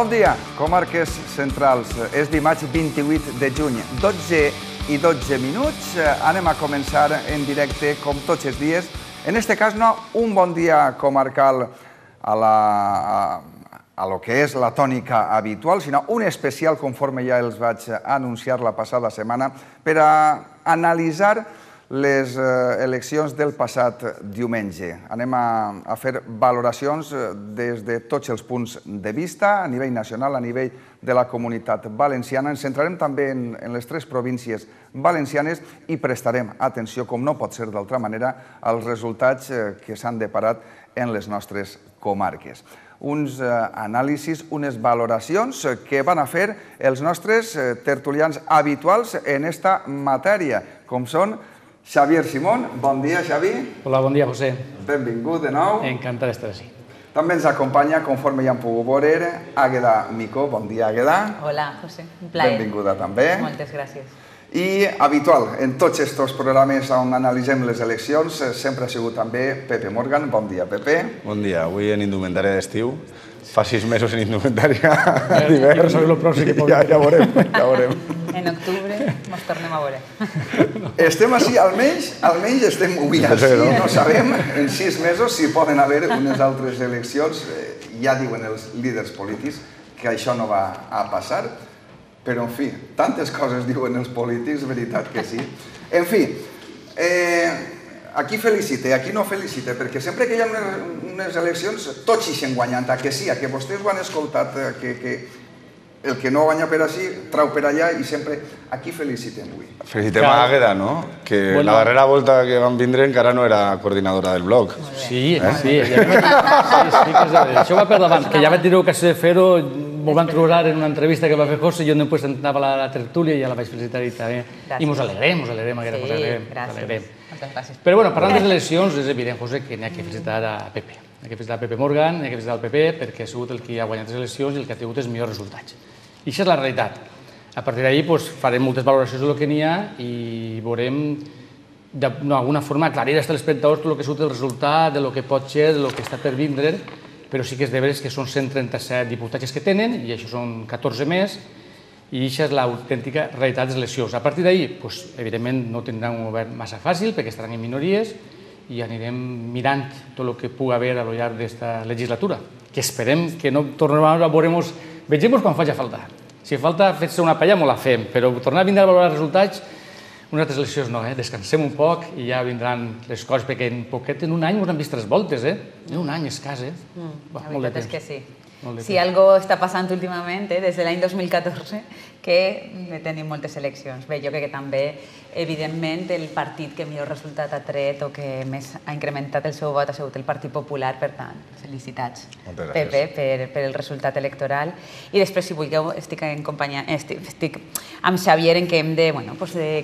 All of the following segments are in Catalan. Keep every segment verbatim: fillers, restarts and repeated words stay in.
Bon dia, comarques centrals. És dimarts vint-i-vuit de juny, dotze i dotze minuts. Anem a començar en directe, com tots els dies. En este cas, no un bon dia comarcal a la... a lo que és la tònica habitual, sinó un especial, conforme ja els vaig anunciar la passada setmana, per a analitzar les eleccions del passat diumenge. Anem a fer valoracions des de tots els punts de vista, a nivell nacional, a nivell de la Comunitat Valenciana. Ens centrarem també en les tres províncies valencianes i prestarem atenció, com no pot ser d'altra manera, als resultats que s'han deparat en les nostres comarques. Uns anàlisis, unes valoracions que van a fer els nostres tertulians habituals en esta matèria, com són Xavier Simón. Bon dia, Xavi. Hola, bon dia, José. Benvingut de nou. Encantat d'estar així. També ens acompanya, conforme ja hem pogut veure, Àgueda Micó. Bon dia, Àgueda. Hola, José. Un plaer. Benvinguda també. Moltes gràcies. I habitual, en tots aquests programes on analitzem les eleccions, sempre ha sigut també Pepe Morgan. Bon dia, Pepe. Bon dia. Avui en indumentària d'estiu. Fa sis mesos en indumentària d'hivern. Ja veurem, ja veurem. En octubre ens tornem a veure. Estem així, almenys, almenys estem avui així. No sabem en sis mesos si poden haver unes altres eleccions. Ja diuen els líders polítics que això no va a passar. Però, en fi, tantes coses diuen els polítics, veritat que sí. En fi, aquí felicite, aquí no felicite, perquè sempre que hi ha unes eleccions tots ixen guanyant, a que sí, a que vostès ho han escoltat, que el que no guanya per així, trau per allà i sempre aquí felicitem avui. Felicitem a Àgueda, no? Que la darrera volta que van vindre encara no era coordinadora del bloc. Sí, sí. Això va per davant, que ja vaig dir ocasió de fer-ho. M'ho van trobar en una entrevista que va fer José, jo després anava a la tertúlia i ja la vaig felicitar i també. I mos alegrem, mos alegrem, Àgueda, mos alegrem. Gràcies. Gràcies. Però, bueno, parlant de les eleccions, és evident, José, que n'hi ha que felicitar a Pepe. N'hi ha que felicitar a Pepe Morgan, n'hi ha que felicitar al P P, perquè ha sigut el que ha guanyat les eleccions i el que ha tingut els millors resultats. I això és la realitat. A partir d'ahir farem moltes valoracions del que n'hi ha i veurem d'alguna forma aclarir als telespectadors tot el que ha sigut el resultat, del que pot ser, del que està per vindre, però sí que és de veres que són cent trenta-set diputats que tenen, i això són catorze més, i això és l'autèntica realitat de les eleccions. A partir d'ahir, evidentment, no tindran un govern massa fàcil, perquè estaran en minories, i anirem mirant tot el que pugui haver a lo llarg d'aquesta legislatura, que esperem que no tornem a veure-nos, vegem quan faci falta. Si falta fer-se una palla, molt la fem, però tornar a vindre a valorar els resultats, unes altres eleccions no, descansem un poc i ja vindran les coses, perquè en poquet, en un any, ens han vist tres voltes, eh? En un any escàs, eh? La veritat és que sí. Si algo està passant últimament, des de l'any dos mil catorze, que tenim moltes eleccions. Bé, jo crec que també, evidentment, el partit que millor resultat ha tret o que més ha incrementat el seu vot ha sigut el Partit Popular, per tant, felicitats, Pepe, per el resultat electoral. I després, si vulgueu, estic en companyia, estic amb Xavier en què hem de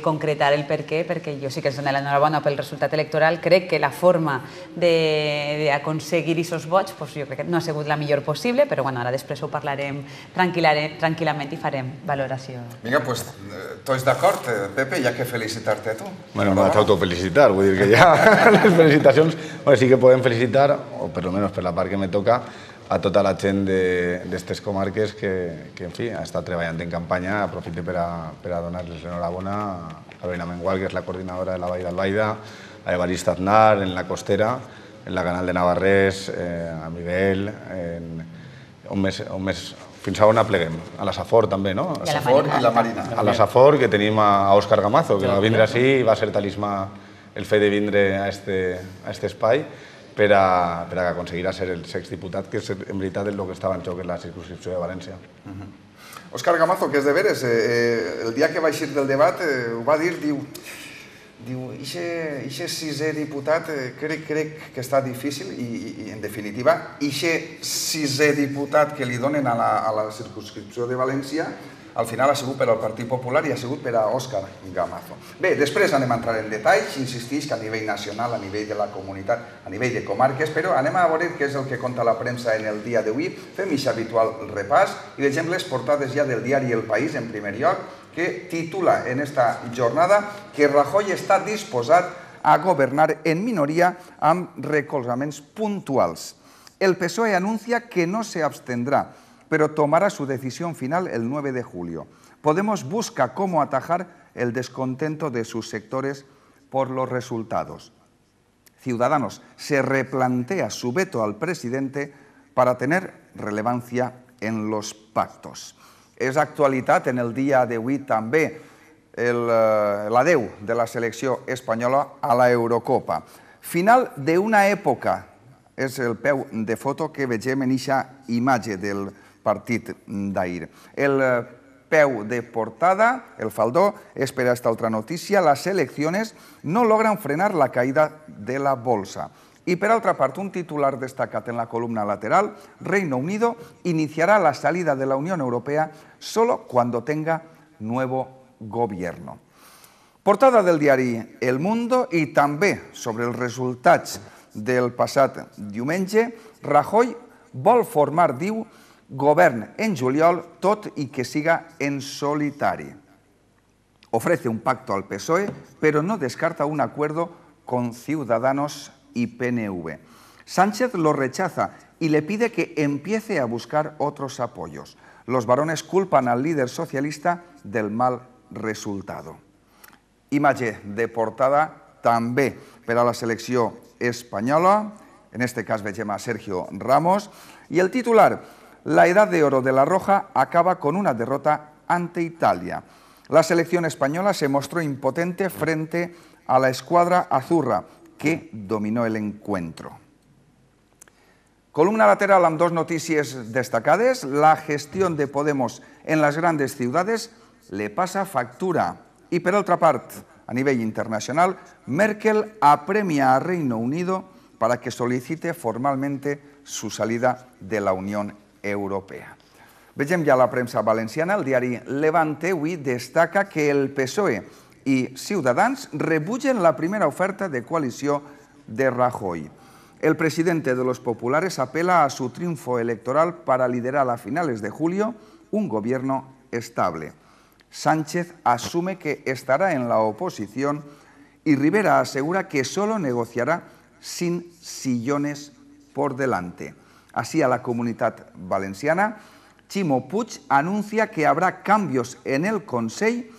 concretar el per què, perquè jo sí que els dono l'enhorabona pel resultat electoral. Crec que la forma d'aconseguir aquests vots, jo crec que no ha sigut la millor possible, però ara després ho parlarem tranquil·lament i farem valoració. Vinga, doncs, tots d'acord, Pepe, ja que felicitar-te a tu. Bueno, me vaig autofelicitar, vull dir que ja les felicitacions sí que podem felicitar, o per almenys per la part que me toca, a tota la gent d'aquestes comarques que, en fi, ha estat treballant en campanya. Aprofito per a donar-les l'enhorabona a Lorena Mengual, que és la coordinadora de la Vall d'Albaida, a Evarist Aznar, en la Costera, en la Canal de Navarrés, a Miguel, on més... Fins a on apleguem? A la Safor també, no? A la Safor i la Marina. A la Safor, que tenim a Òscar Gamazo, que va vindre així i va ser talismà el fet de vindre a aquest espai per a aconseguir ser el sext diputat, que és en veritat el que estava en joc en la circunscripció de València. Òscar Gamazo, que és de veres, el dia que va eixir del debat ho va dir, diu... Diu, ixe sisè diputat crec que està difícil i, en definitiva, ixe sisè diputat que li donen a la circunscripció de València, al final ha sigut per al Partit Popular i ha sigut per a Òscar Gamazo. Bé, després anem a entrar en detalls, insistix que a nivell nacional, a nivell de la comunitat, a nivell de comarques, però anem a veure què és el que conta la premsa en el dia d'avui. Fem aquest habitual repàs i vegem les portades ja del diari El País, en primer lloc, que titula en esta jornada que Rajoy està disposat a governar en minoria amb recolzaments puntuals. El P S O E anuncia que no se abstendrá pero tomará su decisión final el nueve de julio. Podemos busca cómo atajar el descontento de sus sectores por los resultados. Ciudadanos se replantea su veto al presidente para tener relevancia en los pactos. És actualitat en el dia d'avui també l'adeu de la selecció espanyola a la Eurocopa. Final d'una època, és el peu de foto que vegem en aquesta imatge del partit d'ahir. El peu de portada, el faldó, és per a esta altra notícia, las selecciones no logran frenar la caída de la bolsa. Y por otra parte, un titular destacado en la columna lateral, Reino Unido iniciará la salida de la Unión Europea solo cuando tenga nuevo gobierno. Portada del diari El Mundo i també sobre els resultats del passat diumenge, Rajoy vol formar, diu, govern en juliol, tot i que siga en solitari. Ofrece un pacto al P S O E, pero no descarta un acuerdo con Ciudadanos y P N V. Sánchez lo rechaza y le pide que empiece a buscar otros apoyos. Los varones culpan al líder socialista del mal resultado. Imatge de portada també per a la selecció espanyola, en este cas vegem a Sergio Ramos, y el titular, la edad de oro de la Roja acaba con una derrota ante Italia. La selección española se mostró impotente frente a la escuadra azurra, que dominó el encuentro. Columna lateral amb dos notícies destacades. La gestión de Podemos en las grandes ciudades le pasa factura. Y por otra parte, a nivel internacional, Merkel apremia a Reino Unido para que solicite formalmente su salida de la Unión Europea. Vegem ja la premsa valenciana. El diari Levante avui destaca que el P S O E y Ciudadanos rebutgen la primera oferta de coalició de Rajoy. El presidente de los populares apela a su triunfo electoral para liderar a finales de julio un gobierno estable. Sánchez asume que estará en la oposición y Rivera asegura que solo negociará sin sillones por delante. Así, a la Comunitat Valenciana, Ximo Puig anuncia que habrá cambios en el Consell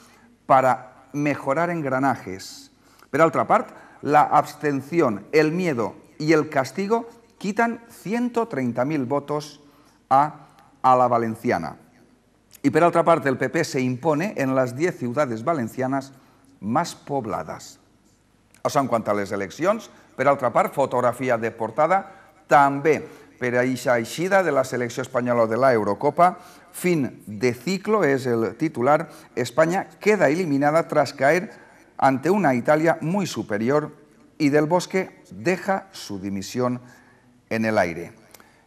para mejorar engranajes. Por otra parte, la abstención, el miedo y el castigo quitan ciento treinta mil votos a, a la valenciana. Y por otra parte, el P P se impone en las diez ciudades valencianas más pobladas. Això en quant a les eleccions. Per altra part, fotografia de portada, també per a aquesta eixida de la selecció espanyola de la Eurocopa. Fin de ciclo es el titular. España queda eliminada tras caer ante una Italia muy superior y Del Bosque deja su dimisión en el aire.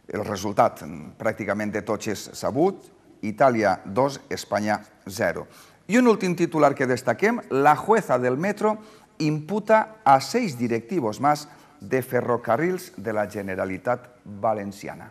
El resultat pràcticament de tots és sabut. Italia dos, España cero. Y un últim titular que destaquem, la jueza del metro imputa a seis directivos más de Ferrocarrils de la Generalitat Valenciana.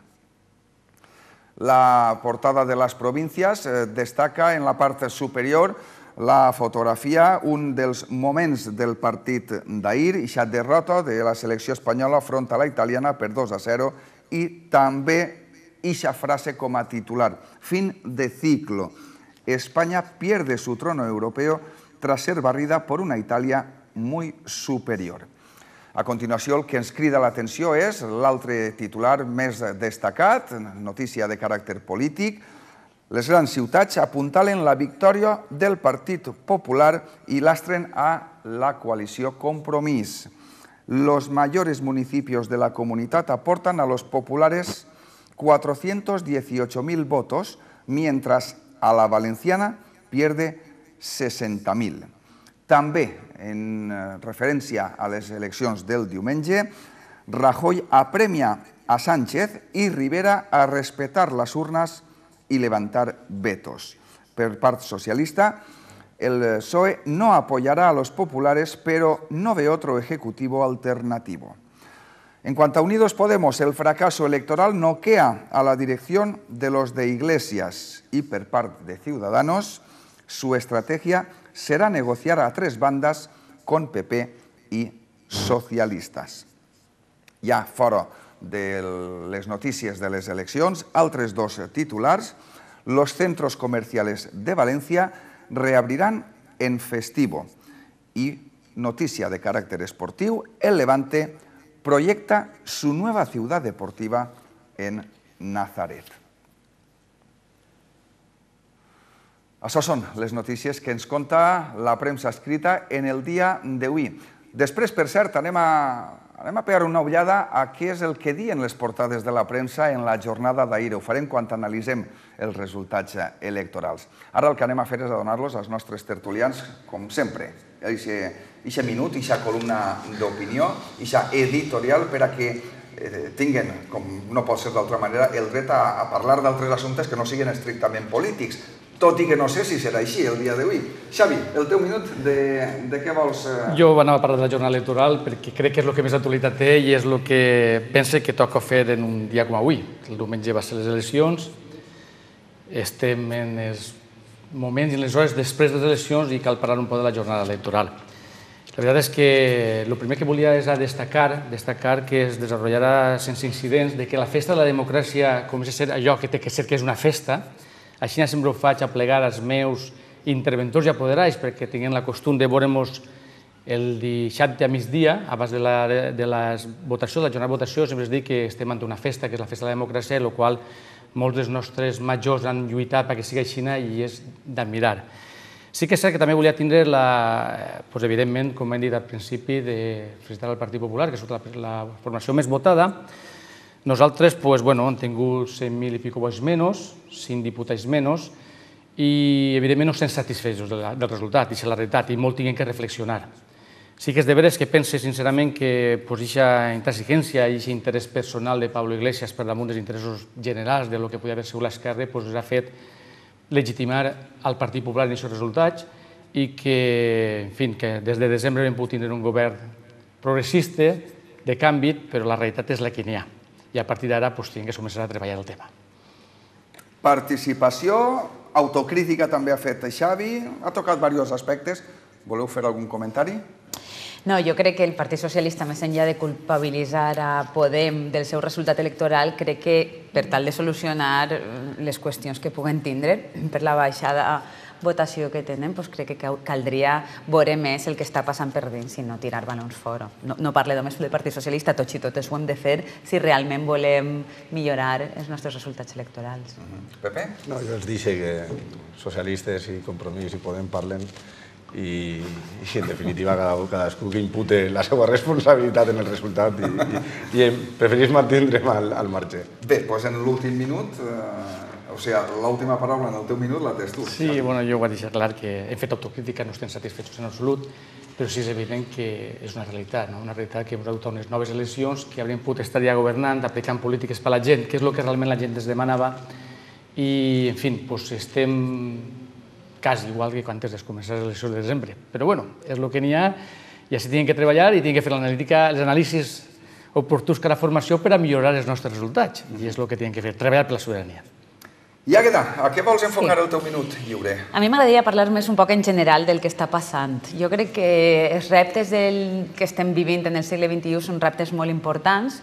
La portada de las provincias destaca en la part superior la fotografia, un dels moments del partit d'ahir, aquesta derrota de la selecció espanyola front a la italiana per dos a zero, i també aquesta frase com a titular, fin de ciclo. España pierde su trono europeo tras ser barrida por una Italia muy superior. A continuació, el que ens crida l'atenció és l'altre titular més destacat, notícia de caràcter polític. Les grans ciutats apuntalen la victòria del Partit Popular i lastren a la coalició Compromís. Los mayores municipios de la comunidad aportan a los populares cuatrocientos dieciocho mil votos, mientras a la valenciana pierde sesenta mil. També, en referència a les eleccions del diumenge, Rajoy apremia a Sánchez y Rivera a respetar las urnas y levantar vetos. Per part socialista, el P S O E no apoyará a los populares, pero no ve otro ejecutivo alternativo. En cuanto a Unidos Podemos, el fracaso electoral noquea a la dirección de los de Iglesias y per part de Ciudadanos, su estrategia será negociar a tres bandas con P P y socialistas. Ja fora de les notícies de les eleccions, altres dos titulars. Los centros comerciales de Valencia reabrirán en festivo. Y noticia de carácter esportiu, el Levante proyecta su nueva ciudad deportiva en Nazaret. Això són les notícies que ens conta la premsa escrita en el dia d'avui. Després, per cert, anem a, anem a pegar una ullada a què és el que diuen les portades de la premsa en la jornada d'ahir. Ho farem quan analitzem els resultats electorals. Ara el que anem a fer és a donar-los als nostres tertulians, com sempre, eixe minut, eixa columna d'opinió, eixa editorial per a que tinguen, com no pot ser d'altra manera, el dret a parlar d'altres assumptes que no siguin estrictament polítics, tot i que no sé si serà així el dia d'avui. Xavi, el teu minut, de què vols... Jo anava a parlar de la jornada electoral perquè crec que és el que més actualitat té i és el que pense que toca fer en un dia com avui. El diumenge va ser les eleccions, estem en els moments i en les hores després de les eleccions i cal parlar un poc de la jornada electoral. La veritat és que el primer que volia és destacar, destacar que es desenvoluparà sense incidents, de que la festa de la democràcia comença a ser allò que té que ser, que és una festa. Així sempre ho faig a plegar als meus interventors i apoderats perquè tinguin la costum de veure'ns el dissabte a migdia, abans de la votació, de la jornada de votació, sempre es diu que estem ante una festa, que és la festa de la democràcia, en la qual molts dels nostres majors han lluitat perquè sigui així i és d'admirar. Sí que és cert que també volia tindre, evidentment, com hem dit al principi, de felicitar el Partit Popular, que és la formació més votada. Nosaltres hem tingut cent mil i pico vots menys, cinc diputats menys, i evidentment no estem satisfets del resultat, i és la realitat, i molt tinguem que reflexionar. Sí que és de veres que pense sincerament que aquesta intransigència i aquest interès personal de Pablo Iglesias per damunt dels interessos generals del que podia haver sigut l'esquerra ens ha fet legitimar el Partit Popular en aquests resultats i que, en fi, que des de desembre hem pogut tenir un govern progressista, de canvi, però la realitat és la que n'hi ha. I a partir d'ara hem de començar a treballar el tema. Participació, autocrítica també ha fet Xavi, ha tocat diversos aspectes. Voleu fer algun comentari? No, jo crec que el Partit Socialista, més enllà de culpabilitzar a Podem del seu resultat electoral, crec que per tal de solucionar les qüestions que puguen tindre per la baixada votació que tenen, crec que caldria veure més el que està passant per dins i no tirar balons fora. No parlo només del Partit Socialista, tots i totes ho hem de fer si realment volem millorar els nostres resultats electorals. Pepe? No, jo els dic que socialistes i Compromís i Podem parlen i en definitiva cadascú que impute la seva responsabilitat en el resultat i preferís mantindre'm al marge. Bé, doncs en l'últim minut, o sigui, l'última paraula en el teu minut la tens tu. Sí, bueno, jo ho he deixat clar que hem fet autocrítica, no estem satisfets en absolut, però sí és evident que és una realitat, una realitat que hem adoptat unes noves eleccions, que hauríem pogut estar ja governant, aplicant polítiques per a la gent, que és el que realment la gent ens demanava, i, en fi, estem quasi igual que quan es començar les eleccions de desembre. Però, bueno, és el que n'hi ha, i així tenim que treballar i tenim que fer els anàlisis oportuns cada formació per a millorar els nostres resultats, i és el que tenim que fer, treballar per la sobirania. I Àgueda, a què vols enfocar el teu minut lliure? A mi m'agradaria parlar més un poc en general del que està passant. Jo crec que els reptes que estem vivint en el segle vint-i-u són reptes molt importants.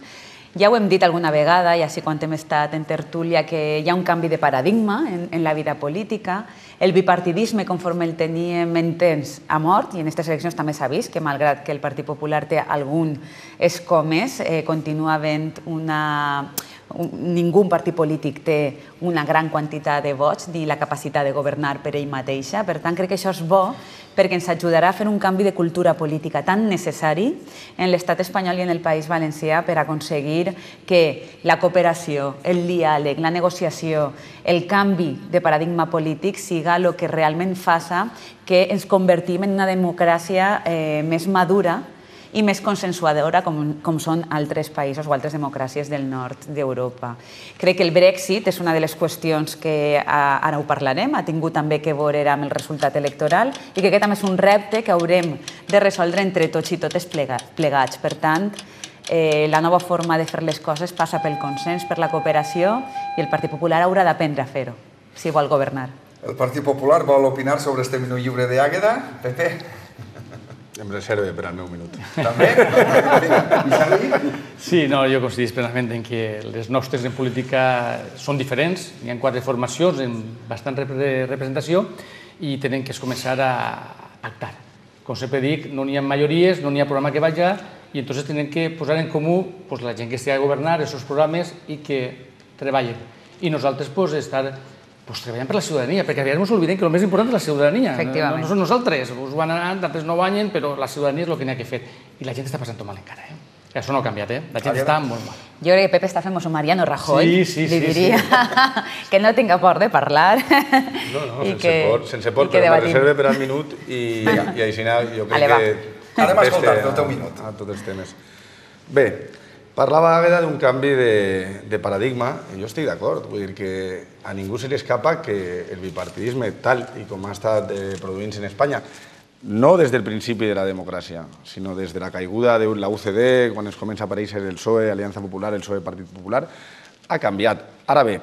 Ja ho hem dit alguna vegada, i així quan hem estat en tertúlia, que hi ha un canvi de paradigma en la vida política. El bipartidisme, conforme el teníem entès, ha mort, i en aquestes eleccions també s'ha vist que, malgrat que el Partit Popular té algun escó més, continua havent una... Ningú partit polític té una gran quantitat de vots ni la capacitat de governar per ell mateixa. Per tant, crec que això és bo perquè ens ajudarà a fer un canvi de cultura política tan necessari en l'estat espanyol i en el País Valencià per aconseguir que la cooperació, el diàleg, la negociació, el canvi de paradigma polític siga el que realment faci que ens convertim en una democràcia més madura i més consensuadora com són altres països o altres democràcies del nord d'Europa. Crec que el Brexit és una de les qüestions que ara ho parlarem, ha tingut també que veure amb el resultat electoral i que aquest també és un repte que haurem de resoldre entre tots i totes plegats. Per tant, la nova forma de fer les coses passa pel consens, per la cooperació, i el Partit Popular haurà d'aprendre a fer-ho, si vol governar. El Partit Popular vol opinar sobre este minut lliure d'Àgueda? Pepe? Em reserve per al meu minut. També? Sí, no, jo coincidís plenament en que les nostres en política són diferents. Hi ha quatre formacions amb bastant representació i tenen que començar a pactar. Com sempre dic, no n'hi ha majories, no n'hi ha programa que vagi, i entonces tenen que posar en comú la gent que estigui a governar els seus programes i que treballen. I nosaltres estar treballant per la ciutadania, perquè a vegades ens oblidem que el més important és la ciutadania. No són nosaltres, us van anar, d'altres no guanyen, però la ciutadania és el que n'hi ha que fer. I la gent està passant mal encara, eh? Això no ha canviat, eh? La gent està molt mal. Jo crec que Pepe està fent un Mariano Rajoy, li diria, que no tinga por de parlar. No, no, sense por, però me reserve per al minut i així jo crec que... Anem a escoltar-te el teu minut. A tots els temes. Bé, parlava Àgueda d'un canvi de paradigma, i jo estic d'acord. Vull dir que a ningú se li escapa que el bipartidisme, tal i com ha estat produint-se en Espanya, no des del principi de la democràcia, sinó des de la caiguda de la U C D, quan es comença a aparèixer el P S O E, Aliança Popular, el P S O E, Partit Popular, ha canviat. Ara bé,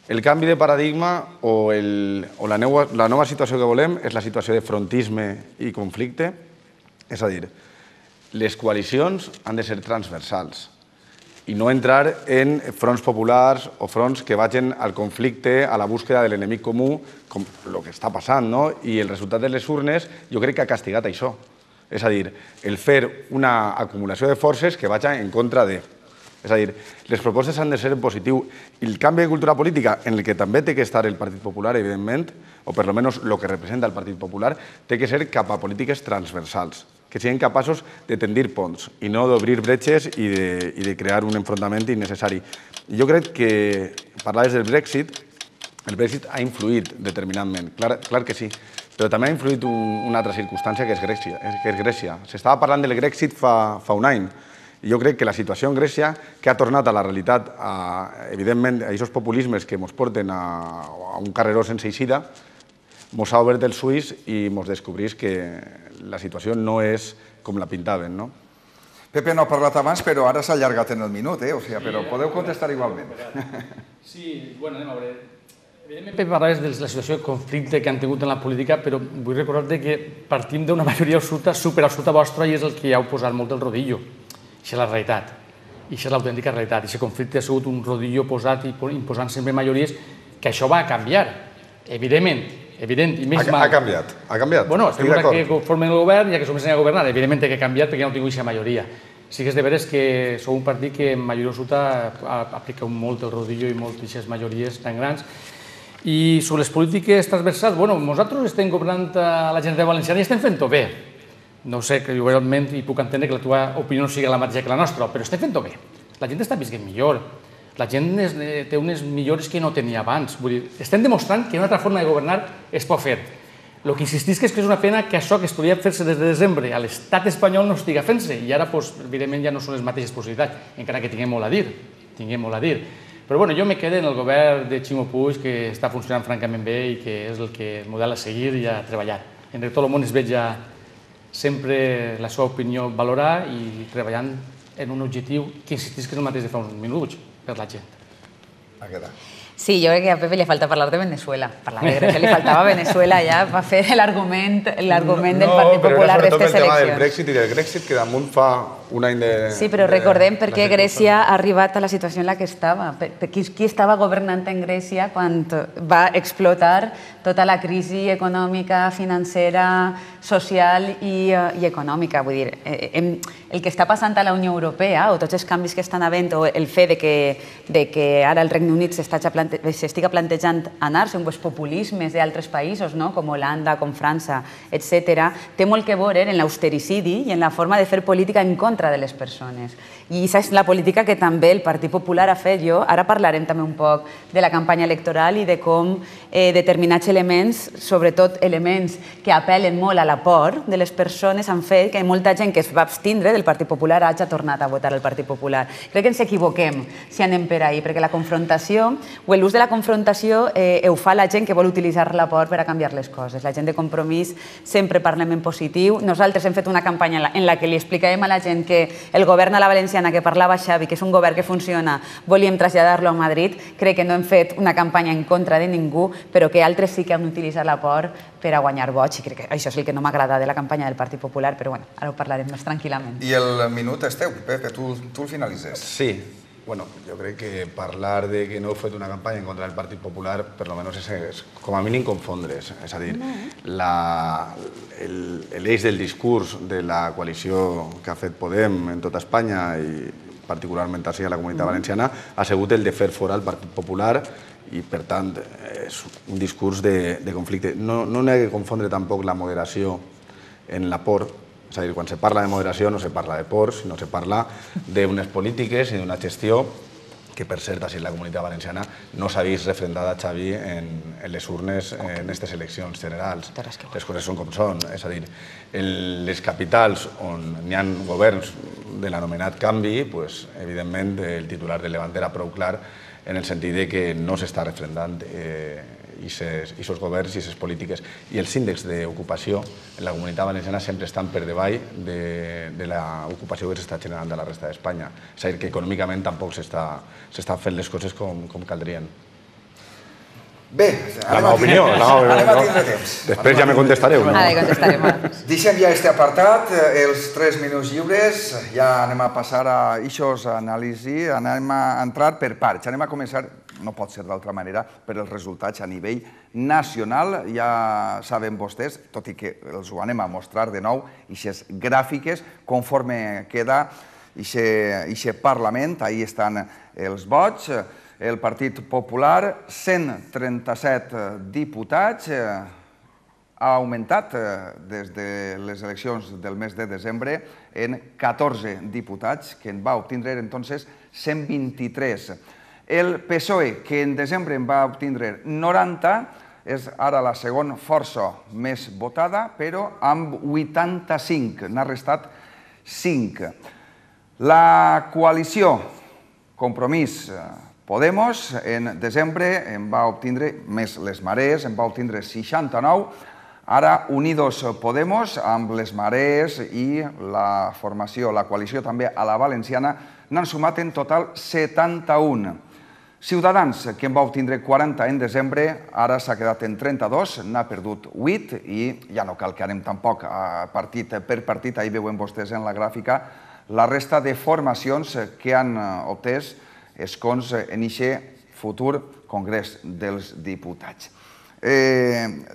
el canvi de paradigma o la nova situació que volem és la situació de frontisme i conflicte. És a dir, les coalicions han de ser transversals i no entrar en fronts populars o fronts que vagin al conflicte, a la búsqueda de l'enemic comú, com el que està passant, no? I el resultat de les urnes jo crec que ha castigat això. És a dir, el fer una acumulació de forces que vagi en contra de. És a dir, les propostes han de ser en positiu. I el canvi de cultura política, en el que també té que estar el Partit Popular, evidentment, o per almenys el que representa el Partit Popular, té que ser cap a polítiques transversals, que siguin capaços de tendir ponts i no d'obrir bretxes i de crear un enfrontament innecessari. Jo crec que, parlaves del Brexit, el Brexit ha influït determinantment, clar que sí, però també ha influït una altra circumstància que és Grècia. S'estava parlant del Brexit fa un any. Jo crec que la situació en Grècia, que ha tornat a la realitat, evidentment, a aquests populismes que ens porten a un carreró sense eixida, ens ha obert els ulls i ens descobrís que la situació no és com la pintaven, no? Pepe no ha parlat abans, però ara s'ha allargat en el minut, eh? O sigui, però podeu contestar igualment. Sí, bueno, anem a veure. Evidentment, Pepe, parlaves de la situació de conflicte que han tingut en la política, però vull recordar-te que partim d'una majoria absoluta, superabsoluta vostra, i és el que ja heu posat molt el rodillo. Això és la realitat, i això és l'autèntica realitat. Aquest conflicte ha sigut un rodillo posat i imposant sempre majories, que això va a canviar, evidentment, evident i més mal. Ha canviat, ha canviat. Bueno, estem ara que formen el govern i que comencen a governar, evidentment que ha canviat perquè ja no tinc aquesta majoria. Sí que és de veres que sou un partit que en majoria absoluta aplica molt el rodillo i moltes majories tan grans. I sobre les polítiques transversals, bueno, nosaltres estem governant a la Generalitat Valenciana i estem fent-ho bé. No sé, que jo realment hi puc entendre que la teva opinió no sigui la mateixa que la nostra, però estem fent-ho bé. La gent està visquent millor. La gent té unes millores que no tenia abans. Vull dir, estem demostrant que una altra forma de governar es pot fer. El que insistís que és que és una pena que això que es podia fer-se des de desembre a l'estat espanyol no estiga fent-se i ara, evidentment, ja no són les mateixes possibilitats, encara que tinguem molt a dir. Tinguem molt a dir. Però bueno, jo me quedo en el govern de Ximo Puig, que està funcionant francament bé i que és el model a seguir i a treballar. En tot el món es veig ja sempre la seva opinió valorar i treballant en un objectiu que insistís que és el mateix de fa uns minuts per la gent. Ha quedat. Sí, jo crec que a Pepe li falta parlar de Venezuela. Parlar de Grècia li faltava Venezuela ja va fer l'argument del Partit Popular d'aquestes eleccions. No, però era sobretot el tema del Brexit i del Grexit, que damunt fa un any de... Sí, però recordem per què Grècia ha arribat a la situació en la que estava. Qui estava governant en Grècia quan va explotar tota la crisi econòmica, financera, social i econòmica. Vull dir, el que està passant a la Unió Europea, o tots els canvis que estan havent, o el fet que ara el Regne Unit s'estiga plantejant anar-se amb els populismes d'altres països, com Holanda, com França, etcètera, té molt que veure en l'austericidi i en la forma de fer política en contra de les persones. I aquesta és la política que també el Partit Popular ha fet. Jo ara parlarem també un poc de la campanya electoral i de com determinats elements, sobretot elements que apel·len molt a la por de les persones, han fet que molta gent que es va abstindre del Partit Popular hagi tornat a votar el Partit Popular. Crec que ens equivoquem si anem per ahí, perquè la confrontació o l'ús de la confrontació ho fa la gent que vol utilitzar la por per a canviar les coses. La gent de Compromís sempre parlem en positiu. Nosaltres hem fet una campanya en la que li explicarem a la gent que que el govern a la valenciana que parlava Xavi, que és un govern que funciona, volíem traslladar-lo a Madrid. Crec que no hem fet una campanya en contra de ningú, però que altres sí que han utilitzat la por per a guanyar vots, i crec que això és el que no m'agrada de la campanya del Partit Popular, però bueno, ara ho parlarem més tranquil·lament. I el minut és teu, Pepe, tu el finalitzes. Sí. Bueno, jo crec que parlar de que no heu fet una campanya en contra del Partit Popular, per lo menos és com a mínim confondre's. És a dir, l'eix del discurs de la coalició que ha fet Podem en tota Espanya i particularment així a la Comunitat Valenciana ha sigut el de fer fora el Partit Popular i, per tant, és un discurs de conflicte. No n'hi ha que confondre tampoc la moderació en la por. És a dir, quan se parla de moderació no se parla de por, sinó se parla d'unes polítiques i d'una gestió que, per cert, així en la Comunitat Valenciana no s'ha vist refrendada, Xavi, en les urnes en aquestes eleccions generals. Les coses són com són. És a dir, en les capitals on hi ha governs de l'anomenat canvi, evidentment el titular rellevant era prou clar en el sentit que no s'està refrendant aquests governs i aquestes polítiques. I els índexs d'ocupació en la Comunitat Valenciana sempre estan per davall de l'ocupació que s'està generant a la resta d'Espanya. És a dir, que econòmicament tampoc s'estan fent les coses com caldrien. Bé, anem a tindre temps. Després ja me contestareu. Deixem ja aquest apartat, els tres minuts lliures, ja anem a passar a aquests anàlisis, anem a entrar per parts. Anem a començar, no pot ser d'altra manera, per els resultats a nivell nacional. Ja saben vostès, tot i que els ho anem a mostrar de nou, aquestes gràfiques, conforme queda aquest Parlament, ahí estan els vots. El Partit Popular, cent trenta-set diputats, ha augmentat des de les eleccions del mes de desembre en catorze diputats, que en va obtindre entonces cent vint-i-tres. El P S O E, que en desembre en va obtindre noranta, és ara la segona força més votada, però amb vuitanta-cinc, n'ha restat cinc. La coalició Compromís Podemos, en desembre, en va obtindre, més les Marees, en va obtindre seixanta-nou. Ara, Unidos Podemos, amb les Marees i la formació, la coalició també a la valenciana, n'han sumat en total setanta-un. Ciutadans, que en va obtindre quaranta en desembre, ara s'ha quedat en trenta-dos, n'ha perdut vuit i ja no cal que anem tampoc partit per partit, ahí veuen vostès en la gràfica la resta de formacions que han obtès escons en aquest futur Congrés dels Diputats.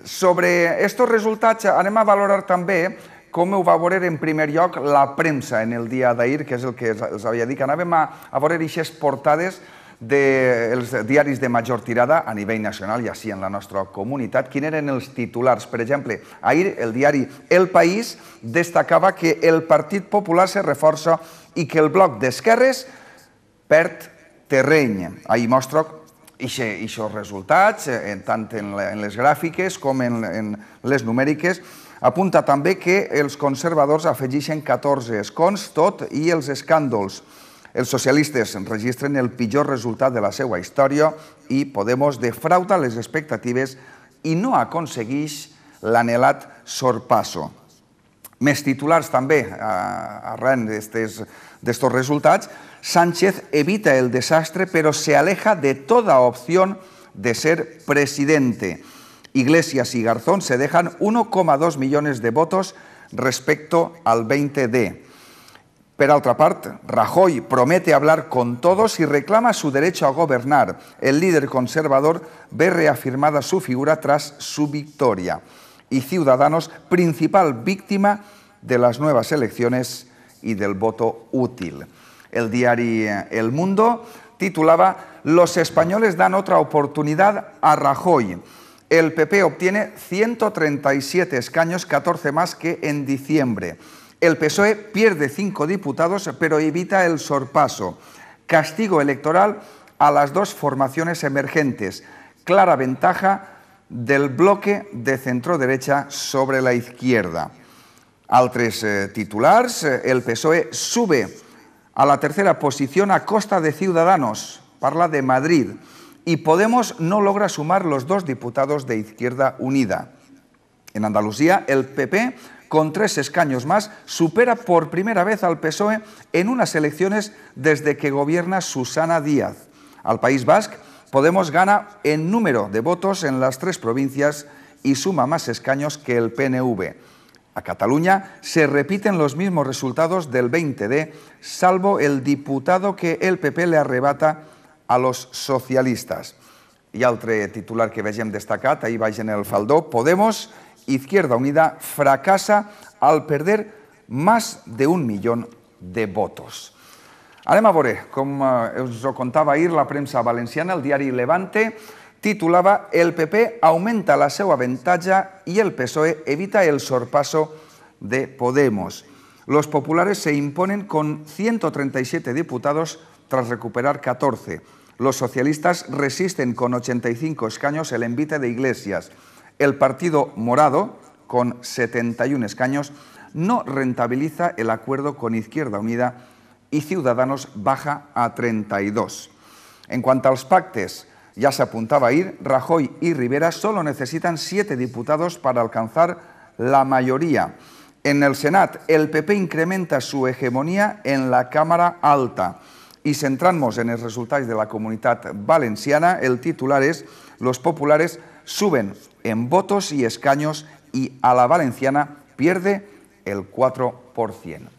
Sobre aquests resultats anem a valorar també com ho va veure en primer lloc la premsa en el dia d'ahir, que és el que els havia dit, que anàvem a veure aquestes portades dels diaris de major tirada a nivell nacional i així en la nostra comunitat. Quins eren els titulars? Per exemple, ahir el diari El País destacava que el Partit Popular se reforça i que el bloc d'esquerres perd terreny. Ahir mostra aquests resultats, tant en les gràfiques com en les numèriques. Apunta també que els conservadors afegeixen catorze escons, tot i els escàndols. Els socialistes registren el pitjor resultat de la seva història i Podemos defrauda les expectatives i no aconsegueix l'anhelat sorpasso. Més titulars també, arran d'estos resultats. Sánchez evita el desastre, pero se aleja de toda opción de ser presidente. Iglesias y Garzón se dejan uno coma dos millones de votos respecto al veinte D. Per altra part, Rajoy promete hablar con todos y reclama su derecho a gobernar. El líder conservador ve reafirmada su figura tras su victoria. Y Ciudadanos, principal víctima de las nuevas elecciones y del voto útil. El diari El Mundo titulaba «Los españoles dan otra oportunidad a Rajoy». El P P obtiene ciento treinta y siete escaños, catorce más que en diciembre. El P S O E pierde cinco diputados, pero evita el sorpaso. Castigo electoral a las dos formaciones emergentes. Clara ventaja del bloque de centro-derecha sobre la izquierda. Altres titulars, el P S O E sube a la tercera posición a costa de Ciudadanos, parla de Madrid, y Podemos no logra sumar los dos diputados de Izquierda Unida. En Andalucía, el P P con tres escaños más, supera por primera vez al P S O E en unas elecciones desde que gobierna Susana Díaz. Al País Basco, Podemos gana en número de votos en las tres provincias y suma más escaños que el P N V. A Cataluña se repiten los mismos resultados del veinte D, salvo el diputado que el P P le arrebata a los socialistas. I altre titular que vegem destacat, ahir baix en el faldó, Podemos, Izquierda Unida, fracasa al perder más de un millón de votos. Anem a veure, com us ho contava ahir la premsa valenciana, el diari Levante titulava «El P P augmenta la seu avantatge i el P S O E evita el sorpaso de Podemos». Los populares se imponen con ciento treinta y siete diputados tras recuperar catorce. Los socialistas resisten con ochenta y cinco escaños el envite de Iglesias. El Partido Morado, con setenta y un escaños, no rentabiliza el acuerdo con Izquierda Unida y Ciudadanos baja a treinta y dos. En cuanto a los pactes, ya se apuntaba ahir, Rajoy y Rivera solo necesitan siete diputados para alcanzar la mayoría. En el Senat, el P P incrementa su hegemonía en la Cámara Alta. Y centramos en els resultats de la Comunitat Valenciana, el titular és «Los populares suben en votos y escaños y a la valenciana pierde el cuatro por ciento».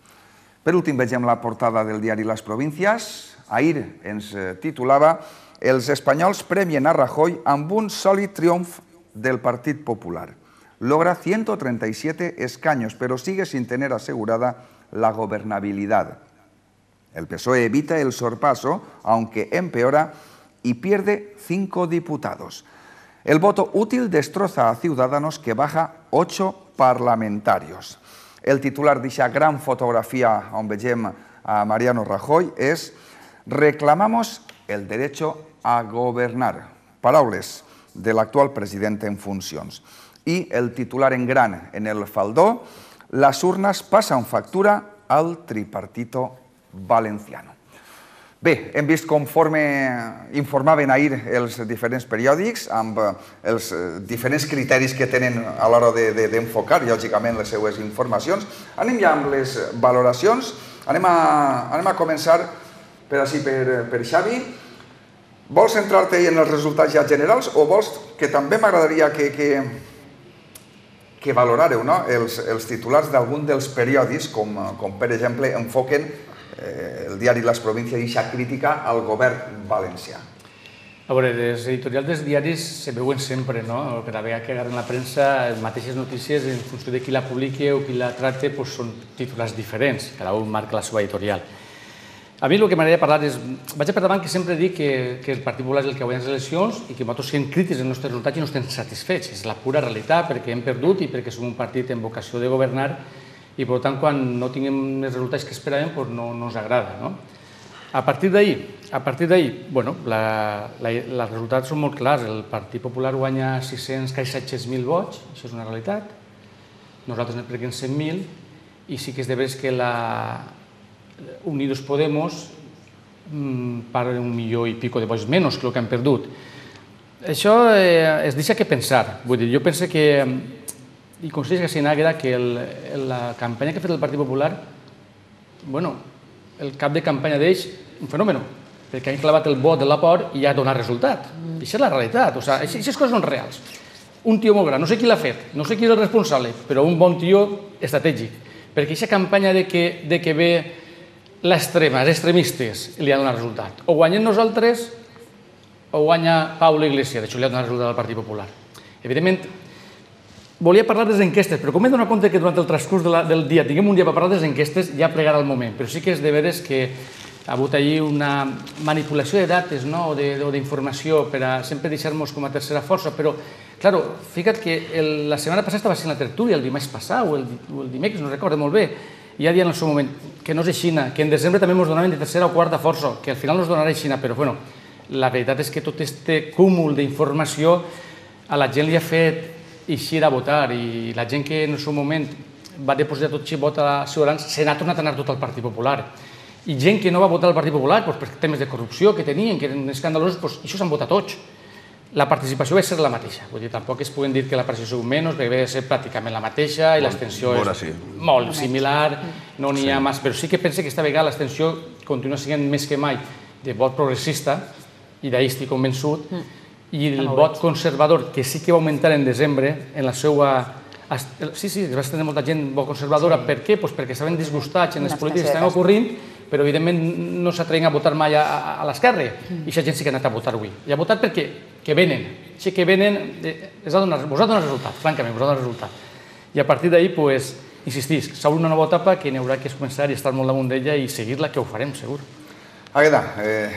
Per últim, vegem la portada del diari Les Províncies. Ahir ens titulava «Els espanyols premien a Rajoy amb un sòlid triomf del Partit Popular. Logra ciento treinta y siete escaños, pero sigue sin tener asegurada la gobernabilidad. El P S O E evita el sorpaso, aunque empeora, y pierde cinco diputados. El voto útil destroza a Ciudadanos, que baja ocho parlamentarios». El titular d'aquesta gran fotografia on vegem a Mariano Rajoy és «Reclamamos el derecho a gobernar». Paraules de l'actual president en funcions. I el titular en gran en el faldó, «Las urnas pasan factura al tripartito valenciano». Bé, hem vist conforme informaven ahir els diferents periòdics amb els diferents criteris que tenen a l'hora d'enfocar, lògicament, les seues informacions. Anem ja amb les valoracions. Anem a començar per així per Xavi. Vols centrar-te en els resultats ja generals o vols que també m'agradaria que valorareu els titulars d'algun dels periòdics, com per exemple enfoquen el diari Les Províncies i aquesta crítica al govern valencià? A veure, les editorials dels diaris se veuen sempre, no? Cada vegada que agarren la premsa, les mateixes notícies, en funció de qui la publiqui o qui la tracte, són titulars diferents, cada un marca la seva editorial. A mi el que m'agradaria parlar és, vaig per davant que sempre dic que el Partit Popular és el que guanya les eleccions i que nosaltres siguem crítics dels nostres resultats i no estem satisfets. És la pura realitat, perquè hem perdut i perquè som un partit amb vocació de governar i, per tant, quan no tinguem els resultats que esperàvem, no ens agrada. A partir d'ahir, a partir d'ahir, bueno, els resultats són molt clars. El Partit Popular guanya sis-cents, quasi set-cents mil vots, això és una realitat. Nosaltres ne perdem cent mil i sí que és de veres que la Unidos Podemos parla d'un milió i pico de vots menys que el que han perdut. Això es deixa que pensar. Vull dir, jo penso que i considero que s'inagra que la campanya que ha fet el Partit Popular, bueno, el cap de campanya d'ells, un fenomen, perquè han clavat el vot de la por i ja ha donat resultat. Això és la realitat, aquestes coses són reals. Un tio molt gran, no sé qui l'ha fet, no sé qui és el responsable, però un bon tio estratègic, perquè aquesta campanya de que ve l'extrema, els extremistes, li ha donat resultat. O guanyem nosaltres o guanya Pablo Iglesias, d'això li ha donat resultat al Partit Popular. Evidentment, volia parlar de les enquestes, però com m'he donat compte que durant el transcurs del dia tinguem un dia per parlar de les enquestes, ja plegarà el moment. Però sí que és de veres que ha hagut allí una manipulació de dates o d'informació per a sempre deixar-nos com a tercera força, però, clar, fica't que la setmana passada estava sent la tertúlia, el dimarts passat o el dimecres, no recordo molt bé, i ja dient en el seu moment que no és aixina, que en desembre també ens donaven de tercera o quarta força, que al final no ens donarà aixina, però, bueno, la veritat és que tot aquest cúmul d'informació a la gent li ha fet eixir a votar i la gent que en el seu moment va depositar tot vot a Ciutadans se n'ha tornat a anar tot al Partit Popular. I gent que no va votar al Partit Popular per temes de corrupció que tenien, que eren escandalosos, això s'han votat tots. la participació va ser la mateixa. Vull dir, tampoc es poden dir que la participació és menys, perquè va ser pràcticament la mateixa i l'extensió és molt similar, no n'hi ha més. Però sí que pense que esta vegada l'extensió continua sent més que mai de vot progressista, i d'ahir estic convençut, i el vot conservador, que sí que va augmentar en desembre, en la seva... Sí, sí, es va estendre molta gent vot conservadora. Per què? Perquè estaven disgustats en les polítiques que estan ocorrent, però evidentment no s'atreien a votar mai a l'esquerra, i aquesta gent sí que ha anat a votar avui. I ha votat perquè que venen, sí que venen, vos ha donat resultat, francament, vos ha donat resultat. I a partir d'ahir, insistís, s'obre una nova etapa que n'hi haurà que començar i estar molt damunt d'ella i seguir-la, que ho farem, segur. Agueda,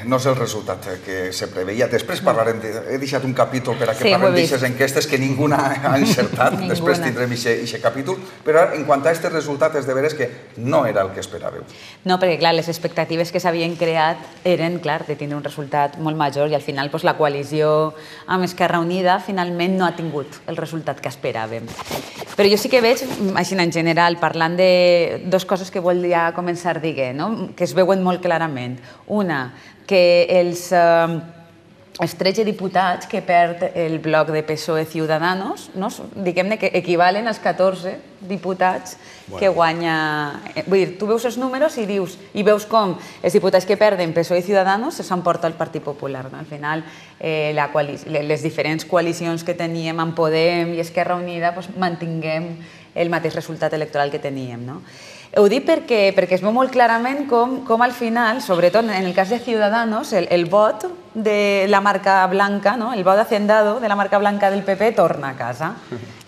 no és el resultat que se preveia. Després parlarem, he deixat un capítol per a que parlem d'aixes enquestes que ningú ha encertat, després tindrem aquest capítol, però en quant a aquest resultat és de veres que no era el que esperàveu. No, perquè clar, les expectatives que s'havien creat eren, clar, de tindre un resultat molt major i al final la coalició amb Esquerra Unida finalment no ha tingut el resultat que esperàvem. Però jo sí que veig, així en general, parlant de dues coses que volia començar dient, que es veuen molt clarament. Una, que els tretze diputats que perd el bloc de P S O E Ciudadanos, diguem-ne que equivalen als catorze diputats que guanya... Vull dir, tu veus els números i dius, i veus com els diputats que perden P S O E i Ciudadanos s'emporta el Partit Popular. Al final, les diferents coalicions que teníem amb Podem i Esquerra Unida mantinguem el mateix resultat electoral que teníem. Ho dic perquè es veu molt clarament com al final, sobretot en el cas de Ciudadanos, el vot de la marca blanca, el vot hacendado de la marca blanca del P P torna a casa.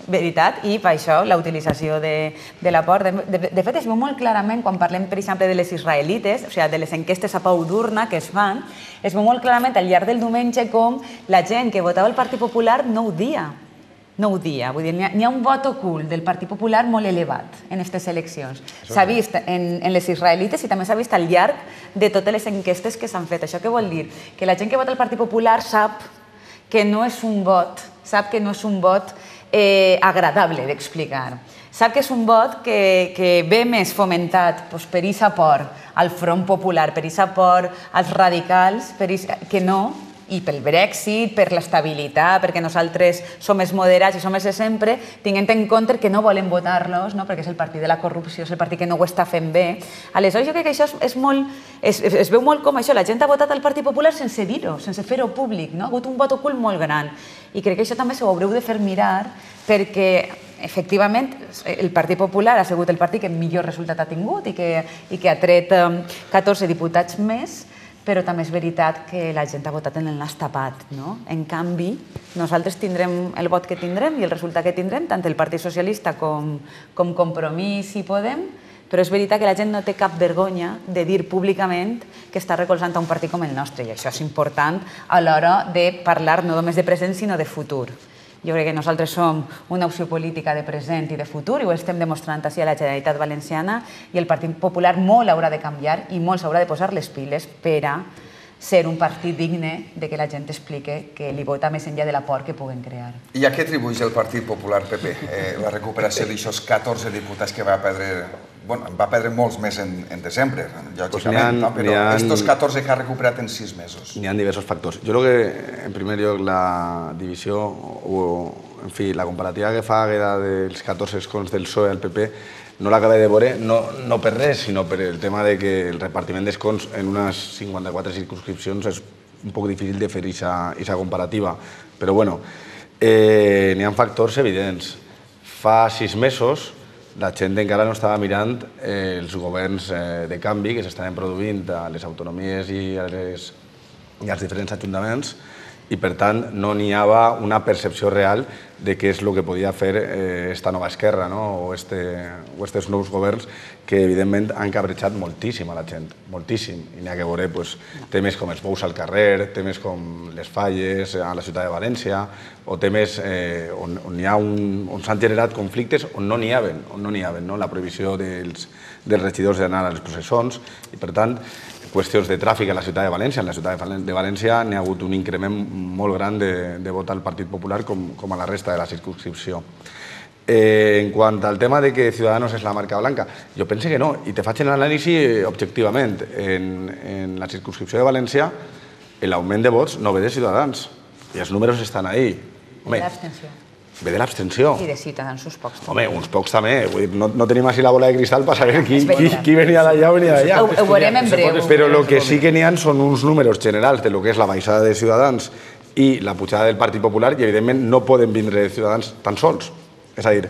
Veritat? I per això la utilització de l'apport. De fet, es veu molt clarament quan parlem, per exemple, de les israelites, o sigui, de les enquestes a Pau d'urna que es fan, es veu molt clarament al llarg del diumenge com la gent que votava el Partit Popular no ho dia. No ho dia. Vull dir, n'hi ha un vot ocult del Partit Popular molt elevat en aquestes eleccions. S'ha vist en les israelites i també s'ha vist al llarg de totes les enquestes que s'han fet. Això què vol dir? Que la gent que vota el Partit Popular sap que no és un vot, sap que no és un vot agradable d'explicar. Sap que és un vot que ve més fomentat per aquest aport al Front Popular, per aquest aport als radicals, que no, i pel Brexit, per l'estabilitat, perquè nosaltres som els moderats i som els de sempre, tinguent en compte que no volem votar-los, perquè és el partit de la corrupció, és el partit que no ho està fent bé. Aleshores, jo crec que això es veu molt com això. La gent ha votat al Partit Popular sense dir-ho, sense fer-ho públic. Ha hagut un vot ocult molt gran. I crec que això també s'ho haureu de fer mirar perquè, efectivament, el Partit Popular ha sigut el partit que millor resultat ha tingut i que ha tret catorze diputats més, però també és veritat que la gent ha votat en el nas tapat. En canvi, nosaltres tindrem el vot que tindrem i el resultat que tindrem, tant el Partit Socialista com Compromís i Podem, però és veritat que la gent no té cap vergonya de dir públicament que està recolzant a un partit com el nostre, i això és important a l'hora de parlar no només de present, sinó de futur. Jo crec que nosaltres som una opció política de present i de futur i ho estem demostrant així a la Generalitat Valenciana i el Partit Popular molt haurà de canviar i molt s'haurà de posar les piles per a ser un partit digne de que la gent explique que li vota més enllà de l'aport que puguen crear. I a què atribueix el Partit Popular P P la recuperació d'aixòs catorze diputats que va perdre? Bueno, va perdre molts més en desembre, lògicament, però estos catorze que ha recuperat en sis mesos. N'hi ha diversos factors. Jo crec que, en primer lloc, la divisió, o, en fi, la comparativa que fa dels catorze escons del P S O E al P P no l'acabé de veure, no per res, sinó per el tema que el repartiment d'escons en unes cinquanta-quatre circunscripcions és un poc difícil de fer aquesta comparativa. Però, bueno, n'hi ha factors evidents. Fa sis mesos la gent encara no estava mirant els governs de canvi que s'estaven produint a les autonomies i als diferents ajuntaments i, per tant, no n'hi havia una percepció real de què és el que podia fer aquesta nova esquerra o aquests nous governs que, evidentment, han cabrejat moltíssim a la gent, moltíssim. I n'hi ha que veure temes com els bous al carrer, temes com les falles a la ciutat de València, o temes on s'han generat conflictes on no n'hi havia, on no n'hi havia, la prohibició dels regidors d'anar a les processons i, per tant, qüestions de tràfic a la ciutat de València. En la ciutat de València n'hi ha hagut un increment molt gran de vot al Partit Popular com a la resta de la circunscripció. En quant al tema de que Ciudadanos és la marca blanca, jo penso que no, i te faig l'anàlisi objectivament. En la circunscripció de València l'augment de vots no ve de Ciutadans, i els números estan ahí. Ve de l'abstenció. Ve de l'abstenció. I de Ciutadans, uns pocs. Home, uns pocs també. No tenim així la bola de cristal per saber qui venia d'allà o venia d'allà. Ho veurem en breu. Però el que sí que n'hi ha són uns números generals de lo que és la baixada de Ciutadans i la pujada del Partit Popular i, evidentment, no poden vindre de Ciutadans tan sols. És a dir,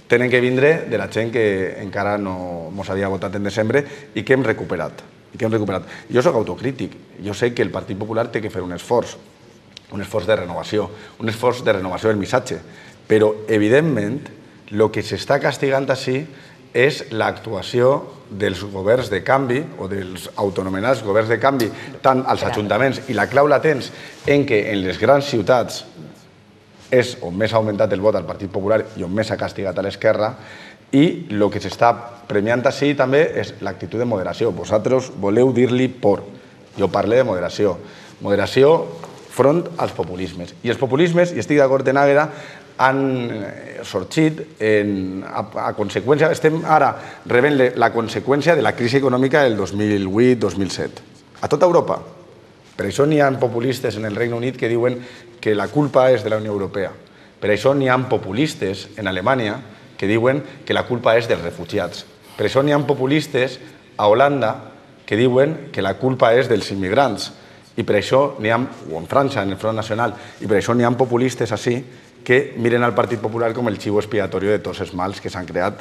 tenen que vindre de la gent que encara no ens havia votat en desembre i que hem recuperat. Jo soc autocrític. Jo sé que el Partit Popular té que fer un esforç, un esforç de renovació, un esforç de renovació del missatge. Però, evidentment, el que s'està castigant així és l'actuació dels governs de canvi o dels autonomenats governs de canvi, tant als ajuntaments, i la clau la tens en què en les grans ciutats és on més ha augmentat el vot al Partit Popular i on més s'ha castigat a l'esquerra, i el que s'està premiant així també és l'actitud de moderació. Vosaltres voleu dir-li por. Jo parlo de moderació. Moderació front als populismes. I els populismes, i estic d'acord en Àgueda, han sorgit a conseqüència, estem ara rebent la conseqüència de la crisi econòmica del dos mil vuit dos mil set. A tota Europa. Per això n'hi ha populistes en el Regne Unit que diuen que la culpa és de la Unió Europea. Per això n'hi ha populistes en Alemanya que diuen que la culpa és dels refugiats. Per això n'hi ha populistes a Holanda que diuen que la culpa és dels immigrants. I per això n'hi ha, o en França, en el Front Nacional, i per això n'hi ha populistes així que miren al Partit Popular com el xivo expiatori de tots els mals que s'han creat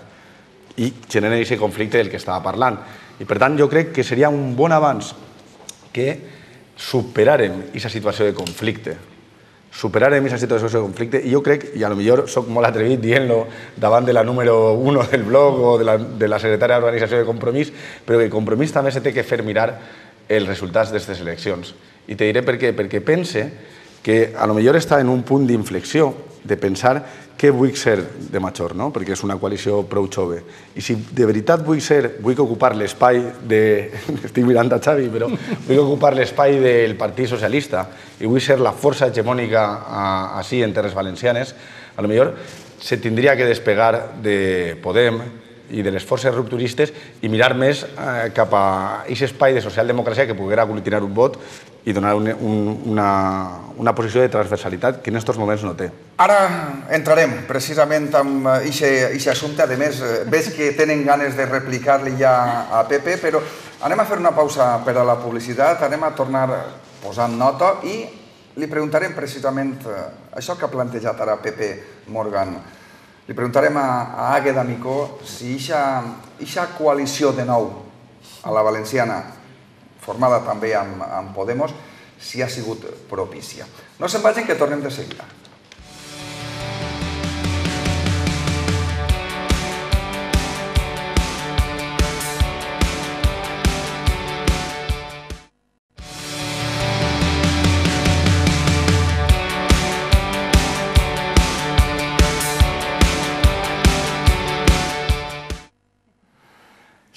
i generen aquest conflicte del que estava parlant. I per tant jo crec que seria un bon avanç que superàrem aquesta situació de conflicte. Superarem aquesta situació de conflicte i jo crec, i potser soc molt atrevit dient-lo davant de la número uno del blog o de la secretària d'Organització de Compromís, però que Compromís també se té que fer mirar els resultats d'aquestes eleccions. I te diré per què. Perquè pense que potser està en un punt d'inflexió de pensar què vull ser de major, perquè és una coalició prou jove. I si de veritat vull ser, vull ocupar l'espai de... Estic mirant a Xavi, però vull ocupar l'espai del Partit Socialista i vull ser la força hegemònica així en terres valencianes, potser se tindria que despegar de Podem i de les forces rupturistes i mirar més cap a aquest espai de socialdemocràcia que poguera aglutinar un vot i donar una posició de transversalitat que en aquests moments no té. Ara entrarem precisament amb aquest assumpte. A més, veig que tenen ganes de replicar-li ja a Pepe, però anem a fer una pausa per a la publicitat, anem a tornar posant nota i li preguntarem precisament això que ha plantejat ara Pepe Morgan. Li preguntarem a Àgueda Micó si aquesta coalició de nou a la valenciana, formada també amb Podemos, si ha sigut propícia. No se'n vagin, que tornem de seguida.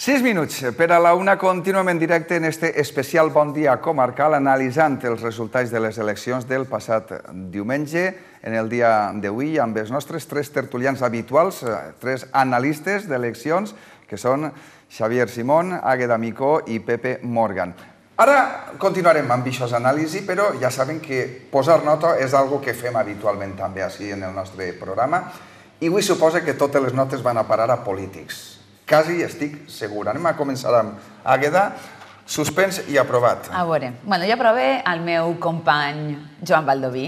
Sis minuts per a la una. Continuem en directe en este especial Bon Dia Comarcal, analitzant els resultats de les eleccions del passat diumenge. En el dia d'avui, amb els nostres tres tertulians habituals, tres analistes d'eleccions, que són Xavier Simón, Àgueda Micó i Pepe Morgan. Ara continuarem amb aquests anàlisis, però ja saben que posar nota és una cosa que fem habitualment també així en el nostre programa, i avui suposa que totes les notes van a parar a polítics. Quasi estic segur. Anem a començar amb Àgueda. Suspens i aprovat. A veure, jo aprove el meu company Joan Baldoví,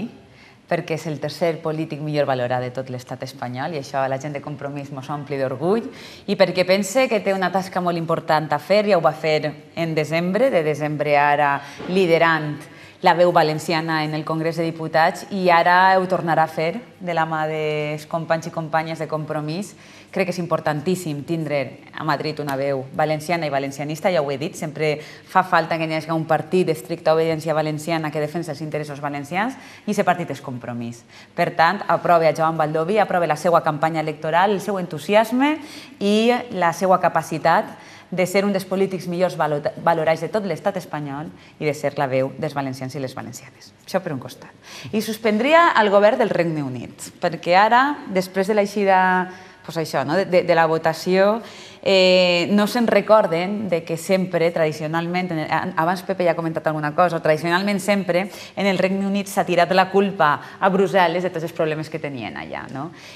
perquè és el tercer polític millor valorat de tot l'estat espanyol i això a la gent de Compromís mos ompli d'orgull, i perquè pense que té una tasca molt important a fer, ja ho va fer en desembre, de desembre ara liderant la veu valenciana en el Congrés de Diputats, i ara ho tornarà a fer de la mà dels companys i companyes de Compromís. Crec que és importantíssim tindre a Madrid una veu valenciana i valencianista, ja ho he dit, sempre fa falta que hi hagi un partit d'estricta obediència valenciana que defensa els interessos valencians, i aquest partit és Compromís. Per tant, aprove a Joan Baldoví, aprove la seva campanya electoral, el seu entusiasme i la seva capacitat de ser un dels polítics millors valorats de tot l'estat espanyol i de ser la veu dels valencians i les valencianes. Això per un costat. I suspendria el govern del Regne Unit, perquè ara, després de l'eixida de la votació, no se'n recorden que sempre, tradicionalment, abans Pepe ja ha comentat alguna cosa, tradicionalment sempre en el Regne Unit s'ha tirat la culpa a Brussel·les de tots els problemes que tenien allà.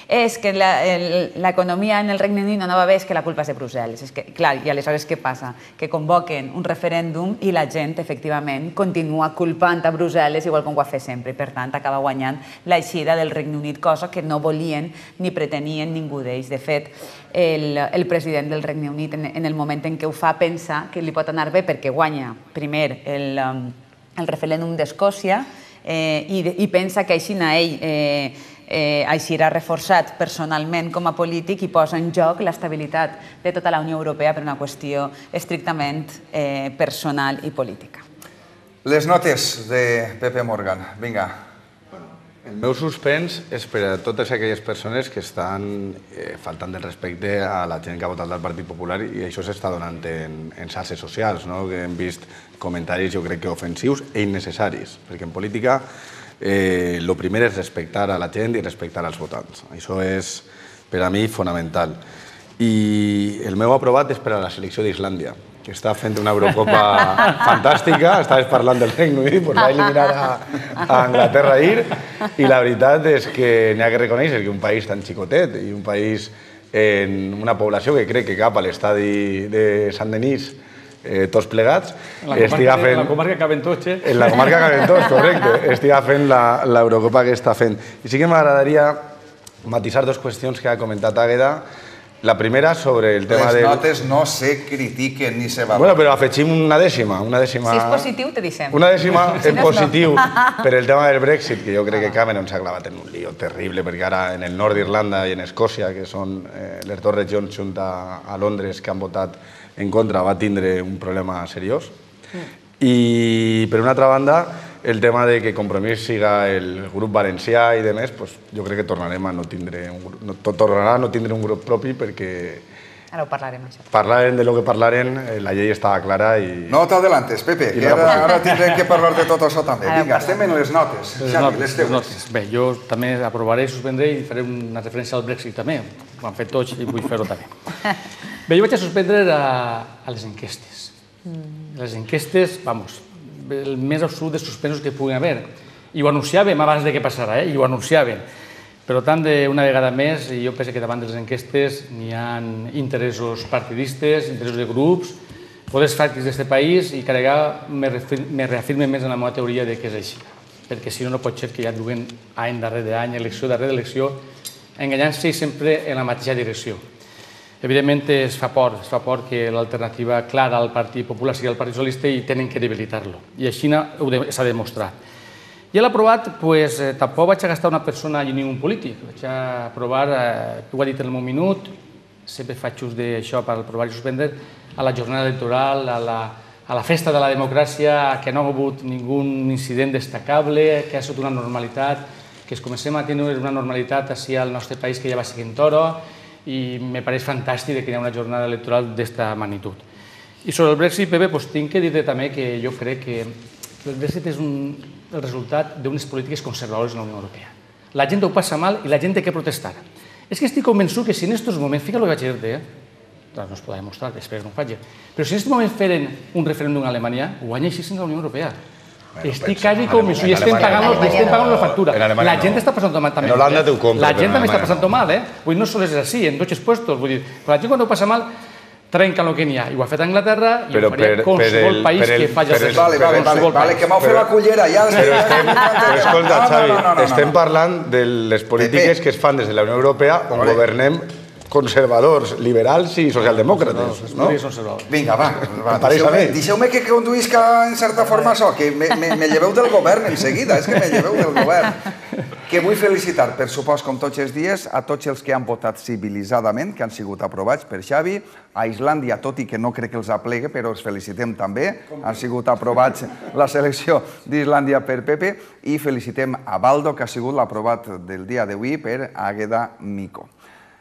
És que l'economia en el Regne Unit no va bé, és que la culpa és de Brussel·les. Clar, i aleshores què passa? Que convoquen un referèndum i la gent, efectivament, continua culpant a Brussel·les igual com ho va fer sempre. I, per tant, acaba guanyant l'eixida del Regne Unit, cosa que no volien ni pretenien ningú d'ells. De fet, el president del Regne Unit, en el moment en què ho fa, pensa que li pot anar bé perquè guanya, primer, el referèndum d'Escòcia i pensa que així ell eixirà reforçat personalment com a polític i posa en joc l'estabilitat de tota la Unió Europea per una qüestió estrictament personal i política. Les notes de Pepe Morgan. Vinga. El meu suspens és per a totes aquelles persones que estan faltant del respecte a la gent que ha votat del Partit Popular i això s'està donant en xarxes socials, que hem vist comentaris, jo crec que ofensius i innecessaris, perquè en política el primer és respectar a la gent i respectar als votants. Això és, per a mi, fonamental. I el meu aprovat és per a la selecció d'Islàndia, que està fent una Eurocopa fantàstica, estaves parlant del Regne Unit, doncs va eliminar a Anglaterra ahir, i la veritat és que n'hi ha que reconèixer que un país tan xicotet i un país amb una població que crec que cap a l'estadi de Sant-Denis, tots plegats, estiga fent... En la comarca Caventoche. En la comarca Caventoche, correcte, estiga fent l'Eurocopa que està fent. I sí que m'agradaria matisar dues qüestions que ha comentat Àgueda. La primera sobre el tema de... Les notes no se critiquen ni se valoren. Bueno, però afegim una dècima. Si és positiu, te dissem. Una dècima en positiu per el tema del Brexit, que jo crec que Cameron s'ha clavat en un lío terrible, perquè ara en el nord d'Irlanda i en Escòcia, que són les dues regions junt a Londres que han votat en contra, va tindre un problema seriós. I, per una altra banda, el tema de que Compromís siga el grup valencià i demés, jo crec que tornarem a no tindre un grup propi perquè... Ara ho parlarem, això. Parlarem de lo que parlarem, la llei estava clara i... No t'adelantes, Pepe, que ara tindrem que parlar de tot això també. Vinga, estem en les notes. Xavi, les teves. Bé, jo també aprovaré i suspendré i faré una referència al Brexit també. Ho han fet tots i vull fer-ho també. Bé, jo vaig a suspendre a les enquestes. Les enquestes, vamos, el més absolut de suspensos que puguin haver. I ho anunciàvem abans que passara, i ho anunciàvem. Per tant, una vegada més, jo penso que davant de les enquestes n'hi ha interessos partidistes, interessos de grups, poders fàctics d'aquest país, i cada vegada me reafirme més en la meva teoria que és així. Perquè si no, no pot ser que ja duguen any darrere any, elecció darrere elecció, enganyant-se sempre en la mateixa direcció. Evidentment, es fa por, es fa por que l'alternativa clara al Partit Popular sigui el Partit Socialista i tenen que debilitar-lo. I així s'ha demostrat. I a l'aprovat, tampoc vaig a gastar una persona ni un polític. Vaig a aprovar, ho ha dit en el meu minut, sempre faig ús d'això per aprovar i suspendre, a la jornada electoral, a la festa de la democràcia, que no ha hagut ningú incident destacable, que ha estat una normalitat, que es comencem a tenir una normalitat així al nostre país que ja va seguint toro, i me pareix fantàstic que hi ha una jornada electoral d'esta magnitud. I sobre el Brexit, Pepe, tinc que dir-te també que jo crec que el Brexit és el resultat d'unes polítiques conservadores en la Unió Europea. La gent ho passa mal i la gent té que protestar. És que estic convençut que si en aquests moments, fica el que vaig dir-te, no es podrà demostrar, espero que no ho faci, però si en aquests moments feren un referèndum a Alemanya, guanya així en la Unió Europea. Estic quasi convençut i estem pagant la factura. La gent està passant mal també. En Holanda té un compte. La gent també està passant mal, eh? No sols és així, en tots els puestos. Vull dir, la gent quan ho passa mal trenca el que n'hi ha. I ho ha fet Anglaterra i ho faria qualsevol país que faci el seu. Vale, vale, vale, que m'heu fet la cullera ja. Però escolta, Xavi, estem parlant de les polítiques que es fan des de la Unió Europea on governem conservadors, liberals i socialdemòcrates. Vinga, va, deixeu-me que conduïsca en certa forma això, que me lleveu del govern en seguida, és que me lleveu del govern. Que vull felicitar, per supost, com tots els dies, a tots els que han votat civilitzadament, que han sigut aprovats per Xavi, a Islàndia, tot i que no crec que els aplegue, però els felicitem també, han sigut aprovats la selecció d'Islàndia per Pepe, i felicitem a Baldo, que ha sigut l'aprovat del dia d'avui per Àgueda Mico.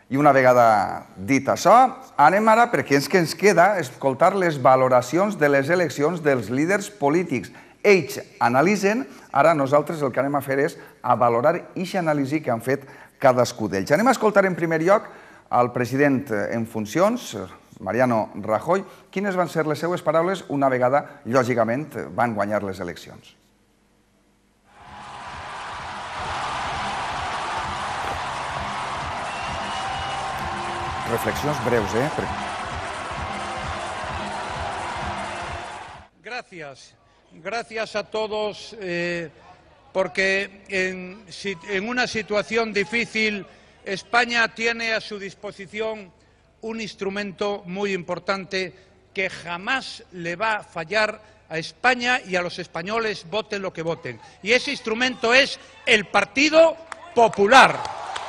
I una vegada dit això, anem ara, perquè és que ens queda escoltar les valoracions de les eleccions dels líders polítics. Ells analitzen, ara nosaltres el que anem a fer és a valorar aquesta anàlisi que han fet cadascú d'ells. Anem a escoltar en primer lloc el president en funcions Mariano Rajoy. Quines van ser les seues paraules una vegada, lògicament, van guanyar les eleccions? Reflexions breus, eh? Gracias. Gracias a todos, eh, porque en, en una situación difícil España tiene a su disposición un instrumento muy importante que jamás le va a fallar a España y a los españoles, voten lo que voten. Y ese instrumento es el Partido Popular.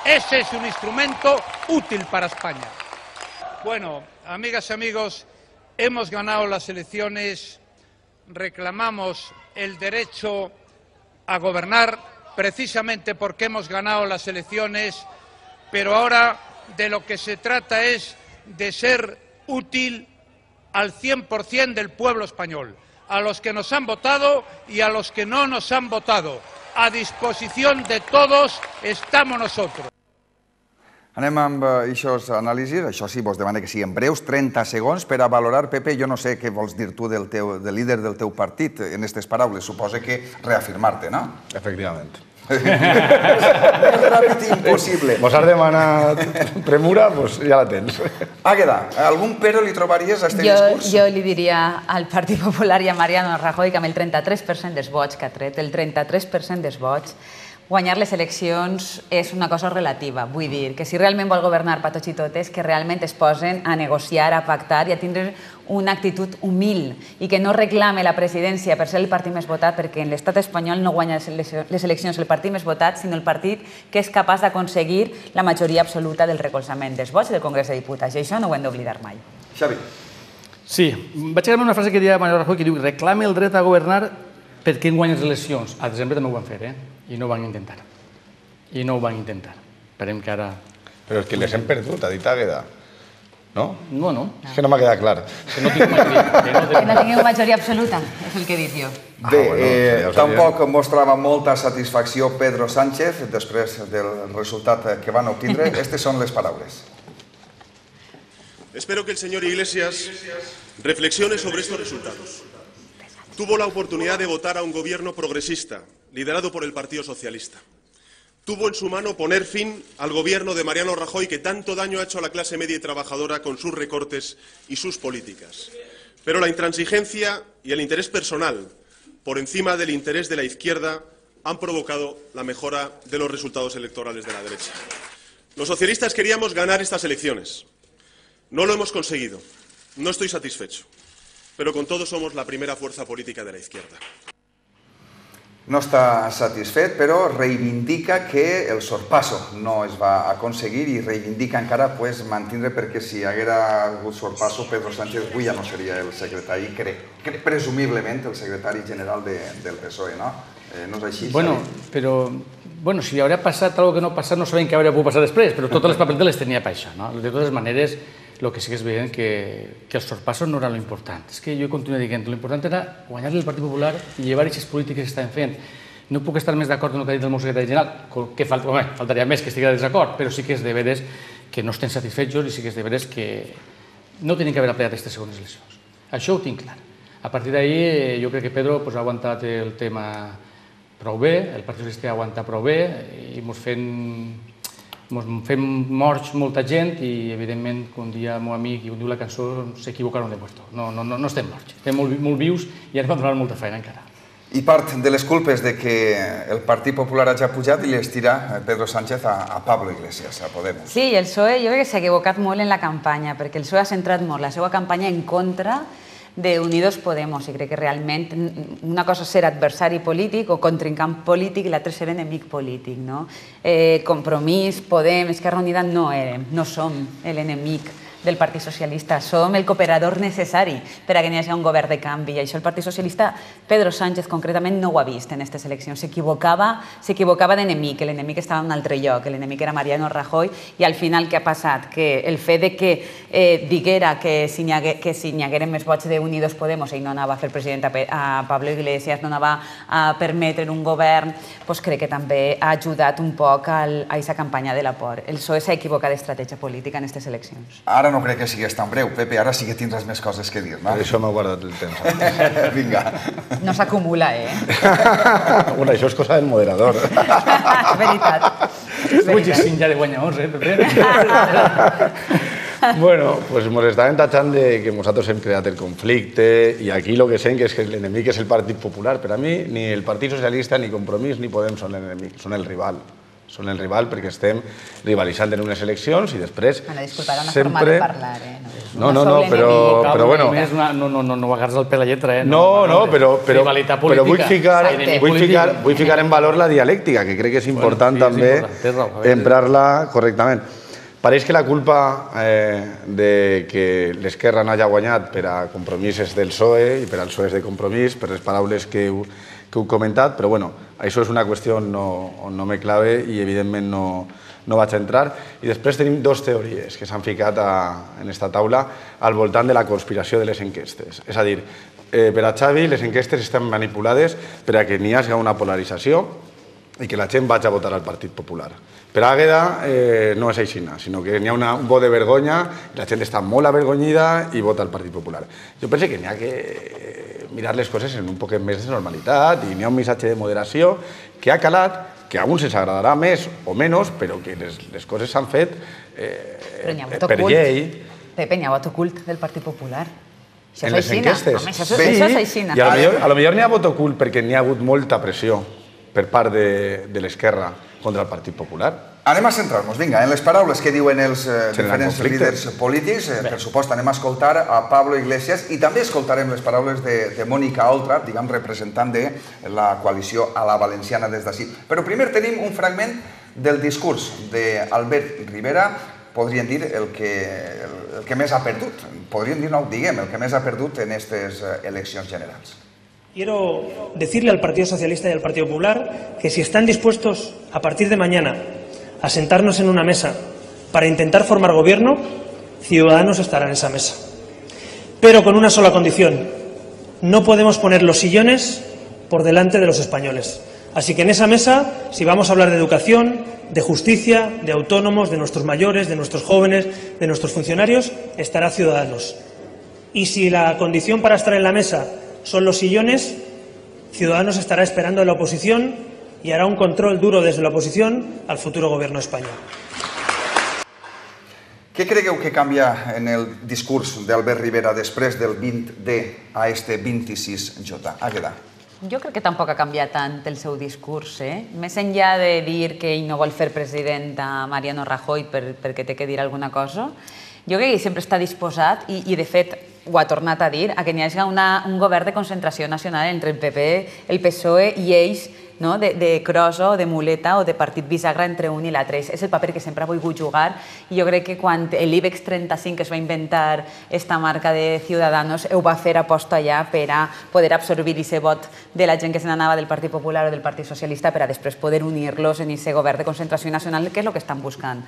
Ese es un instrumento útil para España. Bueno, amigas y amigos, hemos ganado las elecciones, reclamamos el derecho a gobernar precisamente porque hemos ganado las elecciones, pero ahora de lo que se trata es de ser útil al cien por cien del pueblo español, a los que nos han votado y a los que no nos han votado. A disposición de todos estamos nosotros. Anem amb aquestes anàlisis. Això sí, vos demano que siguin breus, trenta segons, per a valorar, Pepe, jo no sé què vols dir tu del líder del teu partit en aquestes paraules. Suposa que reafirmar-te, no? Efectivament. Més ràpid i impossible. Vos has demanat premura, doncs ja la tens. Àgueda, algun pero li trobaries a aquest discurs? Jo li diria al Partit Popular i a Mariano Rajoy que amb el trenta-tres per cent dels vots que ha tret, el trenta-tres per cent dels vots, guanyar les eleccions és una cosa relativa. Vull dir que si realment vol governar per tots i totes, que realment es posen a negociar, a pactar i a tindre una actitud humil i que no reclame la presidència per ser el partit més votat, perquè en l'estat espanyol no guanya les eleccions el partit més votat, sinó el partit que és capaç d'aconseguir la majoria absoluta del recolzament dels vots del Congrés de Diputats. I això no ho hem d'oblidar mai. Xavi. Sí, vaig agafar una frase que deia Mariano Rajoy que diu reclame el dret a governar perquè en guanya les eleccions. A desembre també ho van fer, eh? I no ho van intentar. I no ho van intentar. Esperem que ara... Però és que les hem perdut, ha dit Àgueda. No? No, no. És que no m'ha quedat clar. Que no tingueu majoria. Que no tingueu majoria absoluta, és el que he dit jo. Bé, tampoc mostrava molta satisfacció Pedro Sánchez després del resultat que van obtindre. Aquestes són les paraules. Espero que el señor Iglesias reflexione sobre estos resultados. Tuvo la oportunidad de votar a un gobierno progresista, liderado por el Partido Socialista. Tuvo en su mano poner fin al gobierno de Mariano Rajoy, que tanto daño ha hecho a la clase media y trabajadora con sus recortes y sus políticas. Pero la intransigencia y el interés personal, por encima del interés de la izquierda, han provocado la mejora de los resultados electorales de la derecha. Los socialistas queríamos ganar estas elecciones. No lo hemos conseguido. No estoy satisfecho. Pero con todo somos la primera fuerza política de la izquierda. No està satisfet, però reivindica que el sorpasso no es va aconseguir i reivindica encara mantenir, perquè si haguera hagut sorpasso, Pedro Sánchez avui ja no seria el secretari, presumiblement el secretari general del P S O E, no? No és així? Bueno, però... Bueno, si hauria passat alguna cosa que no ha passat, no sabem què hauria pogut passar després, però totes les paperetes les tenia per això, no? De totes maneres, el que sí que és evident que els sorpassos no eren l'important. És que jo continuo dient, l'important era guanyar-li el Partit Popular i llevar aquestes polítiques que estaven fent. No puc estar més d'acord amb el que ha dit el meu secretari general, que faltaria més que estigui de desacord, però sí que és de veres que no estem satisfets i sí que és de veres que no tenen que haver aplicat aquestes segones eleccions. Això ho tinc clar. A partir d'ahir jo crec que Pedro ha aguantat el tema prou bé, el Partit Socialista ha aguantat prou bé i ens fem morts molta gent i, evidentment, com dia el meu amic i com diu la cançó, s'equivocaron de puesto. No estem morts, estem molt vius i ara hem de donar molta feina encara. I part de les culpes de que el Partit Popular hagi pujat i les tira Pedro Sánchez a Pablo Iglesias, a Podemos. Sí, el P S O E jo crec que s'ha equivocat molt en la campanya, perquè el P S O E ha centrat molt la seva campanya en contra de Unidos Podemos, i crec que realment una cosa és ser adversari polític o contrincant polític i l'altra és ser enemic polític. Compromís, Podem, Esquerra Unida no érem, no som l'enemic del Partit Socialista, som el cooperador necessari per a que hi hagi un govern de canvi. I això el Partit Socialista, Pedro Sánchez concretament, no ho ha vist en aquestes eleccions. S'equivocava d'enemic, l'enemic estava en un altre lloc, l'enemic era Mariano Rajoy, i al final què ha passat? Que el fet que diguera que si n'hi hagueren més vots d'Unidos Podemos ell no anava a fer president a Pablo Iglesias, no anava a permetre un govern, doncs crec que també ha ajudat un poc a aquesta campanya de la por. El P S O E s'ha equivocat d'estratègia política en aquestes eleccions. Ara ara no crec que sigués tan breu. Pepe, ara sí que tindràs més coses que dir, no? Per això m'ha guardat el temps. Vinga. No s'acumula, eh? Bueno, això és cosa del moderador. Veritat. Muchíssim ja de guanyadors, eh, Pepe? Bueno, pues nos estaven tachant de que nosaltres hem creat el conflicte i aquí lo que sé que és que l'enemic és el Partit Popular. Per a mi, ni el Partit Socialista, ni Compromís, ni Podem són l'enemic, són el rival. Són el rival perquè estem rivalitzant en unes eleccions i després Bueno, disculpa, era una sempre... forma de parlar, eh? No, no, no, però, però bueno... No, no, no, no agarres el pèl a lletra, eh? No, no, però, però, Rivalitat però vull, política. ficar, Exacte. vull, ficar, vull ficar en valor la dialèctica, que crec que és important Bueno, sí, és també important, té raó, a veure. emprar-la correctament. Pareix que la culpa eh, de que l'Esquerra no hagi guanyat per a Compromís és del P S O E i per al P S O E és de Compromís, per les paraules que heu, que heu comentat, però bueno, això és una qüestió on no, on no me clave i evidentment no, no vaig a entrar. I després tenim dues teories que s'han ficat a, en esta taula al voltant de la conspiració de les enquestes. És a dir, eh, per a Xavi les enquestes estan manipulades per a que n'hi hagi una polarització i que la gent vagi a votar al Partit Popular. Per Àgueda eh, no és així, sinó que n'hi ha una, un vot de vergonya, la gent està molt avergonyida i vota al Partit Popular. Jo penso que n'hi ha que mirar les coses en un poquet més de normalitat i n'hi ha un missatge de moderació que ha calat, que a alguns ens agradarà més o menys, però que les, les coses s'han fet eh, per llei. Pepe, n'hi ha vot ocult del Partit Popular. Això En les enquestes. Home, això, això és així. I a lo millor, a lo millor n'hi ha vot ocult perquè n'hi ha hagut molta pressió per part de, de l'Esquerra contra el Partit Popular. Anem a centrar-nos, vinga, en les paraules que diuen els eh, diferents conflicte. líders polítics. Eh, per supost, anem a escoltar a Pablo Iglesias i també escoltarem les paraules de, de Mónica Oltra, diguem, representant de la coalició a la valenciana des d'ací. Però primer tenim un fragment del discurs d'Albert Rivera, podríem dir el que, el que més ha perdut, podríem dir, no ho diguem, el que més ha perdut en aquestes eleccions generals. Quiero decirle al Partido Socialista y al Partido Popular que si están dispuestos a partir de mañana a sentarnos en una mesa para intentar formar gobierno, Ciudadanos estará en esa mesa. Pero con una sola condición: no podemos poner los sillones por delante de los españoles. Así que en esa mesa, si vamos a hablar de educación, de justicia, de autónomos, de nuestros mayores, de nuestros jóvenes, de nuestros funcionarios, estará Ciudadanos. Y si la condición para estar en la mesa son los sillones, Ciudadanos estará esperando a la oposición y hará un control duro desde la oposición al futuro gobierno de España. Què cregueu que canvia en el discurs d'Albert Rivera després del vint D a este vint-i-sis J? Àgueda. Jo crec que tampoc ha canviat tant el seu discurs, eh? Més enllà de dir que ell no vol fer president a Mariano Rajoy per, perquè té que dir alguna cosa, jo crec que ell sempre està disposat, i, i de fet ho ha tornat a dir, a que n'hi hagi una, un govern de concentració nacional entre el P P, el P S O E i ells, no? de, de crossa o de muleta o de partit bisagra entre un i l'altre. És el paper que sempre ha volgut jugar, i jo crec que quan l'IBEX trenta-cinc es va inventar esta marca de Ciudadanos, ho va fer aposta allà per a poder absorbir aquest vot de la gent que se n'anava del Partit Popular o del Partit Socialista per a després poder unir-los en aquest govern de concentració nacional, que és el que estan buscant.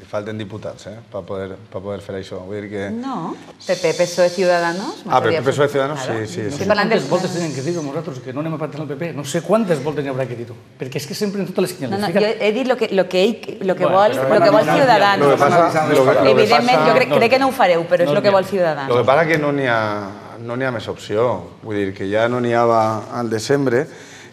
Li falten diputats, eh, per poder, per poder fer això. Vull dir que... No, P P, P S O E, Ciudadanos... Ah, però P S O E, Ciudadanos, sí, sí. No sé quantes voltes tenen que dir-ho nosaltres, que no anem a pactar el P P. No sé quantes voltes n'hi haurà que dir-ho. Perquè és que sempre en totes les senyals... No, no, jo he dit el que, lo que, ell, lo que vol, lo que vol Ciudadanos. Evidentment, jo crec, crec que no ho fareu, però és el que vol Ciudadanos. El que passa que no n'hi ha, no n'hi ha més opció. Vull dir que ja no n'hi havia al desembre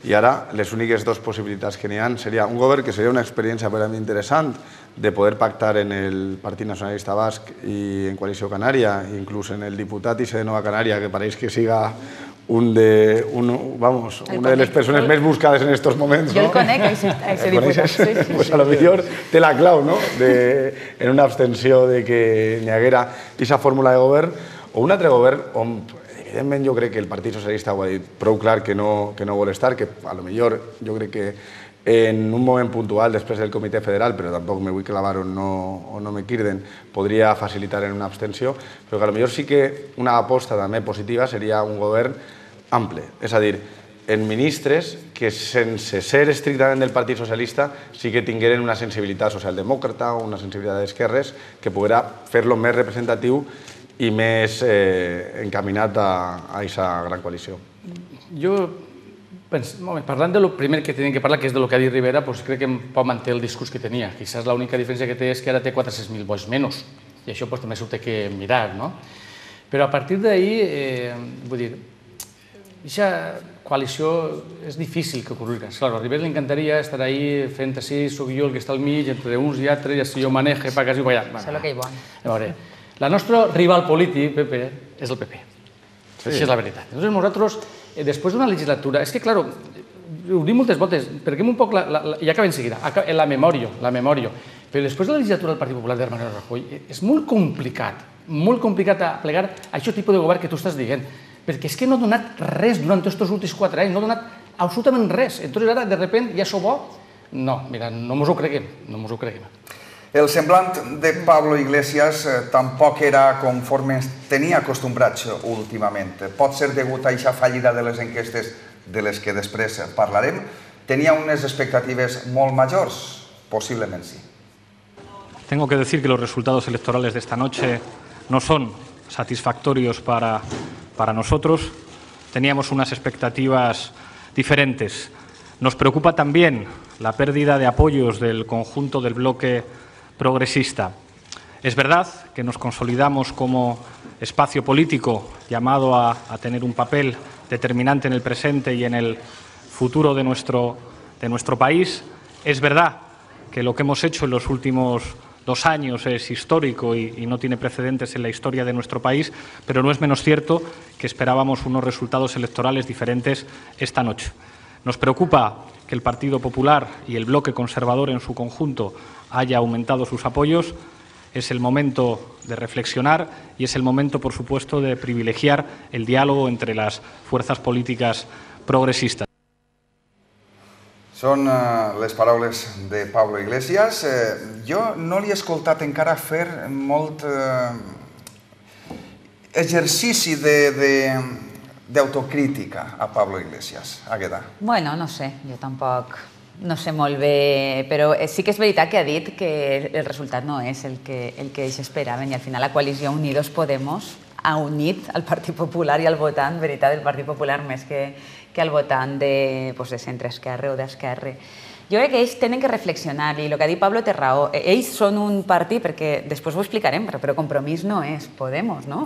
i ara les úniques dues possibilitats que n'hi ha seria un govern que seria una experiència per a mi interessant de poder pactar en el Partit Nacionalista Basc i en Coalició Canària, inclús en el diputat I C de Nova Canària, que pareix que siga un de, un, vamos, una de les persones més buscades en estos moments. Jo el conec, a aquest diputat. Sí, sí, pues a lo millor té la clau, no?, de, en una abstenció de que n'hi haguera aquesta fórmula de govern, o un altre govern on, evidentment, jo crec que el Partit Socialista ho ha dit prou clar que no, que no vol estar, que a lo millor jo crec que en un moment puntual després del Comitè Federal, però tampoc me vull clavar on no, on no me quirden, podria facilitar en una abstenció, però que a lo millor sí que una aposta també positiva seria un govern ample, és a dir, en ministres que sense ser estrictament del Partit Socialista sí que tingueren una sensibilitat socialdemòcrata o una sensibilitat d'esquerres que poguera fer-lo més representatiu i més eh, encaminat a aquesta gran coalició. Jo, parlant del primer que tenim que parlar, que és del que ha dit Rivera, crec que pot mantenir el discurs que tenia. Quizás l'única diferència que té és que ara té quatre-cents mil vots menys. i això també s'ho té que mirar, no? Però a partir d'ahir, vull dir, aquesta coalició és difícil que ocorrega. Claro, a Rivera li encantaria estar ahí fent així, soc jo el que està al mig, entre uns i altres, i així jo maneje, pa quasi, va allà. Sé lo que hi vol. A veure, la nostra rival polític, P P, és el P P. Això és la veritat. Llavors nosaltres, després d'una legislatura, és que, clar, ho dic moltes voltes, perquè un poc, ja acabem de seguida, la memòria, la memòria, però després de la legislatura del Partit Popular de Mariano Rajoy és molt complicat, molt complicat a plegar a aquest tipus de govern que tu estàs dient, perquè és que no ha donat res durant tots els últims quatre anys, no ha donat absolutament res. Entonces ara, de repente, ja sou bo? No, mira, no mos ho creguem, no mos ho creguem. El semblant de Pablo Iglesias tampoc era conforme tenia acostumbrats últimament. Pot ser degut a aquesta fallida de les enquestes de les que després parlarem. Tenia unes expectatives molt majors? Posiblement sí. Tengo que decir que los resultados electorales de esta noche no son satisfactorios para, para nosotros. Teníamos unas expectativas diferentes. Nos preocupa también la pérdida de apoyos del conjunto del bloque progresista. Es verdad que nos consolidamos como espacio político llamado a, a tener un papel determinante en el presente y en el futuro de nuestro, de nuestro país. Es verdad que lo que hemos hecho en los últimos dos años es histórico y, y no tiene precedentes en la historia de nuestro país, pero no es menos cierto que esperábamos unos resultados electorales diferentes esta noche. Nos preocupa que el Partido Popular y el bloque conservador en su conjunto haya aumentado sus apoyos. Es el momento de reflexionar y es el momento, por supuesto, de privilegiar el diálogo entre las fuerzas políticas progresistas. Són les paraules de Pablo Iglesias. Jo no li he escoltat encara fer molt exercici d'autocrítica a Pablo Iglesias. Agueda. Bueno, no sé, jo tampoc no sé molt bé, però sí que és veritat que ha dit que el resultat no és el que ells esperaven i al final la coalició Unidos Podemos ha unit el Partit Popular i el votant, veritat, del Partit Popular més que que al votant de centre-esquerra o d'esquerra. Jo crec que ells tenen que reflexionar i el que ha dit Pablo té raó. Ells són un partit, perquè després ho explicarem, però Compromís no és Podemos, no?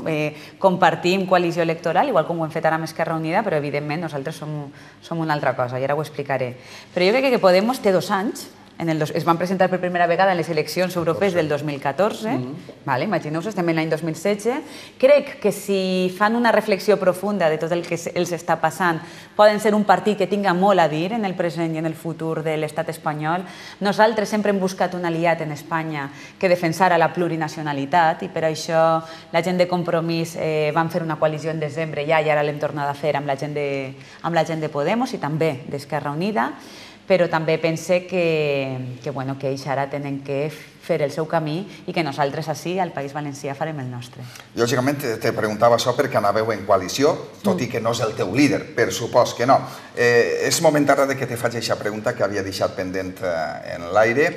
Compartim coalició electoral, igual com ho hem fet ara amb Esquerra Unida, però evidentment nosaltres som una altra cosa i ara ho explicaré. Però jo crec que Podemos té dos anys, es van presentar per primera vegada en les eleccions europees del dos mil catorze, imagineu-vos, estem en l'any dos mil setze. Crec que si fan una reflexió profunda de tot el que els està passant, poden ser un partit que tinga molt a dir en el present i en el futur de l'estat espanyol. Nosaltres sempre hem buscat un aliat en Espanya que defensara la plurinacionalitat i per això la gent de Compromís van fer una coalició en desembre ja i ara l'hem tornat a fer amb la gent de Podemos i també d'Esquerra Unida, però també pense que ells ara tenen que fer el seu camí i que nosaltres així, al País Valencià, farem el nostre. Lògicament, te preguntava això perquè anàveu en coalició, tot i que no és el teu líder, per supòs que no. És moment ara que te faig aquesta pregunta que havia deixat pendent en l'aire.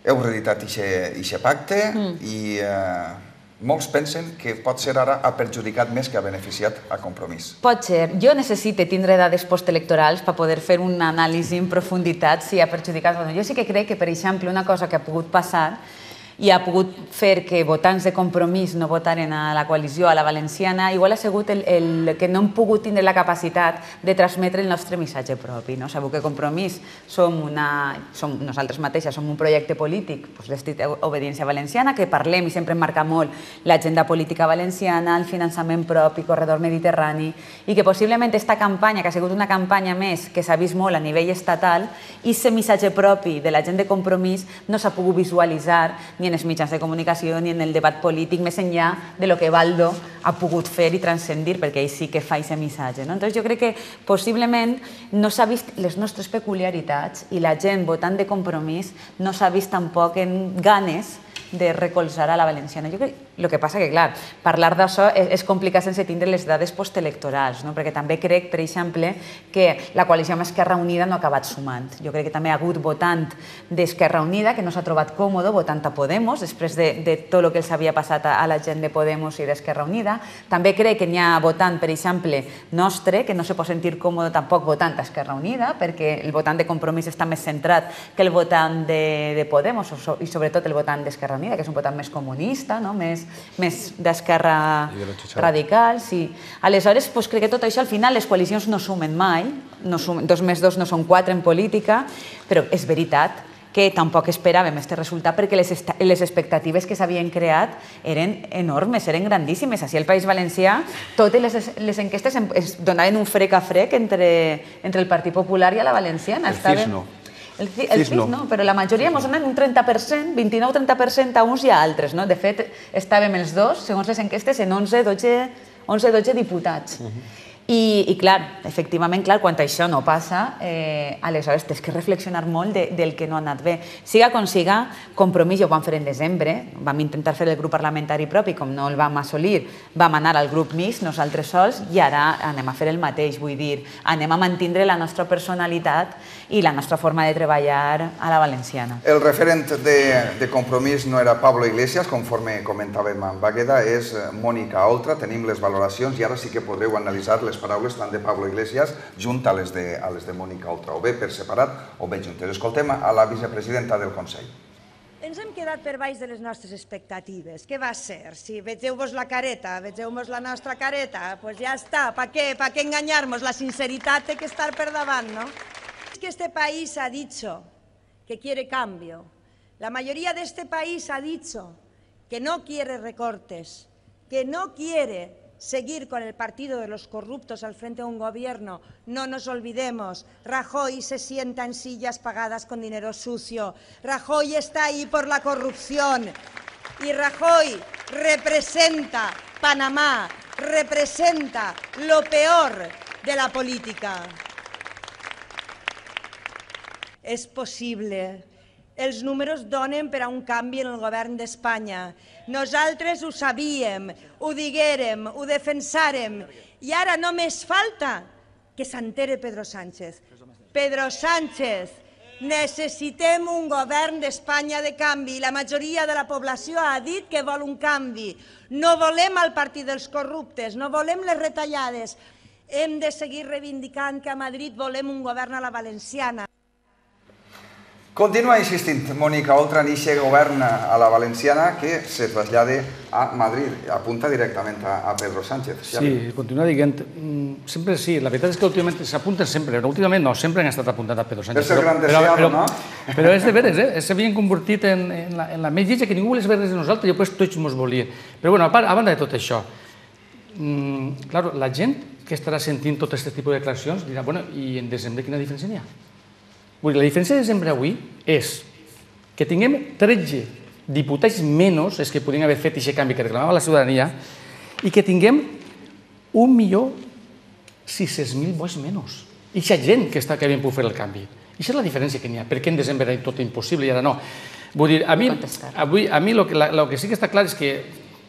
Heu reeditat aquest pacte i molts pensen que pot ser ara ha perjudicat més que ha beneficiat a Compromís. Pot ser. Jo necessito tindre dades postelectorals per poder fer una anàlisi en profunditat si ha perjudicat o no. Jo sí que crec que, per exemple, una cosa que ha pogut passar i ha pogut fer que votants de Compromís no votaren a la coalició, a la valenciana, igual ha sigut que no hem pogut tindre la capacitat de transmetre el nostre missatge propi. Sabeu que Compromís som nosaltres mateixes, som un projecte polític d'estil obediència valenciana, que parlem i sempre marca molt l'agenda política valenciana, el finançament propi, corredor mediterrani, i que possiblement aquesta campanya, que ha sigut una campanya més que s'ha vist molt a nivell estatal, i aquest missatge propi de la gent de Compromís no s'ha pogut visualitzar ni en els mitjans de comunicació ni en el debat polític, més enllà de lo que Baldo ha pogut fer i transcendir, perquè ell sí que fa aquest missatge. Jo crec que possiblement no s'ha vist les nostres peculiaritats i la gent votant de Compromís no s'ha vist tampoc en ganes de recolzar a la valenciana. Jo crec El que passa que, clar, parlar d'això és complicat sense tindre les dades postelectorals, perquè també crec, per exemple, que la coalició amb Esquerra Unida no ha acabat sumant. Jo crec que també hi ha hagut votant d'Esquerra Unida que no s'ha trobat còmode votant a Podemos després de tot el que els havia passat a la gent de Podemos i d'Esquerra Unida. També crec que n'hi ha votant, per exemple, nostre, que no se pot sentir còmode tampoc votant a Esquerra Unida, perquè el votant de Compromís està més centrat que el votant de Podemos i sobretot el votant d'Esquerra Unida, que és un votant més comunista, més més d'esquerra radical. Aleshores, crec que tot això, al final, les coalicions no sumen mai, dos més dos no són quatre en política, però és veritat que tampoc esperàvem aquest resultat perquè les expectatives que s'havien creat eren enormes, eren grandíssimes. Així al País Valencià, totes les enquestes es donaven un frec a frec entre el Partit Popular i la Valenciana. El C I S no. El C I S no, però la majoria ens donen un trenta per cent, vint-i-nou trenta per cent a uns i a altres. De fet, estàvem els dos, segons les enquestes, en onze dotze diputats. I, clar, efectivament, quan això no passa, aleshores tens que reflexionar molt del que no ha anat bé. Siga com siga, Compromís ja ho vam fer en desembre, vam intentar fer el grup parlamentari propi, com no el vam assolir, vam anar al grup mixt, nosaltres sols, i ara anem a fer el mateix, vull dir, anem a mantindre la nostra personalitat i la nostra forma de treballar a la valenciana. El referent de Compromís no era Pablo Iglesias, conforme comentàvem amb Bagueda, és Mònica Oltra, tenim les valoracions i ara sí que podreu analitzar les paraules tant de Pablo Iglesias junt a les de Mònica Oltra, o bé per separat o bé juntes. Escoltem a la vicepresidenta del Consell. Ens hem quedat per baix de les nostres expectatives. Què va ser? Si vegeu-vos la careta, vegeu-vos la nostra careta, doncs ja està. Per què? Per què enganyar-nos? La sinceritat té que estar per davant, no? Es que este país ha dicho que quiere cambio. La mayoría de este país ha dicho que no quiere recortes, que no quiere seguir con el partido de los corruptos al frente de un gobierno. No nos olvidemos, Rajoy se sienta en sillas pagadas con dinero sucio. Rajoy está ahí por la corrupción. Y Rajoy representa Panamá, representa lo peor de la política. És possible. Els números donen per a un canvi en el govern d'Espanya. Nosaltres ho sabíem, ho diguérem, ho defensàrem, i ara només falta que s'entere Pedro Sánchez. Pedro Sánchez, necessitem un govern d'Espanya de canvi. La majoria de la població ha dit que vol un canvi. No volem el partit dels corruptes, no volem les retallades. Hem de seguir reivindicant que a Madrid volem un govern a la valenciana. Continua insistint Mònica Oltra en aquest govern a la valenciana que se trasllade a Madrid, apunta directament a Pedro Sánchez. Sí, continua dient, sempre sí, la veritat és que últimament s'apunten sempre, però últimament no, sempre han estat apuntant a Pedro Sánchez. És el gran deseado, no? Però és de veres, eh? S'havien convertit en la més lletja que ningú volia saber res de nosaltres i després tots mos volien. Però bueno, a banda de tot això, clar, la gent que estarà sentint tot aquest tipus de declaracions dirà, bueno, i en desembre quina diferència n'hi ha? La diferència de desembre avui és que tinguem tretze diputats menys, és que podien haver fet aquest canvi que reclamava la ciutadania, i que tinguem un milió sis-cents mil vots menys. I aquesta gent que havien pogut fer el canvi. I aquesta és la diferència que n'hi ha. Per què en desembre era tot impossible i ara no? Vull dir, a mi el que sí que està clar és que,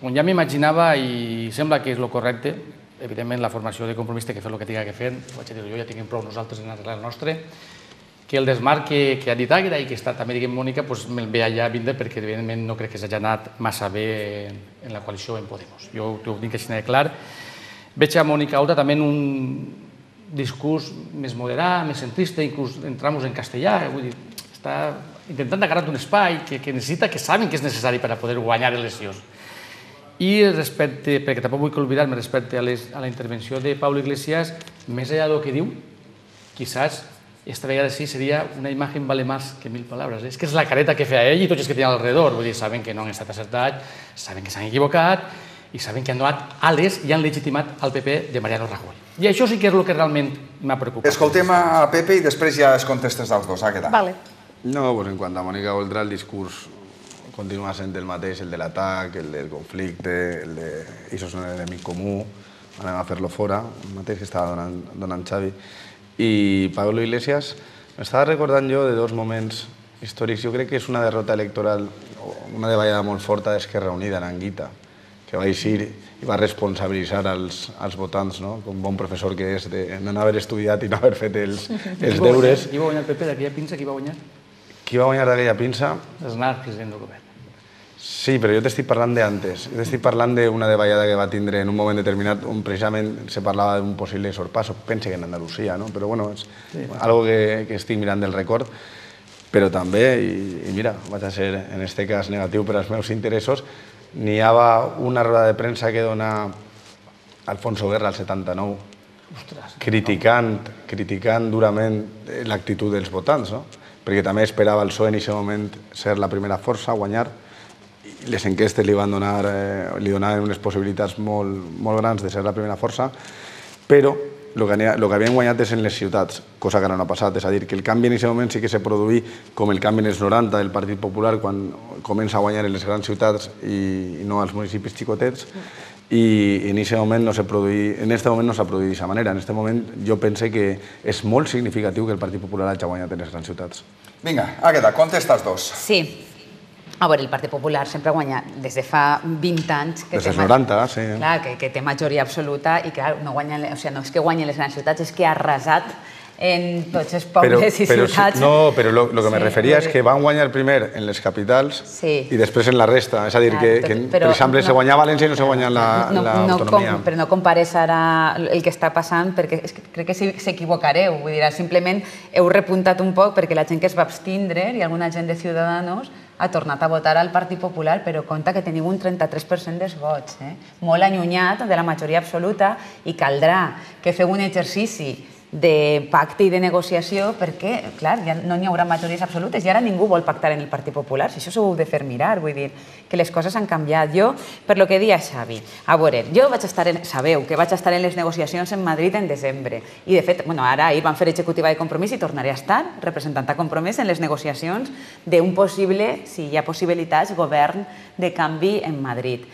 com ja m'imaginava i sembla que és el correcte, evidentment la formació de Compromís té que fer el que tingui que fer, ho vaig dir jo, ja tinguem prou nosaltres en arreglar el nostre, que el desmarc que ha dit Àgueda i que està també, diguem, Mònica, me'l ve allà vindre perquè, evidentment, no crec que s'hagi anat massa bé en la coalició en Podemos. Jo ho tinc així de clar. Veig a Mònica Oltra també en un discurs més moderat, més centrista, inclús en tramos en castellà, vull dir, està intentant agarrar un espai que necessita, que saben que és necessari per a poder guanyar eleccions. I respecte, perquè tampoc vull oblidar-me respecte a la intervenció de Pablo Iglesias, més enllà del que diu, quizás esta vegada sí seria una imatge vale més que mil paraules. És que és la careta que feia ell i tots els que tenen alrededor. Vull dir, saben que no han estat acertats, saben que s'han equivocat i saben que han donat ales i han legitimat el P P de Mariano Rajoy. I això sí que és el que realment m'ha preocupat. Escoltem a Pepe i després ja es contestes dels dos. Àgueda. Vale. No, pues en quant a Mònica Oltra, el discurs continua sent el mateix, el de l'atac, el del conflicte, el de això és un enemic comú, anem a fer-lo fora, el mateix que estava donant Xavi. I Pablo Iglesias, m'estava recordant jo de dos moments històrics. Jo crec que és una derrota electoral, una davallada molt forta d'Esquerra Unida en Anguita, que va eixir i va responsabilitzar els, els votants, no? Com bon professor que és, de no haver estudiat i no haver fet els, els deures. Qui va guanyar el P P d'aquella pinça? Qui va guanyar? Qui va guanyar d'aquella pinça? Aznar, president del govern. Sí, però jo t'estic parlant d'antes. Jo t'estic parlant d'una davallada que va tindre en un moment determinat on precisament se parlava d'un possible sorpasso. Pense que en Andalusia, no? Però bueno, és algo que, que estic mirant del record. Però també, i, i mira, vaig a ser en aquest cas negatiu per als meus interessos, n'hi havia una roda de premsa que dona Alfonso Guerra al setanta-nou, criticant, criticant durament l'actitud dels votants, no? Perquè també esperava el P S O E en aquest moment ser la primera força, guanyar. Les enquestes li van donar, eh, li donaven unes possibilitats molt, molt grans de ser la primera força, però el que, el que havien guanyat és en les ciutats, cosa que ara no ha passat. És a dir, que el canvi en aquest moment sí que se produí com el canvi en els noranta del Partit Popular, quan comença a guanyar en les grans ciutats i, i no als municipis xicotets, i en aquest moment no s'ha produït, en aquest moment no s'ha produït d'aquesta manera. En aquest moment jo pense que és molt significatiu que el Partit Popular hagi guanyat en les grans ciutats. Vinga, Àgueda, contesta els dos. Sí. A veure, el Partit Popular sempre ha guanyat des de fa vint anys. Des dels noranta, sí. Clar, que té majoria absoluta i, clar, no és que guanyen les grans ciutats, és que ha arrasat en tots els pobles i ciutats. No, però el que me referia és que van guanyar primer en les capitals i després en la resta. És a dir, que per exemple se guanyava València i no se guanya l'autonomia. Però no compares ara el que està passant, perquè crec que s'equivocareu. Vull dir, simplement heu repuntat un poc perquè la gent que es va abstindre i alguna gent de Ciudadanos ha tornat a votar al Partit Popular, però compte que teniu un trenta-tres per cent dels vots, molt allunyat de la majoria absoluta, i caldrà que feu un exercici de pacte i de negociació perquè, clar, ja no n'hi haurà majories absolutes i ara ningú vol pactar en el Partit Popular, si això s'ho heu de fer mirar, vull dir que les coses han canviat. Jo, per lo que deia Xavi, a veure, jo vaig estar, sabeu que vaig estar en les negociacions en Madrid en desembre i de fet, bueno, ara ahir van fer executiva de Compromís i tornaré a estar representant a Compromís en les negociacions d'un possible, si hi ha possibilitats, govern de canvi en Madrid.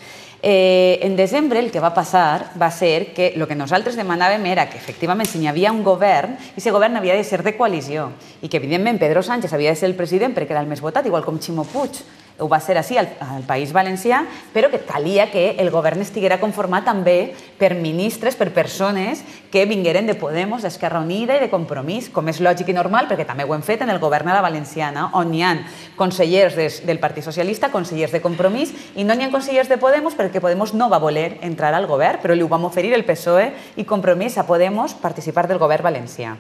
En desembre el que va passar va ser que el que nosaltres demanàvem era que efectivament si hi havia un govern, aquest govern havia de ser de coalició i que evidentment Pedro Sánchez havia de ser el president perquè era el més votat, igual com Ximo Puig ho va ser així al País Valencià, però que calia que el govern estiguera conformat també per ministres, per persones que vingueren de Podemos, d'Esquerra Unida i de Compromís, com és lògic i normal, perquè també ho hem fet en el govern a la Valenciana, on hi ha consellers del Partit Socialista, consellers de Compromís, i no n'hi ha consellers de Podemos perquè Podemos no va voler entrar al govern, però li ho vam oferir el P S O E i Compromís a Podemos participar del govern valencià.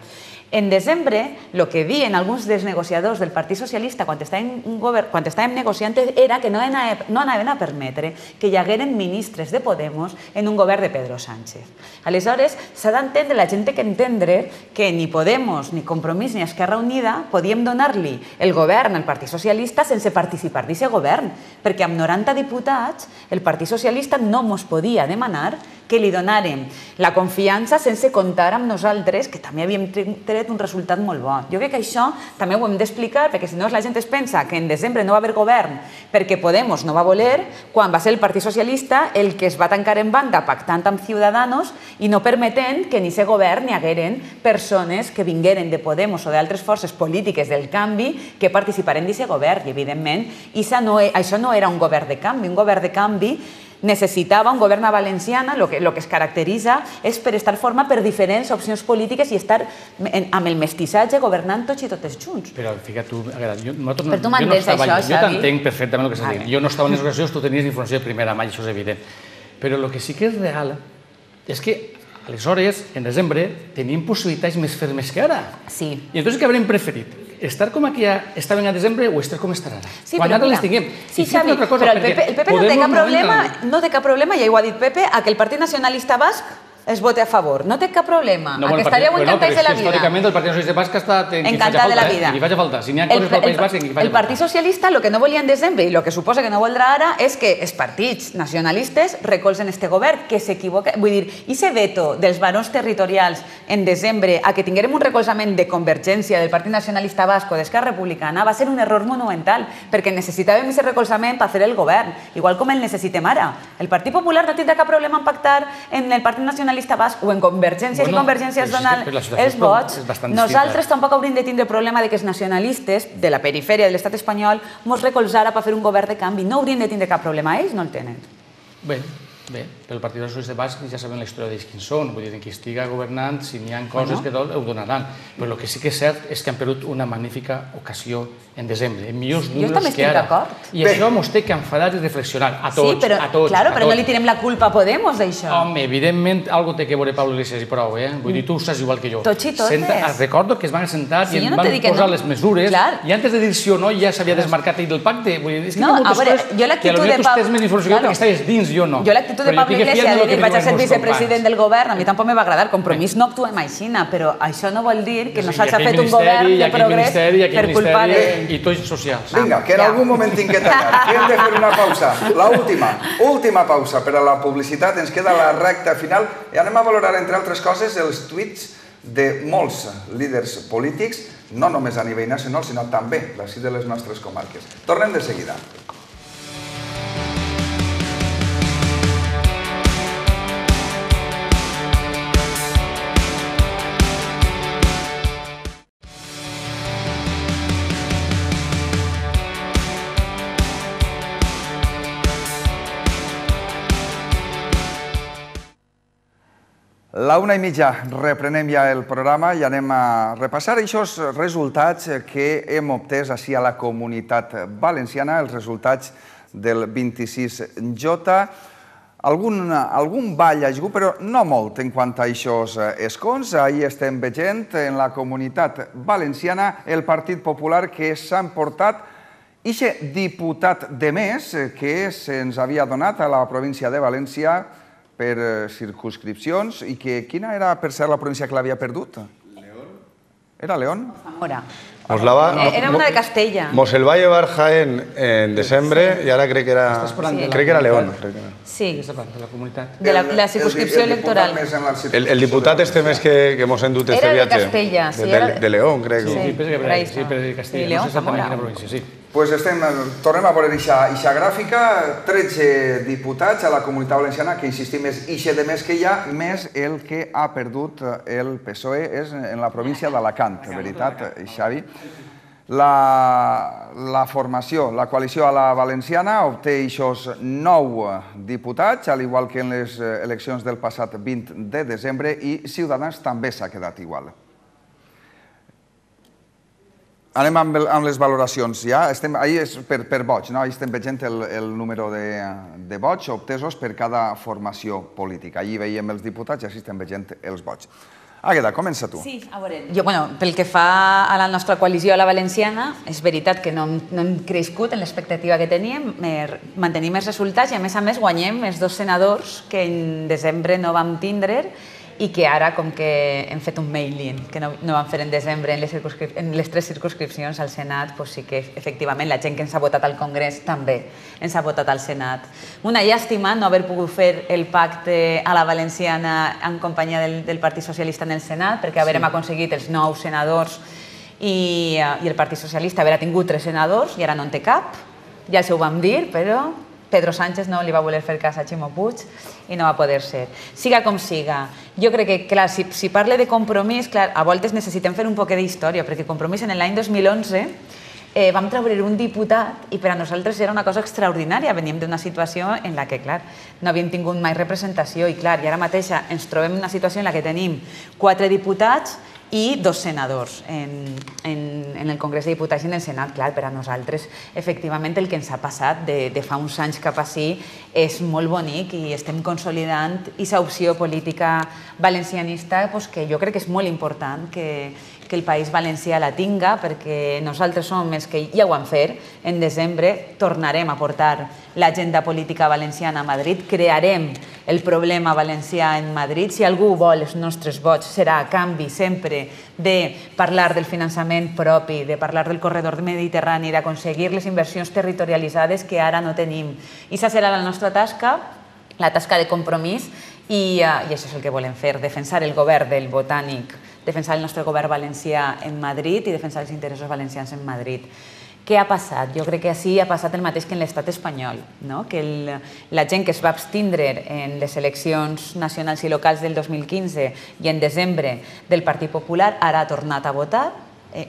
En desembre, el que diuen alguns dels negociadors del Partit Socialista quan estàvem negociant era que no anaven a permetre que hi hagueren ministres de Podemos en un govern de Pedro Sánchez. Aleshores, s'ha d'entendre, la gent té que entendre que ni Podemos, ni Compromís, ni Esquerra Unida podíem donar-li el govern al Partit Socialista sense participar d'aquest govern, perquè amb noranta diputats el Partit Socialista no ens podia demanar que li donàrem la confiança sense comptar amb nosaltres, que també havíem tret un resultat molt bo. Jo crec que això també ho hem d'explicar, perquè si no la gent es pensa que en desembre no va haver govern perquè Podemos no va voler, quan va ser el Partit Socialista el que es va tancar en banda pactant amb Ciudadanos i no permetent que en aquest govern hi hagueren persones que vingueren de Podemos o d'altres forces polítiques del canvi que participaren d'aquest govern. I evidentment això no era un govern de canvi, un govern de canvi necessitava un govern a Valenciana, el que es caracteritza és per estar format per diferents opcions polítiques i estar amb el mestissatge governant tots i totes junts. Però fica tu, jo tu m'entens això, Xavi? Jo t'entenc perfectament el que estàs dient. Jo no estava en les negociacions, tu tenies informació de primera mà, això és evident. Però el que sí que és real és que aleshores, en desembre, tenim possibilitats més fermes que ara. Sí. I entonces què haurem preferit? Estar com aquí estaven a desembre o estar com estarà ara? Sí, però mira, sí, Xavi, però el P P no té cap problema, no té cap problema, ja ho ha dit Pepe, a que el Partit Nacionalista Basc es vote a favor. No té cap problema. A que estaríeu encantats de la vida. Històricament el Partit Socialista Basc està encantat de la vida. I faci falta. Si n'hi ha coses pel País Basc, que hi faci falta. El Partit Socialista el que no volia en desembre i el que suposa que no voldrà ara és que els partits nacionalistes recolzen este govern, que s'equivoca. Vull dir, i ese veto dels barons territorials en desembre a que tinguérem un recolzament de Convergència, del Partit Nacionalista Basc o d'Esquerra Republicana va ser un error monumental, perquè necessitàvem aquest recolzament per fer el govern, igual com el necessitem ara. El Partit Popular no tindrà cap problema en pactar en el Partit Nacionalista Basc o en Convergència, si Convergència es dona els vots. Nosaltres tampoc hauríem de tindre problema que els nacionalistes de la perifèria de l'estat espanyol ens recolzara per fer un govern de canvi. No hauríem de tindre cap problema, ells no el tenen. Bé, bé, pel Partit Socialista Basc ja saben la història d'ells quins són, vull dir, qui estigui governant, si n'hi ha coses que tot, ho donaran. Però el que sí que és cert és que han perdut una magnífica ocasió en desembre, en millors números que ara. I això ens té que enfadar i reflexionar, a tots, sí, però, a tots. Claro, però no li tirem la culpa a Podemos, d'això. Home, evidentment, algo té que veure Pablo Iglesias i prou, eh? Vull dir, tu saps igual que jo. Tots i totes. Recordo que es van sentar i em van posar les mesures, i antes de dir sí o no ja s'havia desmarcat ell del pacte. Vull dir, és que hi ha moltes coses que potser tu tens més informació perquè estaves dins, jo no. Jo l'actitud de Pablo Iglesias de dir vaig a ser vicepresident del govern, a mi tampoc me va agradar. Compromís no actuem aixina, però això no vol dir que no s'ha fet un govern de progrés per culpa de... I tots socials. Vinga, que en algun moment tinc que tallar, que hem de fer una pausa. L'última, última pausa per a la publicitat. Ens queda la recta final i anem a valorar, entre altres coses, els tuits de molts líders polítics, no només a nivell nacional, sinó també d'ací de les nostres comarques. Tornem de seguida. La una i mitja reprenem ja el programa i anem a repassar aquests resultats que hem obtès així a la Comunitat Valenciana, els resultats del vint-i-sis J. Algun ball ha hagut, però no molt en quant a aquests escons. Ahir estem veient en la Comunitat Valenciana el Partit Popular que s'ha emportat aquest diputat de més que se'ns havia donat a la província de València per circunscripcions, i que quina era, per ser la província que l'havia perdut? León. Era León? Zamora. Era una de Castella. Mos el va llevar Jaén en desembre y ahora crec que era, crec que era León. Sí. De la comunitat. De la circunscripció electoral. El diputat este mes que hemos endut este viatge. Era de Castella. De León, crec. Sí, per de Castella. León, no sé exactament quina província, sí. Pues estem, tornem a veure aquesta gràfica, tretze diputats a la Comunitat Valenciana, que insistim és ixe de més que hi ha, més el que ha perdut el P S O E és en la província d'Alacant, veritat, Xavi? La formació, la coalició a la valenciana, obté aquests nou diputats, al igual que en les eleccions del passat vint de desembre, i Ciutadans també s'ha quedat igual. Anem amb les valoracions, ja. Ahir és per vots, no? Ahir estem veient el número de vots obtesos per cada formació política. Ahir veiem els diputats i així estem veient els vots. Àgueda, comença tu. Sí, a veure, jo, bueno, pel que fa a la nostra coalició a la valenciana, és veritat que no hem crescut en l'expectativa que teníem, mantenim els resultats i, a més a més, guanyem els dos senadors que en desembre no vam tindre i que ara, com que hem fet un mailing que no vam fer en desembre en les tres circunscripcions al Senat, sí que efectivament la gent que ens ha votat al Congrés també ens ha votat al Senat. Una llàstima no haver pogut fer el pacte a la valenciana en companyia del Partit Socialista en el Senat, perquè haurem aconseguit els nou senadors i el Partit Socialista haurà tingut tres senadors i ara no en té cap, ja s'ho vam dir, però Pedro Sánchez no li va voler fer cas a Ximo Puig i no va poder ser. Siga com siga. Jo crec que, clar, si parle de Compromís, clar, a voltes necessitem fer un poquet d'història, perquè Compromís en l'any dos mil onze vam treure un diputat i per a nosaltres era una cosa extraordinària. Veníem d'una situació en la que, clar, no havíem tingut mai representació i, clar, i ara mateixa ens trobem en una situació en la que tenim quatre diputats i dos senadors en el Congrés de Diputats i en el Senat. Clar, per a nosaltres, efectivament, el que ens ha passat de fa uns anys cap ací és molt bonic i estem consolidant aquesta opció política valencianista que jo crec que és molt important que el País Valencià la tinga, perquè nosaltres som els que ja ho vam fer. En desembre tornarem a portar l'agenda política valenciana a Madrid, crearem el problema valencià en Madrid. Si algú vol els nostres vots serà a canvi sempre de parlar del finançament propi, de parlar del corredor mediterrani, d'aconseguir les inversions territorialitzades que ara no tenim. I aquesta serà la nostra tasca, la tasca de Compromís, i això és el que volem fer, defensar el govern del Botànic, defensar el nostre govern valencià en Madrid i defensar els interessos valencians en Madrid. Què ha passat? Jo crec que així ha passat el mateix que en l'estat espanyol, que la gent que es va abstindre en les eleccions nacionals i locals del dos mil quinze i en desembre del Partit Popular ara ha tornat a votar,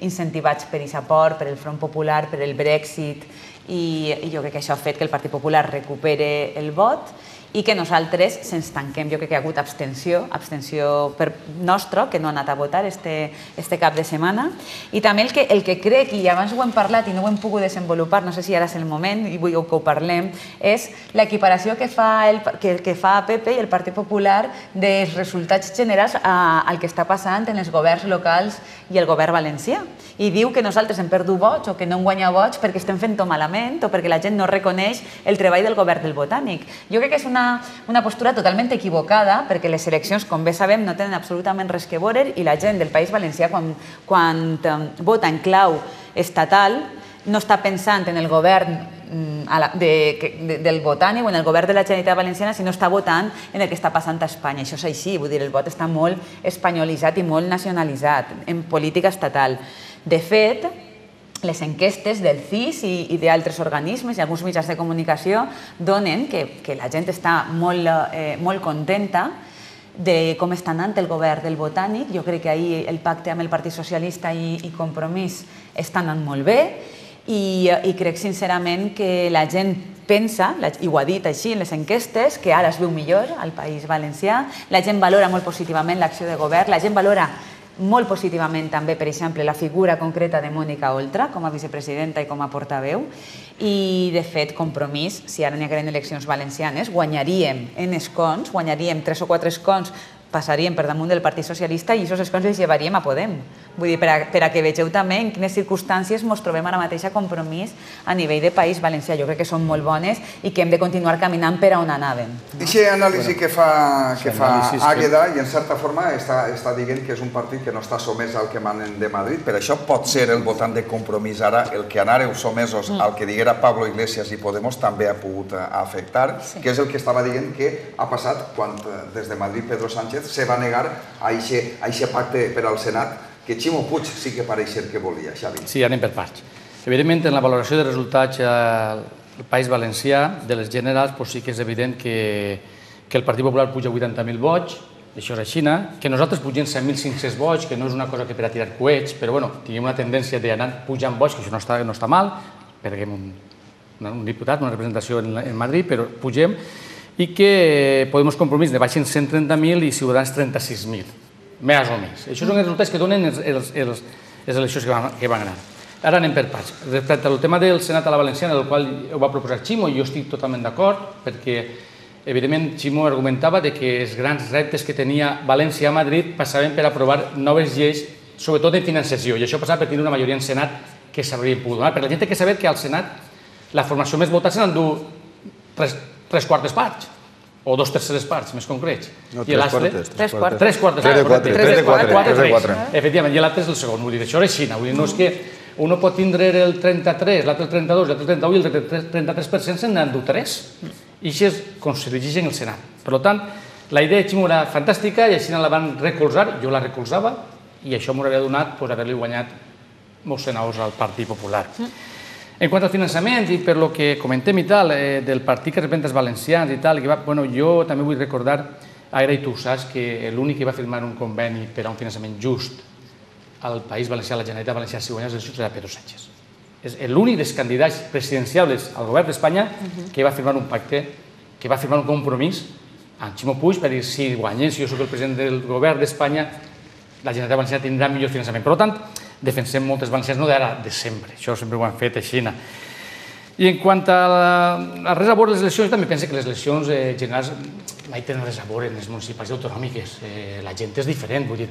incentivats per aquest aport, per el Front Popular, per el Brexit, i jo crec que això ha fet que el Partit Popular recupere el vot i que nosaltres se'ns tanquem. Jo crec que hi ha hagut abstenció, abstenció nostra, que no ha anat a votar este cap de setmana. I també el que crec, i abans ho hem parlat i no ho hem pogut desenvolupar, no sé si ara és el moment i vull que ho parlem, és l'equiparació que fa P P i el Partit Popular dels resultats generals al que està passant en els governs locals i el govern valencià. I diu que nosaltres hem perdut vots o que no hem guanyat vots perquè estem fent-ho malament o perquè la gent no reconeix el treball del govern del Botànic. Jo crec que és una postura totalment equivocada perquè les eleccions, com bé sabem, no tenen absolutament res que veure i la gent del País Valencià, quan vota en clau estatal, no està pensant en el govern del Botànic o en el govern de la Generalitat Valenciana, sinó està votant en el que està passant a Espanya. Això és així, vull dir, el vot està molt espanyolitzat i molt nacionalitzat en política estatal. De fet, les enquestes del C I S i d'altres organismes i alguns mitjans de comunicació donen que la gent està molt contenta de com està anant el govern del Botànic. Jo crec que ahir el pacte amb el Partit Socialista i Compromís està anant molt bé i crec sincerament que la gent pensa, i ho ha dit així en les enquestes, que ara es veu millor al País Valencià, la gent valora molt positivament l'acció de govern, la gent valora molt positivament també, per exemple, la figura concreta de Mònica Oltra com a vicepresidenta i com a portaveu i, de fet, Compromís, si ara n'hi hagueren eleccions valencianes, guanyaríem en escons, guanyaríem tres o quatre escons, passaríem per damunt del Partit Socialista i aquests escons els llevaríem a Podem. Vull dir, per a que vegeu també en quines circumstàncies ens trobem ara mateix a Compromís a nivell de País Valencià. Jo crec que són molt bones i que hem de continuar caminant per a on anàvem. Aquesta anàlisi que fa Àgueda, i en certa forma està dient que és un partit que no està somès al que manen de Madrid, per això pot ser el votant de Compromís ara el que anàreu somesos al que diguera Pablo Iglesias i Podemos també ha pogut afectar, que és el que estava dient que ha passat quan des de Madrid Pedro Sánchez se va negar a aquest pacte per al Senat que Ximo Puig sí que pareix ser que volia, Xavi. Sí, anem per parts. Evidentment, en la valoració de resultats al País Valencià, de les generals, sí que és evident que el Partit Popular puja vuitanta mil vots, això és així, que nosaltres pugem set mil cinc-cents vots, que no és una cosa que per a tirar coets, però bueno, tinguem una tendència d'anar pujant vots, que això no està mal, perquè un diputat, una representació en Madrid, però pugem, i que Podemos Compromís ne baixen cent trenta mil i Ciutadans trenta-sis mil. Més o més. Això són els resultats que donen les eleccions que van anar. Ara anem per parts. Respecte al tema del Senat a la Valenciana, del qual ho va proposar Ximo, jo estic totalment d'acord, perquè, evidentment, Ximo argumentava que els grans reptes que tenia València a Madrid passaven per aprovar noves lleis, sobretot de financiació, i això passava per tenir una majoria en Senat que s'haurien pogut donar. Però la gent té que saber que al Senat la formació més votada se n'endú tres quartes parts, o dos terceres parts, més concrets. No, tres quartes. Tres quartes. Tres quartes. Tres de quatre. Tres de quatre. Efectivament, i l'altre és el segon. Vull dir, això és així. No és que un pot tindre el trenta-tres, l'altre el trenta-dos, l'altre el trenta-u i el trenta-tres per cent se'n n'endú tres. I això és com se dirigeix en el Senat. Per tant, la idea de Ximo era fantàstica i així la van recolzar, jo la recolzava, i això m'hauria donat haver-li guanyat molts senadors al Partit Popular. En quant al finançament, i per lo que comentem i tal, del partit que representa els valencians i tal, jo també vull recordar, ara i tu ho saps, que l'únic que va firmar un conveni per a un finançament just al País Valencià, a la Generalitat Valenciana, si guanyés les eleccions, era Pedro Sánchez. És l'únic dels candidats presidencials al govern d'Espanya que va firmar un pacte, que va firmar un compromís amb Ximo Puig per dir, si guanyés, si jo soc el president del govern d'Espanya, la Generalitat Valenciana tindrà millor finançament. Per tant, defensem moltes valencians, no d'ara, de sempre. Això sempre ho han fet així. I en quant a res a veure les eleccions, també penso que les eleccions generals mai tenen res a veure en les municipals i autonòmiques. La gent és diferent, vull dir.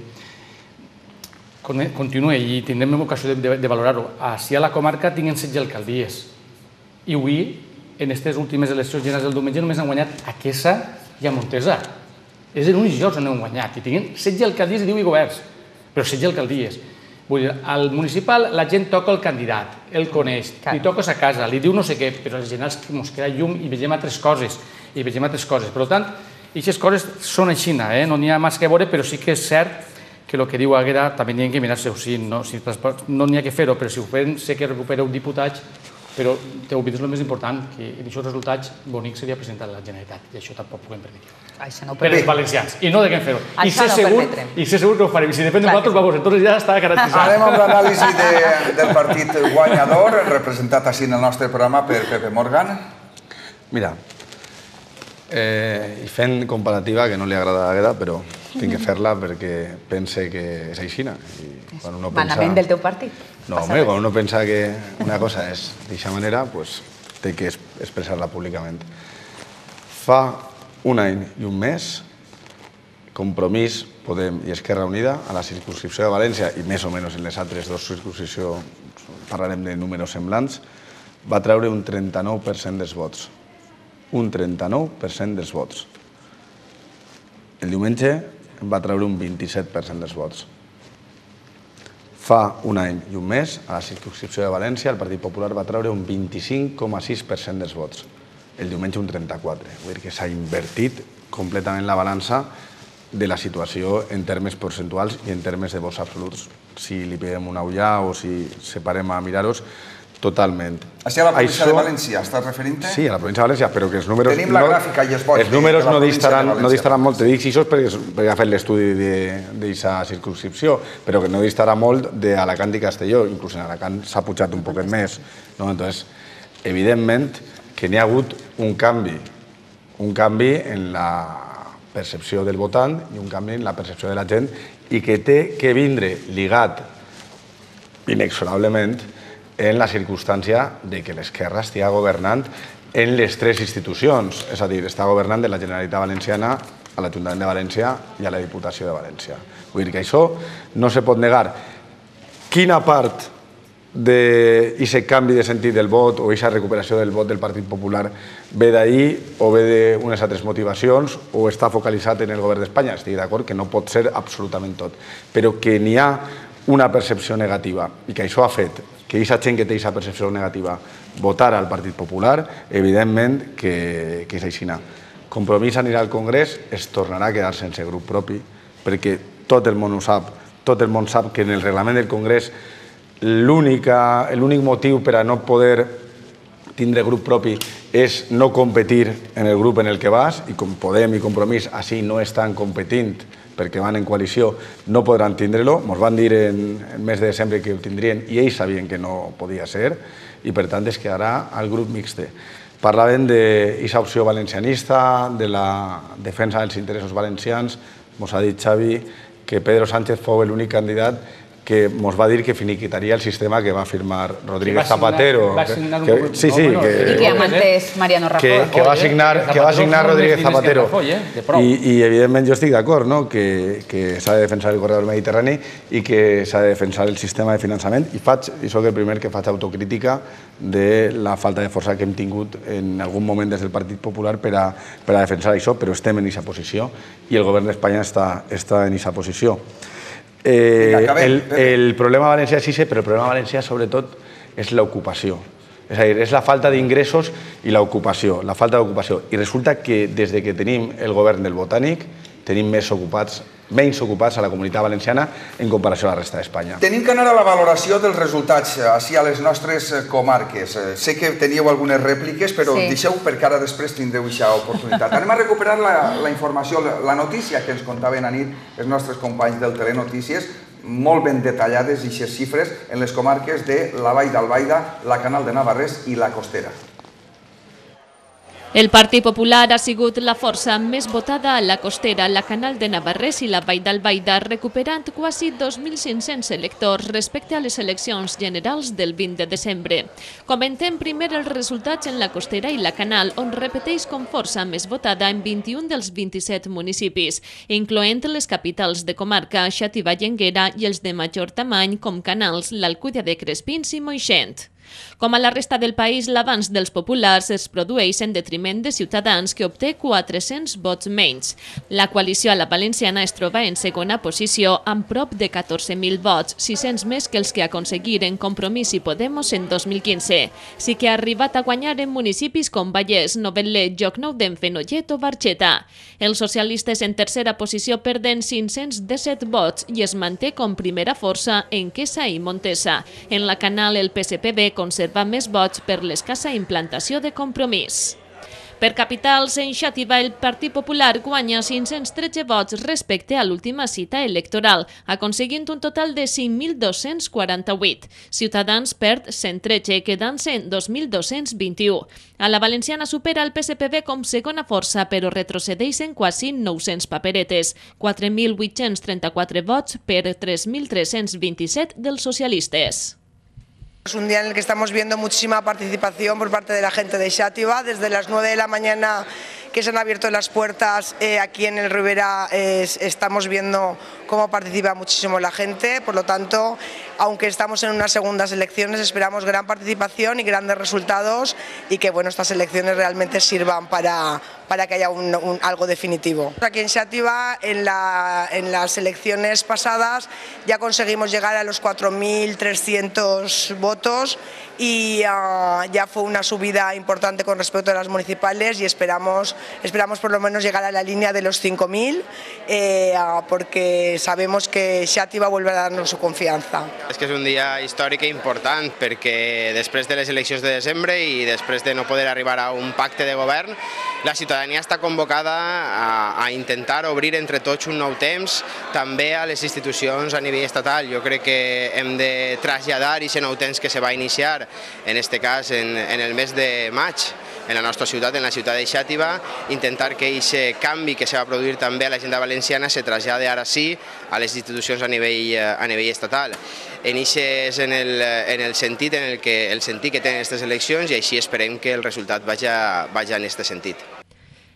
Continua i tindrem ocasió de valorar-ho. Així a la comarca tinguem setze alcaldies. I avui, en aquestes últimes eleccions generals del diumenge, només han guanyat a Quesa i a Montesa. És l'únic lloc on han guanyat. I tinguem setze alcaldies i divuit governs, però setze alcaldies. Vull dir, al municipal la gent toca el candidat, el coneix, li toques a casa, li diu no sé què, però als generals ens queda llum i vegem altres coses, i vegem altres coses. Per tant, aquestes coses són així, no n'hi ha més que veure, però sí que és cert que el que diu Àgueda també n'hi ha que mirar-se-ho, no n'hi ha que fer-ho, però si ho fem sé que recupereu diputats, però t'he oblidat el més important, que en aquests resultats bonic seria presentar a la Generalitat, i això tampoc puguem permetre. Per als valencians, i no de què fer-ho. I sé segur que ho farem, i si depèn de nosaltres, vamos, entonces ja està garantitzat. Anem amb l'anàlisi del partit guanyador, representat així en el nostre programa per Pepe Morgan. Mira, I fent comparativa, que no li agrada a Agueda, però tinc que fer-la perquè pense que és aixina. Manament del teu partit. No, home, quan uno pensa que una cosa és d'aquesta manera, té que expressar-la públicament. Fa un any i un mes, Compromís, Podem i Esquerra Unida, a la circunscripció de València, i més o menys en les altres dues circunscripcions, parlarem de números semblants, va treure un trenta-nou per cent dels vots. Un trenta-nou per cent dels vots. El diumenge va treure un vint-i-set per cent dels vots. Fa un any i un mes, a la circunscripció de València, el Partit Popular va treure un vint-i-cinc coma sis per cent dels vots. El diumenge un trenta-quatre. Vull dir que s'ha invertit completament la balança de la situació en termes percentuals i en termes de vots absoluts. Si li peguem una ullà o si separem a mirar-los, totalment. Així a la província de València, estàs referint-te? Sí, a la província de València, però que els números... Tenim la gràfica i els vots. Els números no distaran molt, te dic això perquè ha fet l'estudi d'aquesta circunscripció, però que no distarà molt d'Alacant i Castelló, inclús en Alacant s'ha pujat un poquet més. Entonces, evidentment que n'hi ha hagut un canvi, un canvi en la percepció del votant i un canvi en la percepció de la gent i que té que vindre ligat inexorablement en la circumstància de que l'esquerra estigui governant en les tres institucions, és a dir, està governant de la Generalitat Valenciana a l'Ajuntament de València i a la Diputació de València. Vull dir que això no se pot negar. Quina part d'aquest canvi de sentit del vot o aquesta recuperació del vot del Partit Popular ve d'ahir o ve d'unes altres motivacions o està focalitzat en el govern d'Espanya? Estic d'acord que no pot ser absolutament tot, però que n'hi ha una percepció negativa i que això ha fet que aquesta gent que té aquesta percepció negativa votar al Partit Popular, evidentment que és aixina. Compromís anirà al Congrés, es tornarà a quedar sense grup propi, perquè tot el món ho sap, tot el món sap que en el reglament del Congrés l'únic motiu per a no poder tindre grup propi és no competir en el grup en el que vas, i com Podem i Compromís així no estan competint perquè van en coalició, no podran tindre-lo. Ens van dir en el mes de desembre que ho tindrien i ells sabien que no podia ser i per tant es quedarà al grup mixte. Parlaven d'aquesta opció valencianista, de la defensa dels interessos valencians. Ens ha dit Xavi que Pedro Sánchez fou l'únic candidat que ens va dir que finiquitaria el sistema que va firmar Rodríguez Zapatero. Va signar un document. Sí, sí. I que amantés Mariano Rajoy. Que va signar Rodríguez Zapatero. I evidentment jo estic d'acord que s'ha de defensar el corredor mediterrani i que s'ha de defensar el sistema de finançament i faig, i soc el primer que faig autocrítica de la falta de força que hem tingut en algun moment des del Partit Popular per a defensar això, però estem en aquesta posició i el govern d'Espanya està en aquesta posició. El problema valencià és això, però el problema valencià sobretot és l'ocupació. És a dir, és la falta d'ingressos i l'ocupació, la falta d'ocupació. I resulta que des que tenim el govern del Botànic tenim més ocupats, menys ocupats a la Comunitat Valenciana en comparació a la resta d'Espanya. Tenim que anar a la valoració dels resultats així a les nostres comarques. Sé que teníeu algunes rèpliques, però deixeu perquè ara després tindreu aquesta oportunitat. Anem a recuperar la informació, la notícia que ens contaven a nit els nostres companys del Telenotícies, molt ben detallades aquestes xifres en les comarques de la Vall d'Albaida, la Canal de Navarrés i la Costera. El Partit Popular ha sigut la força més votada a la Costera, la Canal de Navarrés i la Vall d'Albaida, recuperant quasi dos mil cinc-cents electors respecte a les eleccions generals del vint de desembre. Comentem primer els resultats en la Costera i la Canal, on repeteix com força més votada en vint-i-un dels vint-i-set municipis, incloent les capitals de comarca, Xàtiva i Énguera, i els de major tamany com Canals, l'Alcúdia de Crespins i Moixent. Com a la resta del país, l'avanç dels populars es produeix en detriment de Ciutadans, que obté quatre-cents vots menys. La coalició a la valenciana es troba en segona posició amb prop de catorze mil vots, sis-cents més que els que aconseguiren Compromís i Podemos en dos mil quinze. Sí que ha arribat a guanyar en municipis com Vallès, Novetlè, Llocnou d'en Fenollet o Barxeta. Els socialistes en tercera posició perden cinc-cents disset vots i es manté com primera força en Quesa i Montesa. En la Canal el P S P B conserva més vots per l'escassa implantació de Compromís. Per capitals, en Xàtiva el Partit Popular guanya cinc-cents tretze vots respecte a l'última cita electoral, aconseguint un total de cinc mil dos-cents quaranta-vuit. Ciutadans perd cent tretze, quedant-se en dos mil dos-cents vint-i-u. A la valenciana supera el P S P B com segona força, però retrocedeixen quasi nou-cents paperetes, quatre mil vuit-cents trenta-quatre vots per tres mil tres-cents vint-i-set dels socialistes. Es un día en el que estamos viendo muchísima participación por parte de la gente de Xàtiva. Desde las nueve de la mañana que se han abierto las puertas eh, aquí en el Ribera eh, estamos viendo cómo participa muchísimo la gente. Por lo tanto, aunque estamos en unas segundas elecciones, esperamos gran participación y grandes resultados y que bueno, estas elecciones realmente sirvan para, para que haya un, un, algo definitivo. Aquí en Xàtiva, en, la, en las elecciones pasadas, ya conseguimos llegar a los cuatro mil trescientos votos y uh, ya fue una subida importante con respecto a las municipales y esperamos, esperamos por lo menos llegar a la línea de los cinco mil eh, uh, porque sabemos que Xàtiva vuelve a darnos su confianza. És que és un dia històric i important perquè després de les eleccions de desembre i després de no poder arribar a un pacte de govern, la ciutadania està convocada a, a intentar obrir entre tots un nou temps també a les institucions a nivell estatal. Jo crec que hem de traslladar aquest nou temps que se va iniciar, en aquest cas en, en el mes de maig, en la nostra ciutat, en la ciutat de Xàtiva, intentar que aquest canvi que se va produir també a l'agenda valenciana se trasllade ara sí a les institucions a nivell, a nivell estatal. En és en el, en el sentit en el que el sentit que tenen aquestes eleccions i així esperem que el resultat vagi, vagi en aquest sentit.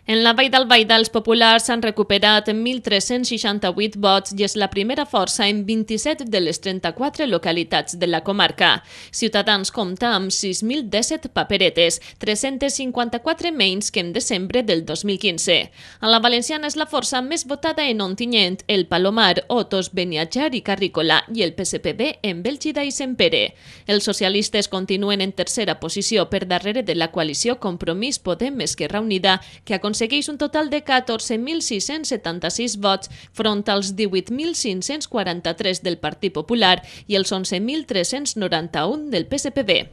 En la Vall d'Albaida, els populars han recuperat mil tres-cents seixanta-vuit vots i és la primera força en vint-i-set de les trenta-quatre localitats de la comarca. Ciutadans compta amb sis mil disset paperetes, tres-cents cinquanta-quatre menys que en desembre del dos mil quinze. A la valenciana és la força més votada en Ontinyent, el Palomar, Otos, Beniatjar i Carrícola i el P S P B en Bèlgida i Sempere. Els socialistes continuen en tercera posició per darrere de la coalició Compromís Podem Esquerra Unida, que ha aconsegueix un total de catorze mil sis-cents setanta-sis vots front als divuit mil cinc-cents quaranta-tres del Partit Popular i els onze mil tres-cents noranta-un del P S P B.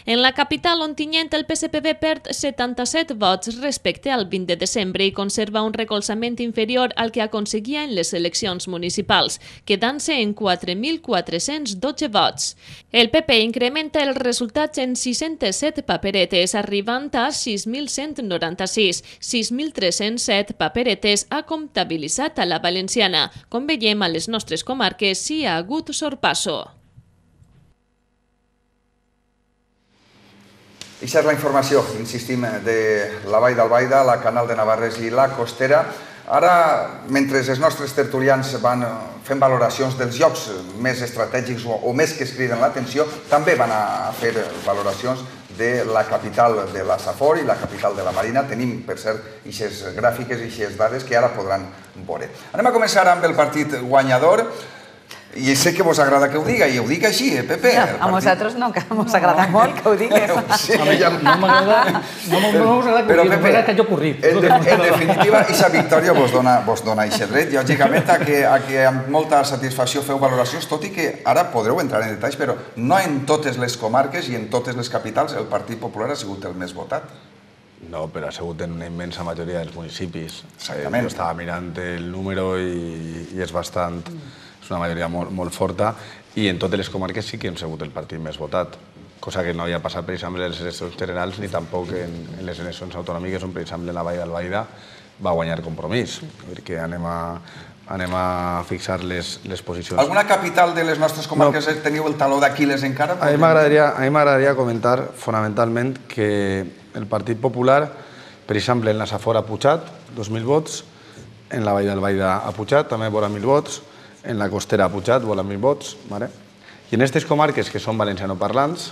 En la capital Ontinyent, el P S P B perd setanta-set vots respecte al vint de desembre i conserva un recolzament inferior al que aconseguia en les eleccions municipals, quedant-se en quatre mil quatre-cents dotze vots. El P P incrementa els resultats en sis-cents set paperetes, arribant a sis mil cent noranta-sis, sis mil tres-cents set paperetes ha comptabilitzat a la valenciana. Com veiem, a les nostres comarques sí ha hagut sorpasso. Aquesta és la informació, insistim, de la Vall d'Albaida, la Canal de Navarres i la Costera. Ara, mentre els nostres tertulians van fent valoracions dels llocs més estratègics o més que es criden l'atenció, també van a fer valoracions de la capital de la Safor i la capital de la Marina. Tenim, per cert, aquestes gràfiques i aquestes dades que ara podran veure. Anem a començar amb el partit guanyador. I sé que vos agrada que ho diga, i ho dic així, eh, Pepe? No, a nosaltres no, que ens agrada molt que ho digues. No m'agrada que ho digues, m'agrada que hagi ocorrit. En definitiva, aquesta victòria vos dona aquest dret. Lògicament, a que amb molta satisfacció feu valoracions, tot i que ara podreu entrar en detalls, però no en totes les comarques i en totes les capitals el Partit Popular ha sigut el més votat. No, però ha sigut en una immensa majoria dels municipis. Jo estava mirant el número i és bastant... és una majoria molt forta, i en totes les comarques sí que hem sigut el partit més votat, cosa que no havia passat, per exemple, en les eleccions generals ni tampoc en les eleccions autonòmiques, on, per exemple, en la Vall d'Albaida va guanyar Compromís. Perquè anem a fixar les posicions. Alguna capital de les nostres comarques teniu el taló d'Aquil·les encara? A mi m'agradaria comentar, fonamentalment, que el Partit Popular, per exemple, en la Safor ha pujat dos mil vots, en la Vall d'Albaida ha pujat també vora mil vots, en la Costera ha pujat, volen mil vots, i en aquestes comarques que són valencianoparlants,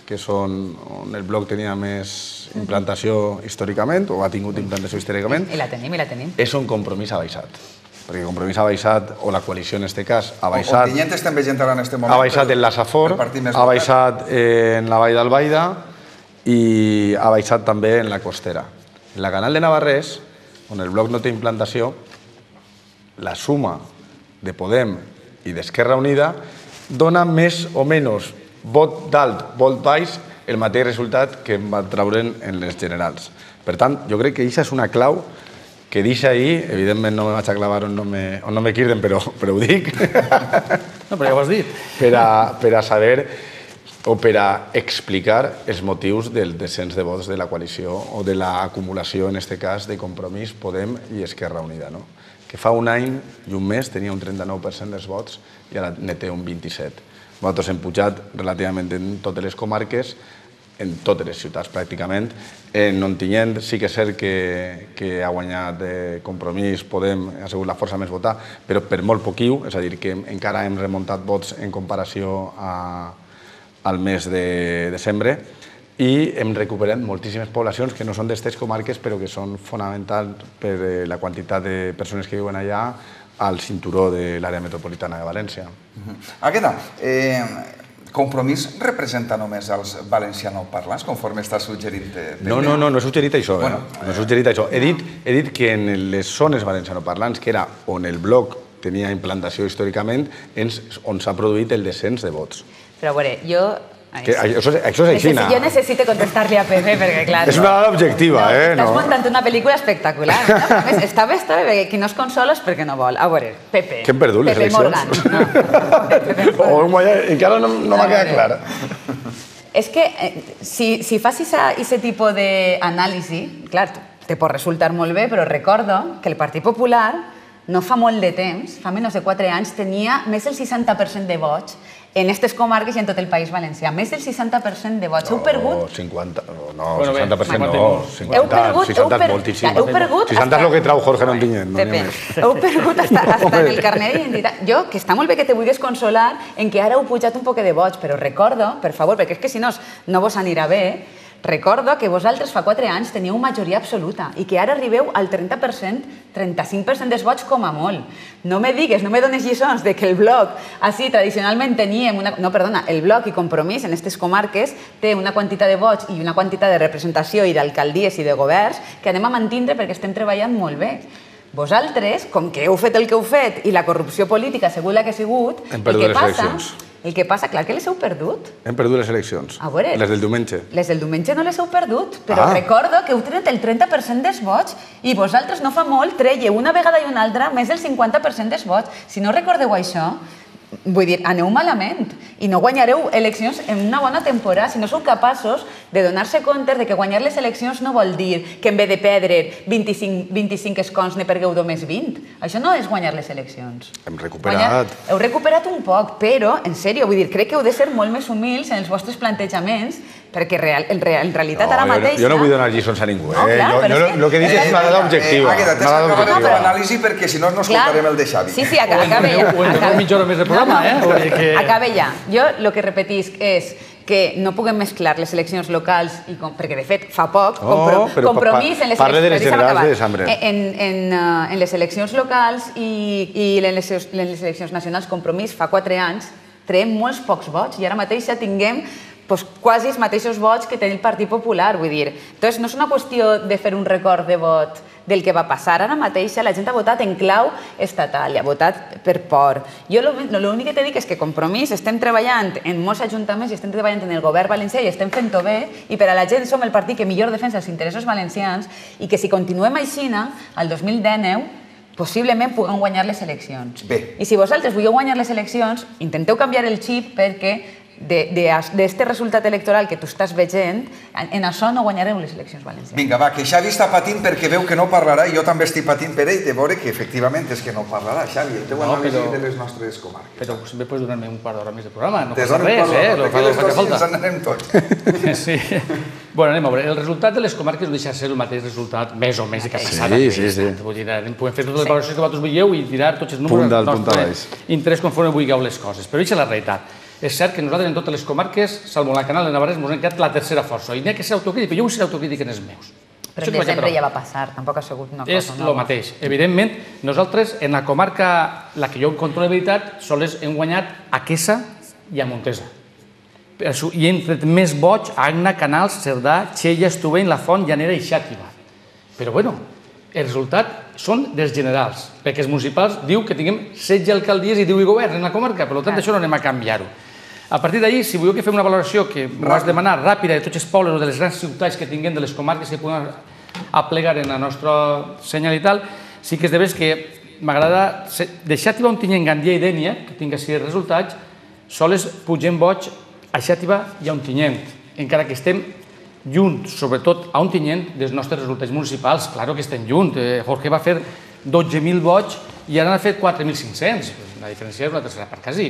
que són on el bloc tenia més implantació històricament, o ha tingut implantació històricament, i la tenim, i la tenim, és on Compromís ha baixat. Perquè Compromís ha baixat, o la coalició en aquest cas, ha baixat... Ontinyent estem veient ara en aquest moment. Ha baixat en la Safor, ha baixat en la Vall d'Albaida i ha baixat també en la Costera. En la Canal de Navarrés, on el bloc no té implantació, la suma de Podem i d'Esquerra Unida dona més o menys vot d'alt, vot baix el mateix resultat que em va traure'n en les generals. Per tant, jo crec que això és una clau que deixa ahir, evidentment no me vaig a clavar on no me quirden, però ho dic. No, però ja ho has dit. Per a saber o per a explicar els motius del descens de vots de la coalició o de l'acumulació, en aquest cas, de Compromís, Podem i Esquerra Unida, que fa un any i un mes tenia un trenta-nou per cent dels vots i ara ne té un vint-i-set. Nosaltres hem pujat relativament en totes les comarques, en totes les ciutats pràcticament. En Ontinyent sí que és cert que ha guanyat Compromís, Podem, ha sigut la força més votada, però per molt poquiu, és a dir, que encara hem remuntat vots en comparació al mes de desembre, i hem recuperat moltíssimes poblacions que no són d'estes comarques però que són fonamentals per la quantitat de persones que viuen allà al cinturó de l'àrea metropolitana de València. Agueda, Compromís representa només els valencianoparlants, conforme està suggerint? No, no, no, no he suggerit això. No he suggerit això. He dit que en les zones valencianoparlants, que era on el bloc tenia implantació històricament, on s'ha produït el descens de vots. Però a veure, jo... Això és així, no? Jo necessito contestar-li a Pepe, perquè clar... És una dada objectiva, eh? Estàs muntant una pel·lícula espectacular. Està bé, està bé, perquè qui no es consola és perquè no vol. A veure, Pepe... Que hem perdut les eleccions? Encara no m'ha quedat clar. És que si fas aquest tipus d'anàlisi, clar, te pot resultar molt bé, però recordo que el Partit Popular no fa molt de temps, fa menys de quatre anys, tenia més del seixanta per cent de vots en aquestes comarques i en tot el País Valencià. Més del seixanta per cent de vots. Heu perdut... No, cinquanta... No, seixanta per cent no. Heu perdut... seixanta és moltíssim. Heu perdut... seixanta és el que trau Jorge Ontinyent. Heu perdut hasta en el carnet d'identitat. Jo, que està molt bé que te vulguis consolar en que ara heu pujat un poc de vots, però recordo, per favor, perquè és que si no no vos anirà bé, recordo que vosaltres fa quatre anys teníeu majoria absoluta i que ara arribeu al trenta per cent, trenta-cinc per cent dels vots com a molt. No me digues, no me dones lliçons de que el bloc, així tradicionalment teníem una... No, perdona, el bloc i Compromís en aquestes comarques té una quantitat de vots i una quantitat de representació i d'alcaldies i de governs que anem a mantindre perquè estem treballant molt bé. Vosaltres, com que heu fet el que heu fet i la corrupció política ha sigut la que ha sigut, hem perdut les eleccions. El que passa, clar que les heu perdut. Hem perdut les eleccions. Les del diumenge. Les del diumenge no les heu perdut, però recordo que heu tret el trenta per cent dels vots i vosaltres no fa molt trèieu una vegada i una altra més del cinquanta per cent dels vots. Si no recordeu això, vull dir, aneu malament i no guanyareu eleccions en una bona temporada si no sou capaços de donar-se compte de que guanyar les eleccions no vol dir que en vez de perdre vint-i-cinc escons ne pergueu només vint. Això no és guanyar les eleccions. Hem recuperat. Heu recuperat un poc, però, en sèrio, vull dir, crec que heu de ser molt més humils en els vostres plantejaments perquè en realitat ara mateix... Jo no vull donar lliçons a ningú, eh? El que dic és una dada objectiva. Agueda, tens que acabar la teva anàlisi perquè si no no escoltarem el de Xavi. Sí, sí, acabe ja. O en mitja hora més de programa, eh? Acabe ja. Jo el que repetisc és que no puguem mesclar les eleccions locals, perquè de fet fa poc, Compromís en les eleccions locals i en les eleccions nacionals, Compromís fa quatre anys, traiem molts pocs vots i ara mateix ja tinguem quasi els mateixos vots que té el Partit Popular, vull dir. Entonces, no és una qüestió de fer un record de vot del que va passar. Ara mateix la gent ha votat en clau estatal, ha votat per por. Jo l'únic que t'he dit és que Compromís estem treballant en molts ajuntaments i estem treballant en el govern valencià i estem fent-ho bé i per a la gent som el partit que millor defensa els interessos valencians i que si continuem així, al dos mil dinou, possiblement puguem guanyar les eleccions. I si vosaltres voleu guanyar les eleccions, intenteu canviar el xip perquè d'aquest resultat electoral que tu estàs veient, en això no guanyareu les eleccions valencianes. Vinga, va, que Xavi està patint perquè veu que no parlarà i jo també estic patint per ell de veure que efectivament és que no parlarà. Xavi, el teu anàlisi de les nostres comarques. Però sempre pots donar-me un quart d'hora més de programa, no passa res, eh? Perquè les coses ens en anem tots. Sí. Bueno, anem a veure. El resultat de les comarques no deixa de ser el mateix resultat, més o menys, que ha passat. Sí, sí, sí. Podem fer totes les valoracions que vosaltres veieu i tirar tots els números del nostre interès conforme vulgueu les coses. Però això és la realitat. És cert que nosaltres en totes les comarques, salvo la Canal de Navarrés, ens hem quedat la tercera força. I n'hi ha que ser autocrític, però jo vull ser autocrític en els meus. Però en desembre ja va passar, tampoc ha sigut una cosa nova. És el mateix. Evidentment, nosaltres, en la comarca, la que jo controlo de veritat, sols hem guanyat a Quesa i a Montesa. I hem tret més vots a Agna, Canals, Cerdà, Xella, Estubeny, La Font, Llanera i Xàtiva. Però, bueno, el resultat són dels generals, perquè els municipals diu que tinguem setze alcaldies i divuit governs en la comarca, per tant, això no anem a canviar-ho. A partir d'ahir, si voleu que fem una valoració que m'has demanat ràpida de tots els pobles o de les grans ciutats que tinguem, de les comarques que podem aplegar en la nostra senyal i tal, sí que és de veres que m'agrada de Xàtiva, Ontinyent, Gandia i Dénia, que tinc així els resultats, sols pugem boig a Xàtiva i a Ontinyent, encara que estem lluny, sobretot a Ontinyent, dels nostres resultats municipals. Claro que estem lluny. Jorge va fer dotze mil vots i ara n'ha fet quatre mil cinc-cents. La diferència és una tercera part, quasi.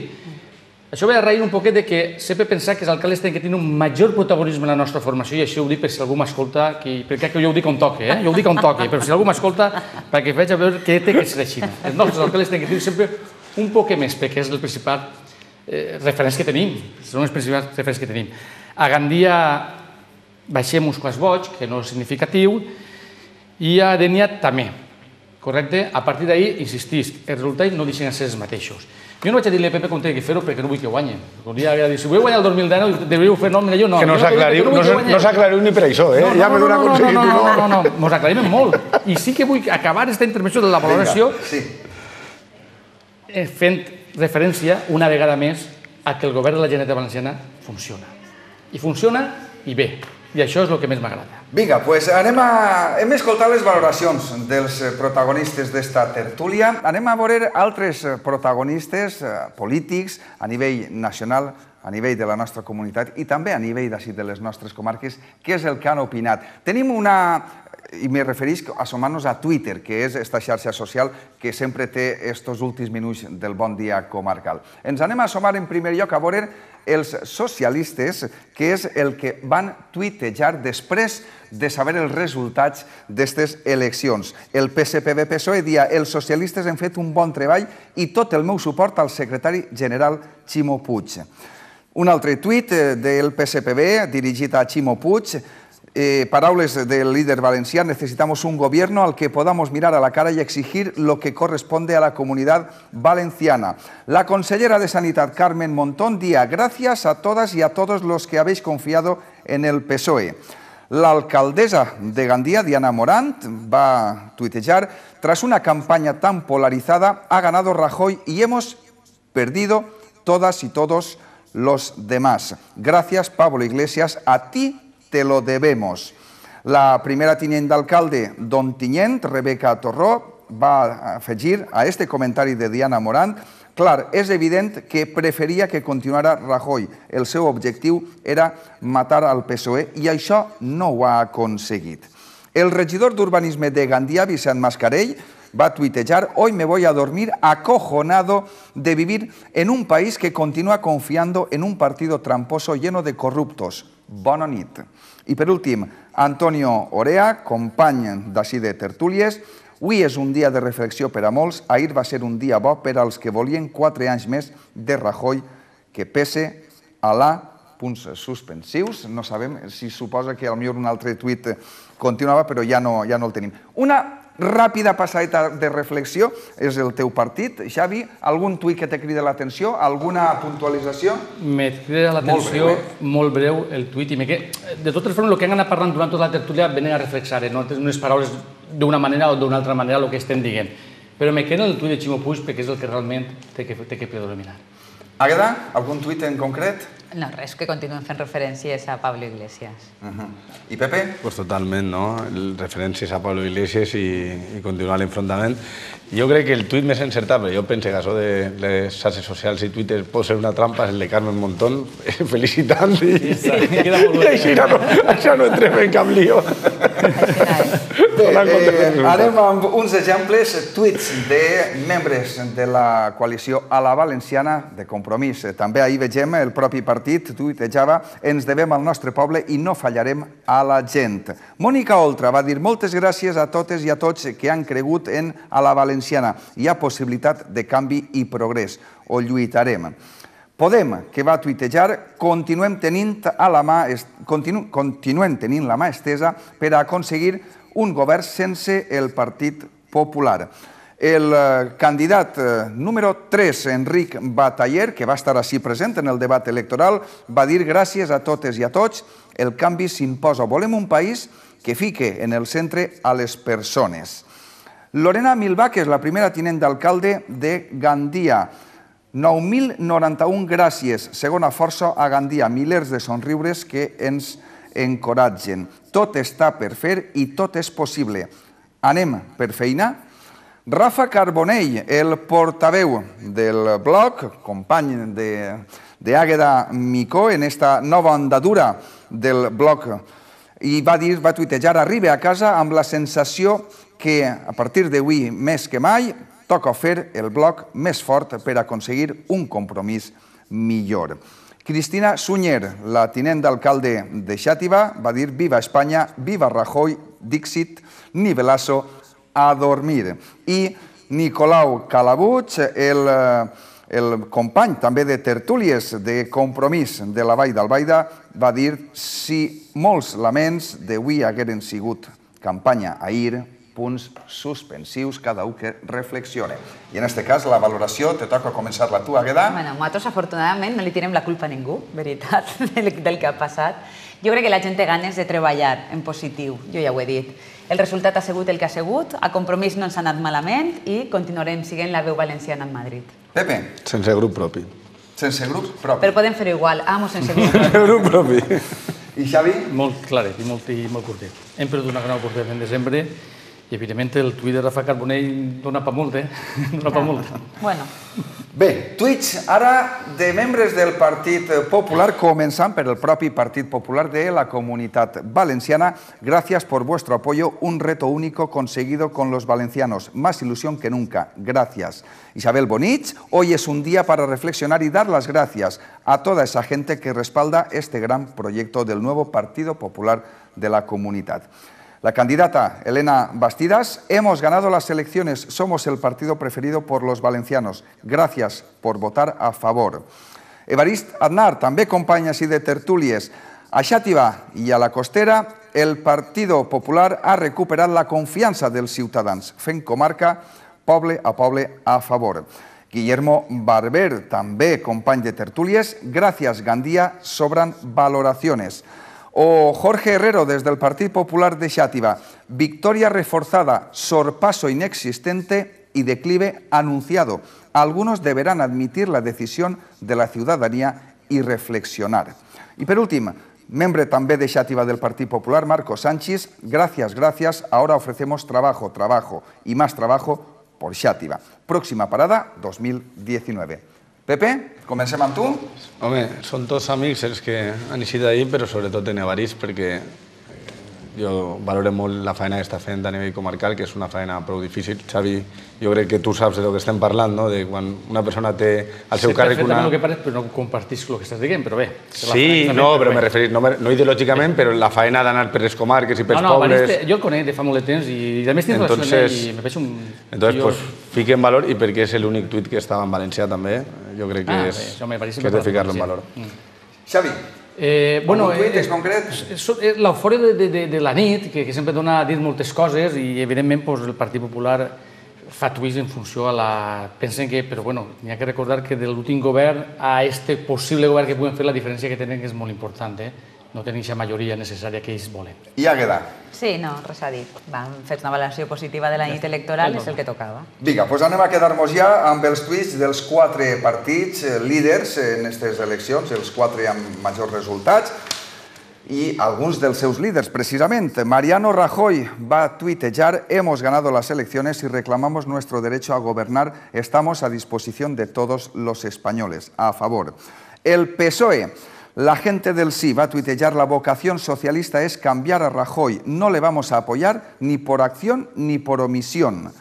Això ve a raïr un poquet de que sempre pensar que els alcaldes tenen que tenir un major protagonisme en la nostra formació, i això ho dic per si algú m'escolta, perquè jo ho dic on toque, eh? Jo ho dic on toque, però si algú m'escolta, perquè veig a veure què té que ser així. Els nostres alcaldes tenen que tenir sempre un poc més, perquè és el principal referents que tenim, són els principals referents que tenim. A Gandia baixem uns quants vots, que no és significatiu, i a Dénia també, correcte? A partir d'ahir, insistisc, els resultats no deixen de ser els mateixos. Jo no vaig a dir-li a Pepe com té que fer-ho perquè no vull que guanyi. Un dia havia de dir, si vull guanyar el dos mil deu, devríeu fer, no, mira, jo no. Que no s'aclariu ni per això, eh? Ja m'he donat aconseguit. No, no, no, no, mos aclarim molt. I sí que vull acabar aquesta intervenció de la valoració fent referència una vegada més a que el govern de la Generalitat Valenciana funciona. I funciona i bé. I això és el que més m'agrada. Vinga, doncs anem a... Hem escoltat les valoracions dels protagonistes d'esta tertúlia. Anem a veure altres protagonistes polítics a nivell nacional, a nivell de la nostra comunitat i també a nivell d'ací de les nostres comarques, què és el que han opinat. Tenim una... i me referís a assomar-nos a Twitter, que és esta xarxa social que sempre té estos últims minuts del Bon Dia Comarcal. Ens anem a assomar en primer lloc a veure els socialistes, que és el que van tuitejar després de saber els resultats d'aquestes eleccions. El P S P B P S O E dia, els socialistes han fet un bon treball i tot el meu suport al secretari general Ximo Puig. Un altre tuit del P S P B dirigit a Ximo Puig, Eh, paraules del líder valencià: necesitamos un gobierno al que podamos mirar a la cara y exigir lo que corresponde a la comunidad valenciana. La consellera de Sanidad, Carmen Montón, día: gracias a todas y a todos los que habéis confiado en el P S O E. La alcaldesa de Gandia, Diana Morant, va tuitejar: tras una campaña tan polarizada, ha ganado Rajoy y hemos perdido todas y todos los demás. Gracias, Pablo Iglesias, a ti te lo debemos. La primera tinent d'alcalde d'Ontinyent, Rebeca Torró, va afegir a este comentari de Diana Morant: clar, és evident que preferia que continuara Rajoy. El seu objectiu era matar al P S O E i això no ho ha aconseguit. El regidor d'Urbanisme de Gandia, Vicent Mascarell, va tuitejar: hoy me voy a dormir acojonado de vivir en un país que continúa confiando en un partido tramposo lleno de corruptos. Bona nit. I per últim, Antonio Orea, company d'ací de tertúlies: avui és un dia de reflexió per a molts, ahir va ser un dia bo per als que volien quatre anys més de Rajoy, que pese a la... punts suspensius, no sabem si suposa que potser un altre tuit continuava, però ja no el tenim. Una ràpida passadeta de reflexió és el teu partit. Xavi, algun tuit que te crida l'atenció? Alguna puntualització? Me crida l'atenció molt breu el tuit. De totes formes, el que han anat parlant durant tota la tertúlia venen a reflexar, no unes paraules d'una manera o d'una altra manera el que estem dient. Però me queda el tuit de Ximo Puig perquè és el que realment té que predominar. Àgueda, algun tuit en concret? No, res, que continuen fent referències a Pablo Iglesias. I Pepe? Pues totalment, no? Referències a Pablo Iglesias i continuar l'enfrontament. Jo crec que el tuit més encertat, però jo penso que això de les xarxes socials i Twitter pot ser una trampa, és el de Carmen Montón, felicitant i això no entrem en cap lío. Bé, anem amb uns exemples, tuits de membres de la coalició a la valenciana de Compromís. També ahir vegem el propi partit tuitejava: ens devem al nostre poble i no fallarem a la gent. Mònica Oltra va dir: moltes gràcies a totes i a tots que han cregut en a la valenciana. Hi ha possibilitat de canvi i progrés. Ho lluitarem. Podem, que va tuitejar: continuem tenint la mà estesa per a aconseguir un govern sense el Partit Popular. El candidat número tres, Enric Bataller, que va estar així present en el debat electoral, va dir: gràcies a totes i a tots, el canvi s'imposa. Volem un país que fique en el centre a les persones. Lorena Milbà, que és la primera tinent d'alcalde de Gandia, nou mil noranta-un gràcies, segona força a Gandia, milers de somriures que ens encoratgen. Tot està per fer i tot és possible. Anem per feina? Rafa Carbonell, el portaveu del blog, company d'Àgueda Micó en esta nova andadura del blog, i va dir, va tuitejar, arribe a casa amb la sensació que a partir d'avui, més que mai, toca fer el blog més fort per aconseguir un compromís millor. Cristina Sunyer, la tinent d'alcalde de Xàtiva, va dir viva Espanya, viva Rajoy, Dixit, nivelazo, a dormir. I Nicolau Calabuig, el, el company també de tertúlies de Compromís de la Vall d'Albaida, va dir si molts laments d'avui hagueren sigut campanya ahir, punts suspensius, cada un que reflexione. I en aquest cas, la valoració, te toca començar-la tu, Àgueda. Bueno, nosaltres, afortunadament, no li tirem la culpa a ningú, veritat, del que ha passat. Jo crec que la gent té ganes de treballar en positiu, jo ja ho he dit. El resultat ha sigut el que ha sigut, a Compromís no ens ha anat malament i continuarem sent la veu valenciana en Madrid. Pepe. Sense grup propi. Sense grup propi. Però podem fer-ho igual, amo sense grup propi. Sense grup propi. I Xavi? Molt claret i molt, i molt curtet. Hem perdut una gran oportunitat en desembre i, evidentment, el tuit de Rafa Carbonell dona pa molt, eh? Dona pa molt. Bueno. Bé, tuits ara de membres del Partit Popular, començant per el propi Partit Popular de la Comunitat Valenciana. Gracias por vuestro apoyo, un reto único conseguido con los valencianos. Más ilusión que nunca. Gracias. Isabel Bonich, hoy es un día para reflexionar y dar las gracias a toda esa gente que respalda este gran proyecto del nuevo Partido Popular de la Comunidad. La candidata Elena Bastidas, hemos ganado las elecciones, somos el partido preferido por los valencianos. Gracias por votar a favor. Evarist Aznar, també company així de tertúlies. A Xàtiva i a la Costera, el Partido Popular ha recuperat la confiança dels ciutadans, fent comarca poble a poble a favor. Guillermo Barber, també company de tertúlies. Gracias, Gandia, sobran valoraciones. O Jorge Herrero, desde el Partido Popular de Xàtiva. Victoria reforzada, sorpaso inexistente y declive anunciado. Algunos deberán admitir la decisión de la ciudadanía y reflexionar. Y por último, membre també de Xàtiva del Partido Popular, Marco Sánchez. Gracias, gracias. Ahora ofrecemos trabajo, trabajo y más trabajo por Xàtiva. Próxima parada, dos mil diecinueve. Pepe, comencem amb tu. Home, són tots amics els que han eixit d'ahir, però sobretot en Evarist, perquè jo valoro molt la feina que està fent a nivell comarcal, que és una feina prou difícil. Xavi, jo crec que tu saps de lo que estem parlant, no? De quan una persona té al seu càrrec una... Sé perfectament el que parles, però no compartís el que estàs dient, però bé. Sí, no, però m'he referit, no ideològicament, però la feina d'anar per les comarques i pels pobles... Jo el conec de fa molt de temps i a més tinc relació amb ell i me veig un... Entonces, pues, fique en valor, i perquè és l'únic tuit que estava en valencià també, jo crec que és de ficar-lo en valor. Xavi. Bueno, un tuit en concret? L'eufòria de la nit, que sempre dona a dir moltes coses i, evidentment, el Partit Popular fa tuits en funció a la... Pensen que, però bueno, n'hi ha que recordar que de l'últim govern a este possible govern que puguem fer, la diferència que tenen és molt important, eh? No tenen aquesta majoria necessària que ells volen. I Àgueda? Sí, no, res a dir. Hem fet una valoració positiva de la nit electoral, és el que tocava. Vinga, doncs anem a quedar-nos ja amb els tuits dels quatre partits líders en aquestes eleccions, els quatre amb majors resultats, i alguns dels seus líders, precisament. Mariano Rajoy va tuitejar: hemos ganado las elecciones y reclamamos nuestro derecho a gobernar. Estamos a disposición de todos los españoles. A favor. El P S O E. La gente del sí va a tuitejar: la vocación socialista es cambiar a Rajoy. No le vamos a apoyar ni por acción ni por omisión.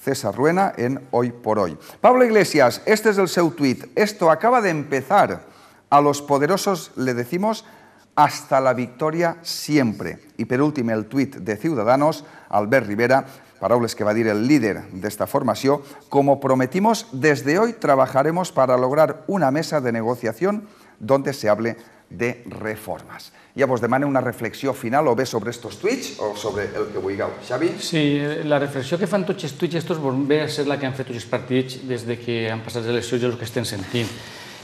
César Ruena en Hoy por Hoy. Pablo Iglesias, este es el seu tuit. Esto acaba de empezar. A los poderosos le decimos hasta la victoria siempre. Y per últim el tuit de Ciudadanos, Albert Rivera, paraules que va dir el líder d'esta formació: como prometimos, desde hoy trabajaremos para lograr una mesa de negociación donde se hable de reformas. Ja vos demano una reflexió final o bé sobre estos tuits o sobre el que vulgueu. Xavi? Sí, la reflexió que fan tots els tuits estos ve a ser la que han fet tots els partits des que han passat les eleccions i els que estem sentint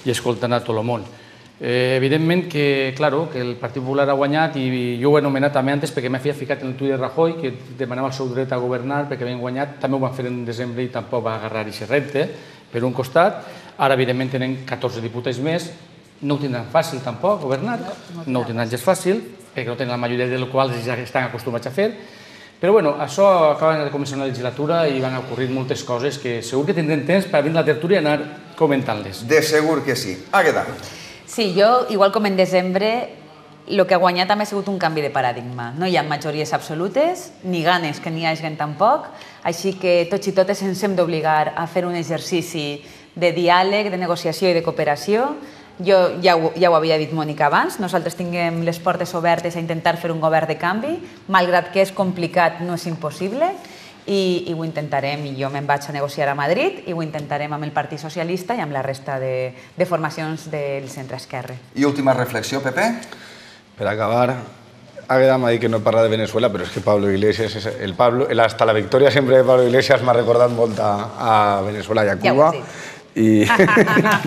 i escoltant a tot el món. Evidentment que, claro, que el Partit Popular ha guanyat i jo ho he anomenat també antes perquè m'he ficat en el tuit de Rajoy que demanava el seu dret a governar perquè havien guanyat, també ho van fer en desembre i tampoc va agarrar aquest repte, per un costat. Ara, evidentment, tenen catorze diputats més, no ho tindran fàcil tampoc, governat, no ho tindran gens fàcil, perquè no tenen la majoria dels quals ja estan acostumats a fer, però bueno, això acaba de començar una legislatura i van ocorrir moltes coses que segur que tindrem temps per venir a la tertúlia i anar comentant-les. De segur que sí. Águeda. Sí, jo, igual com en desembre, el que ha guanyat també ha sigut un canvi de paradigma. No hi ha majories absolutes, ni ganes que n'hi hagin tampoc, així que tots i totes ens hem d'obligar a fer un exercici de diàleg, de negociació i de cooperació. Jo ja ho, ja ho havia dit Mònica abans, nosaltres tinguem les portes obertes a intentar fer un govern de canvi, malgrat que és complicat, no és impossible, i, i ho intentarem, i jo me'n vaig a negociar a Madrid, i ho intentarem amb el Partit Socialista i amb la resta de, de formacions del centre-esquerra. I última reflexió, Pepe? Per acabar, Águeda m'ha dit que no parla de Venezuela, però és que Pablo Iglesias, el Pablo, el hasta la victòria sempre de Pablo Iglesias m'ha recordat molt a, a Venezuela i a Cuba. Ja I...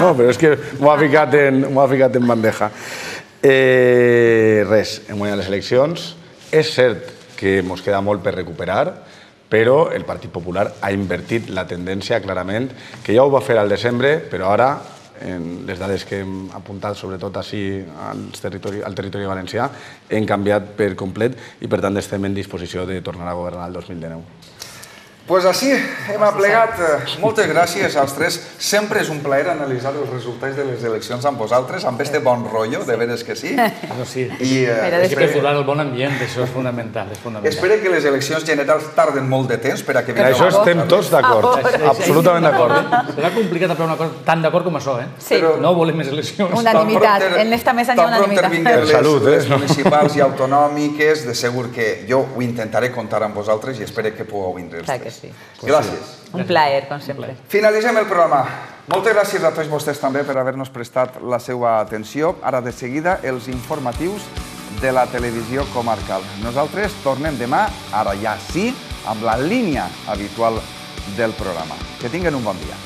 no, però és que m'ho ha ficat en, m'ho ha ficat en bandeja. Eh, res, hem guanyat les eleccions. És cert que ens queda molt per recuperar, però el Partit Popular ha invertit la tendència clarament, que ja ho va fer al desembre, però ara, en les dades que hem apuntat, sobretot així al territori, al territori valencià, hem canviat per complet i per tant estem en disposició de tornar a governar el dos mil dinou. Pues així hem aplegat. Moltes gràcies als tres. Sempre és un plaer analitzar els resultats de les eleccions amb vosaltres, amb este bon rotllo, de veres que sí. Això sí, és que perdurar el bon ambient, això és fonamental. Espero que les eleccions generals tarden molt de temps per a que... Això estem tots d'acord, absolutament d'acord. Serà complicat aprovar una cosa tan d'acord com això, eh? Sí. No volem més eleccions. Unanimitat, en esta mesa n'hi ha unanimitat. Tan pronto les municipals i autonòmiques, de segur que jo ho intentaré comptar amb vosaltres i espero que pugueu vindre els tres. Gràcies. Un plaer, com sempre. Finalitzem el programa. Moltes gràcies a tots vostès també per haver-nos prestat la seva atenció. Ara de seguida els informatius de la televisió comarcal. Nosaltres tornem demà, ara ja sí, amb la línia habitual del programa. Que tinguen un bon dia.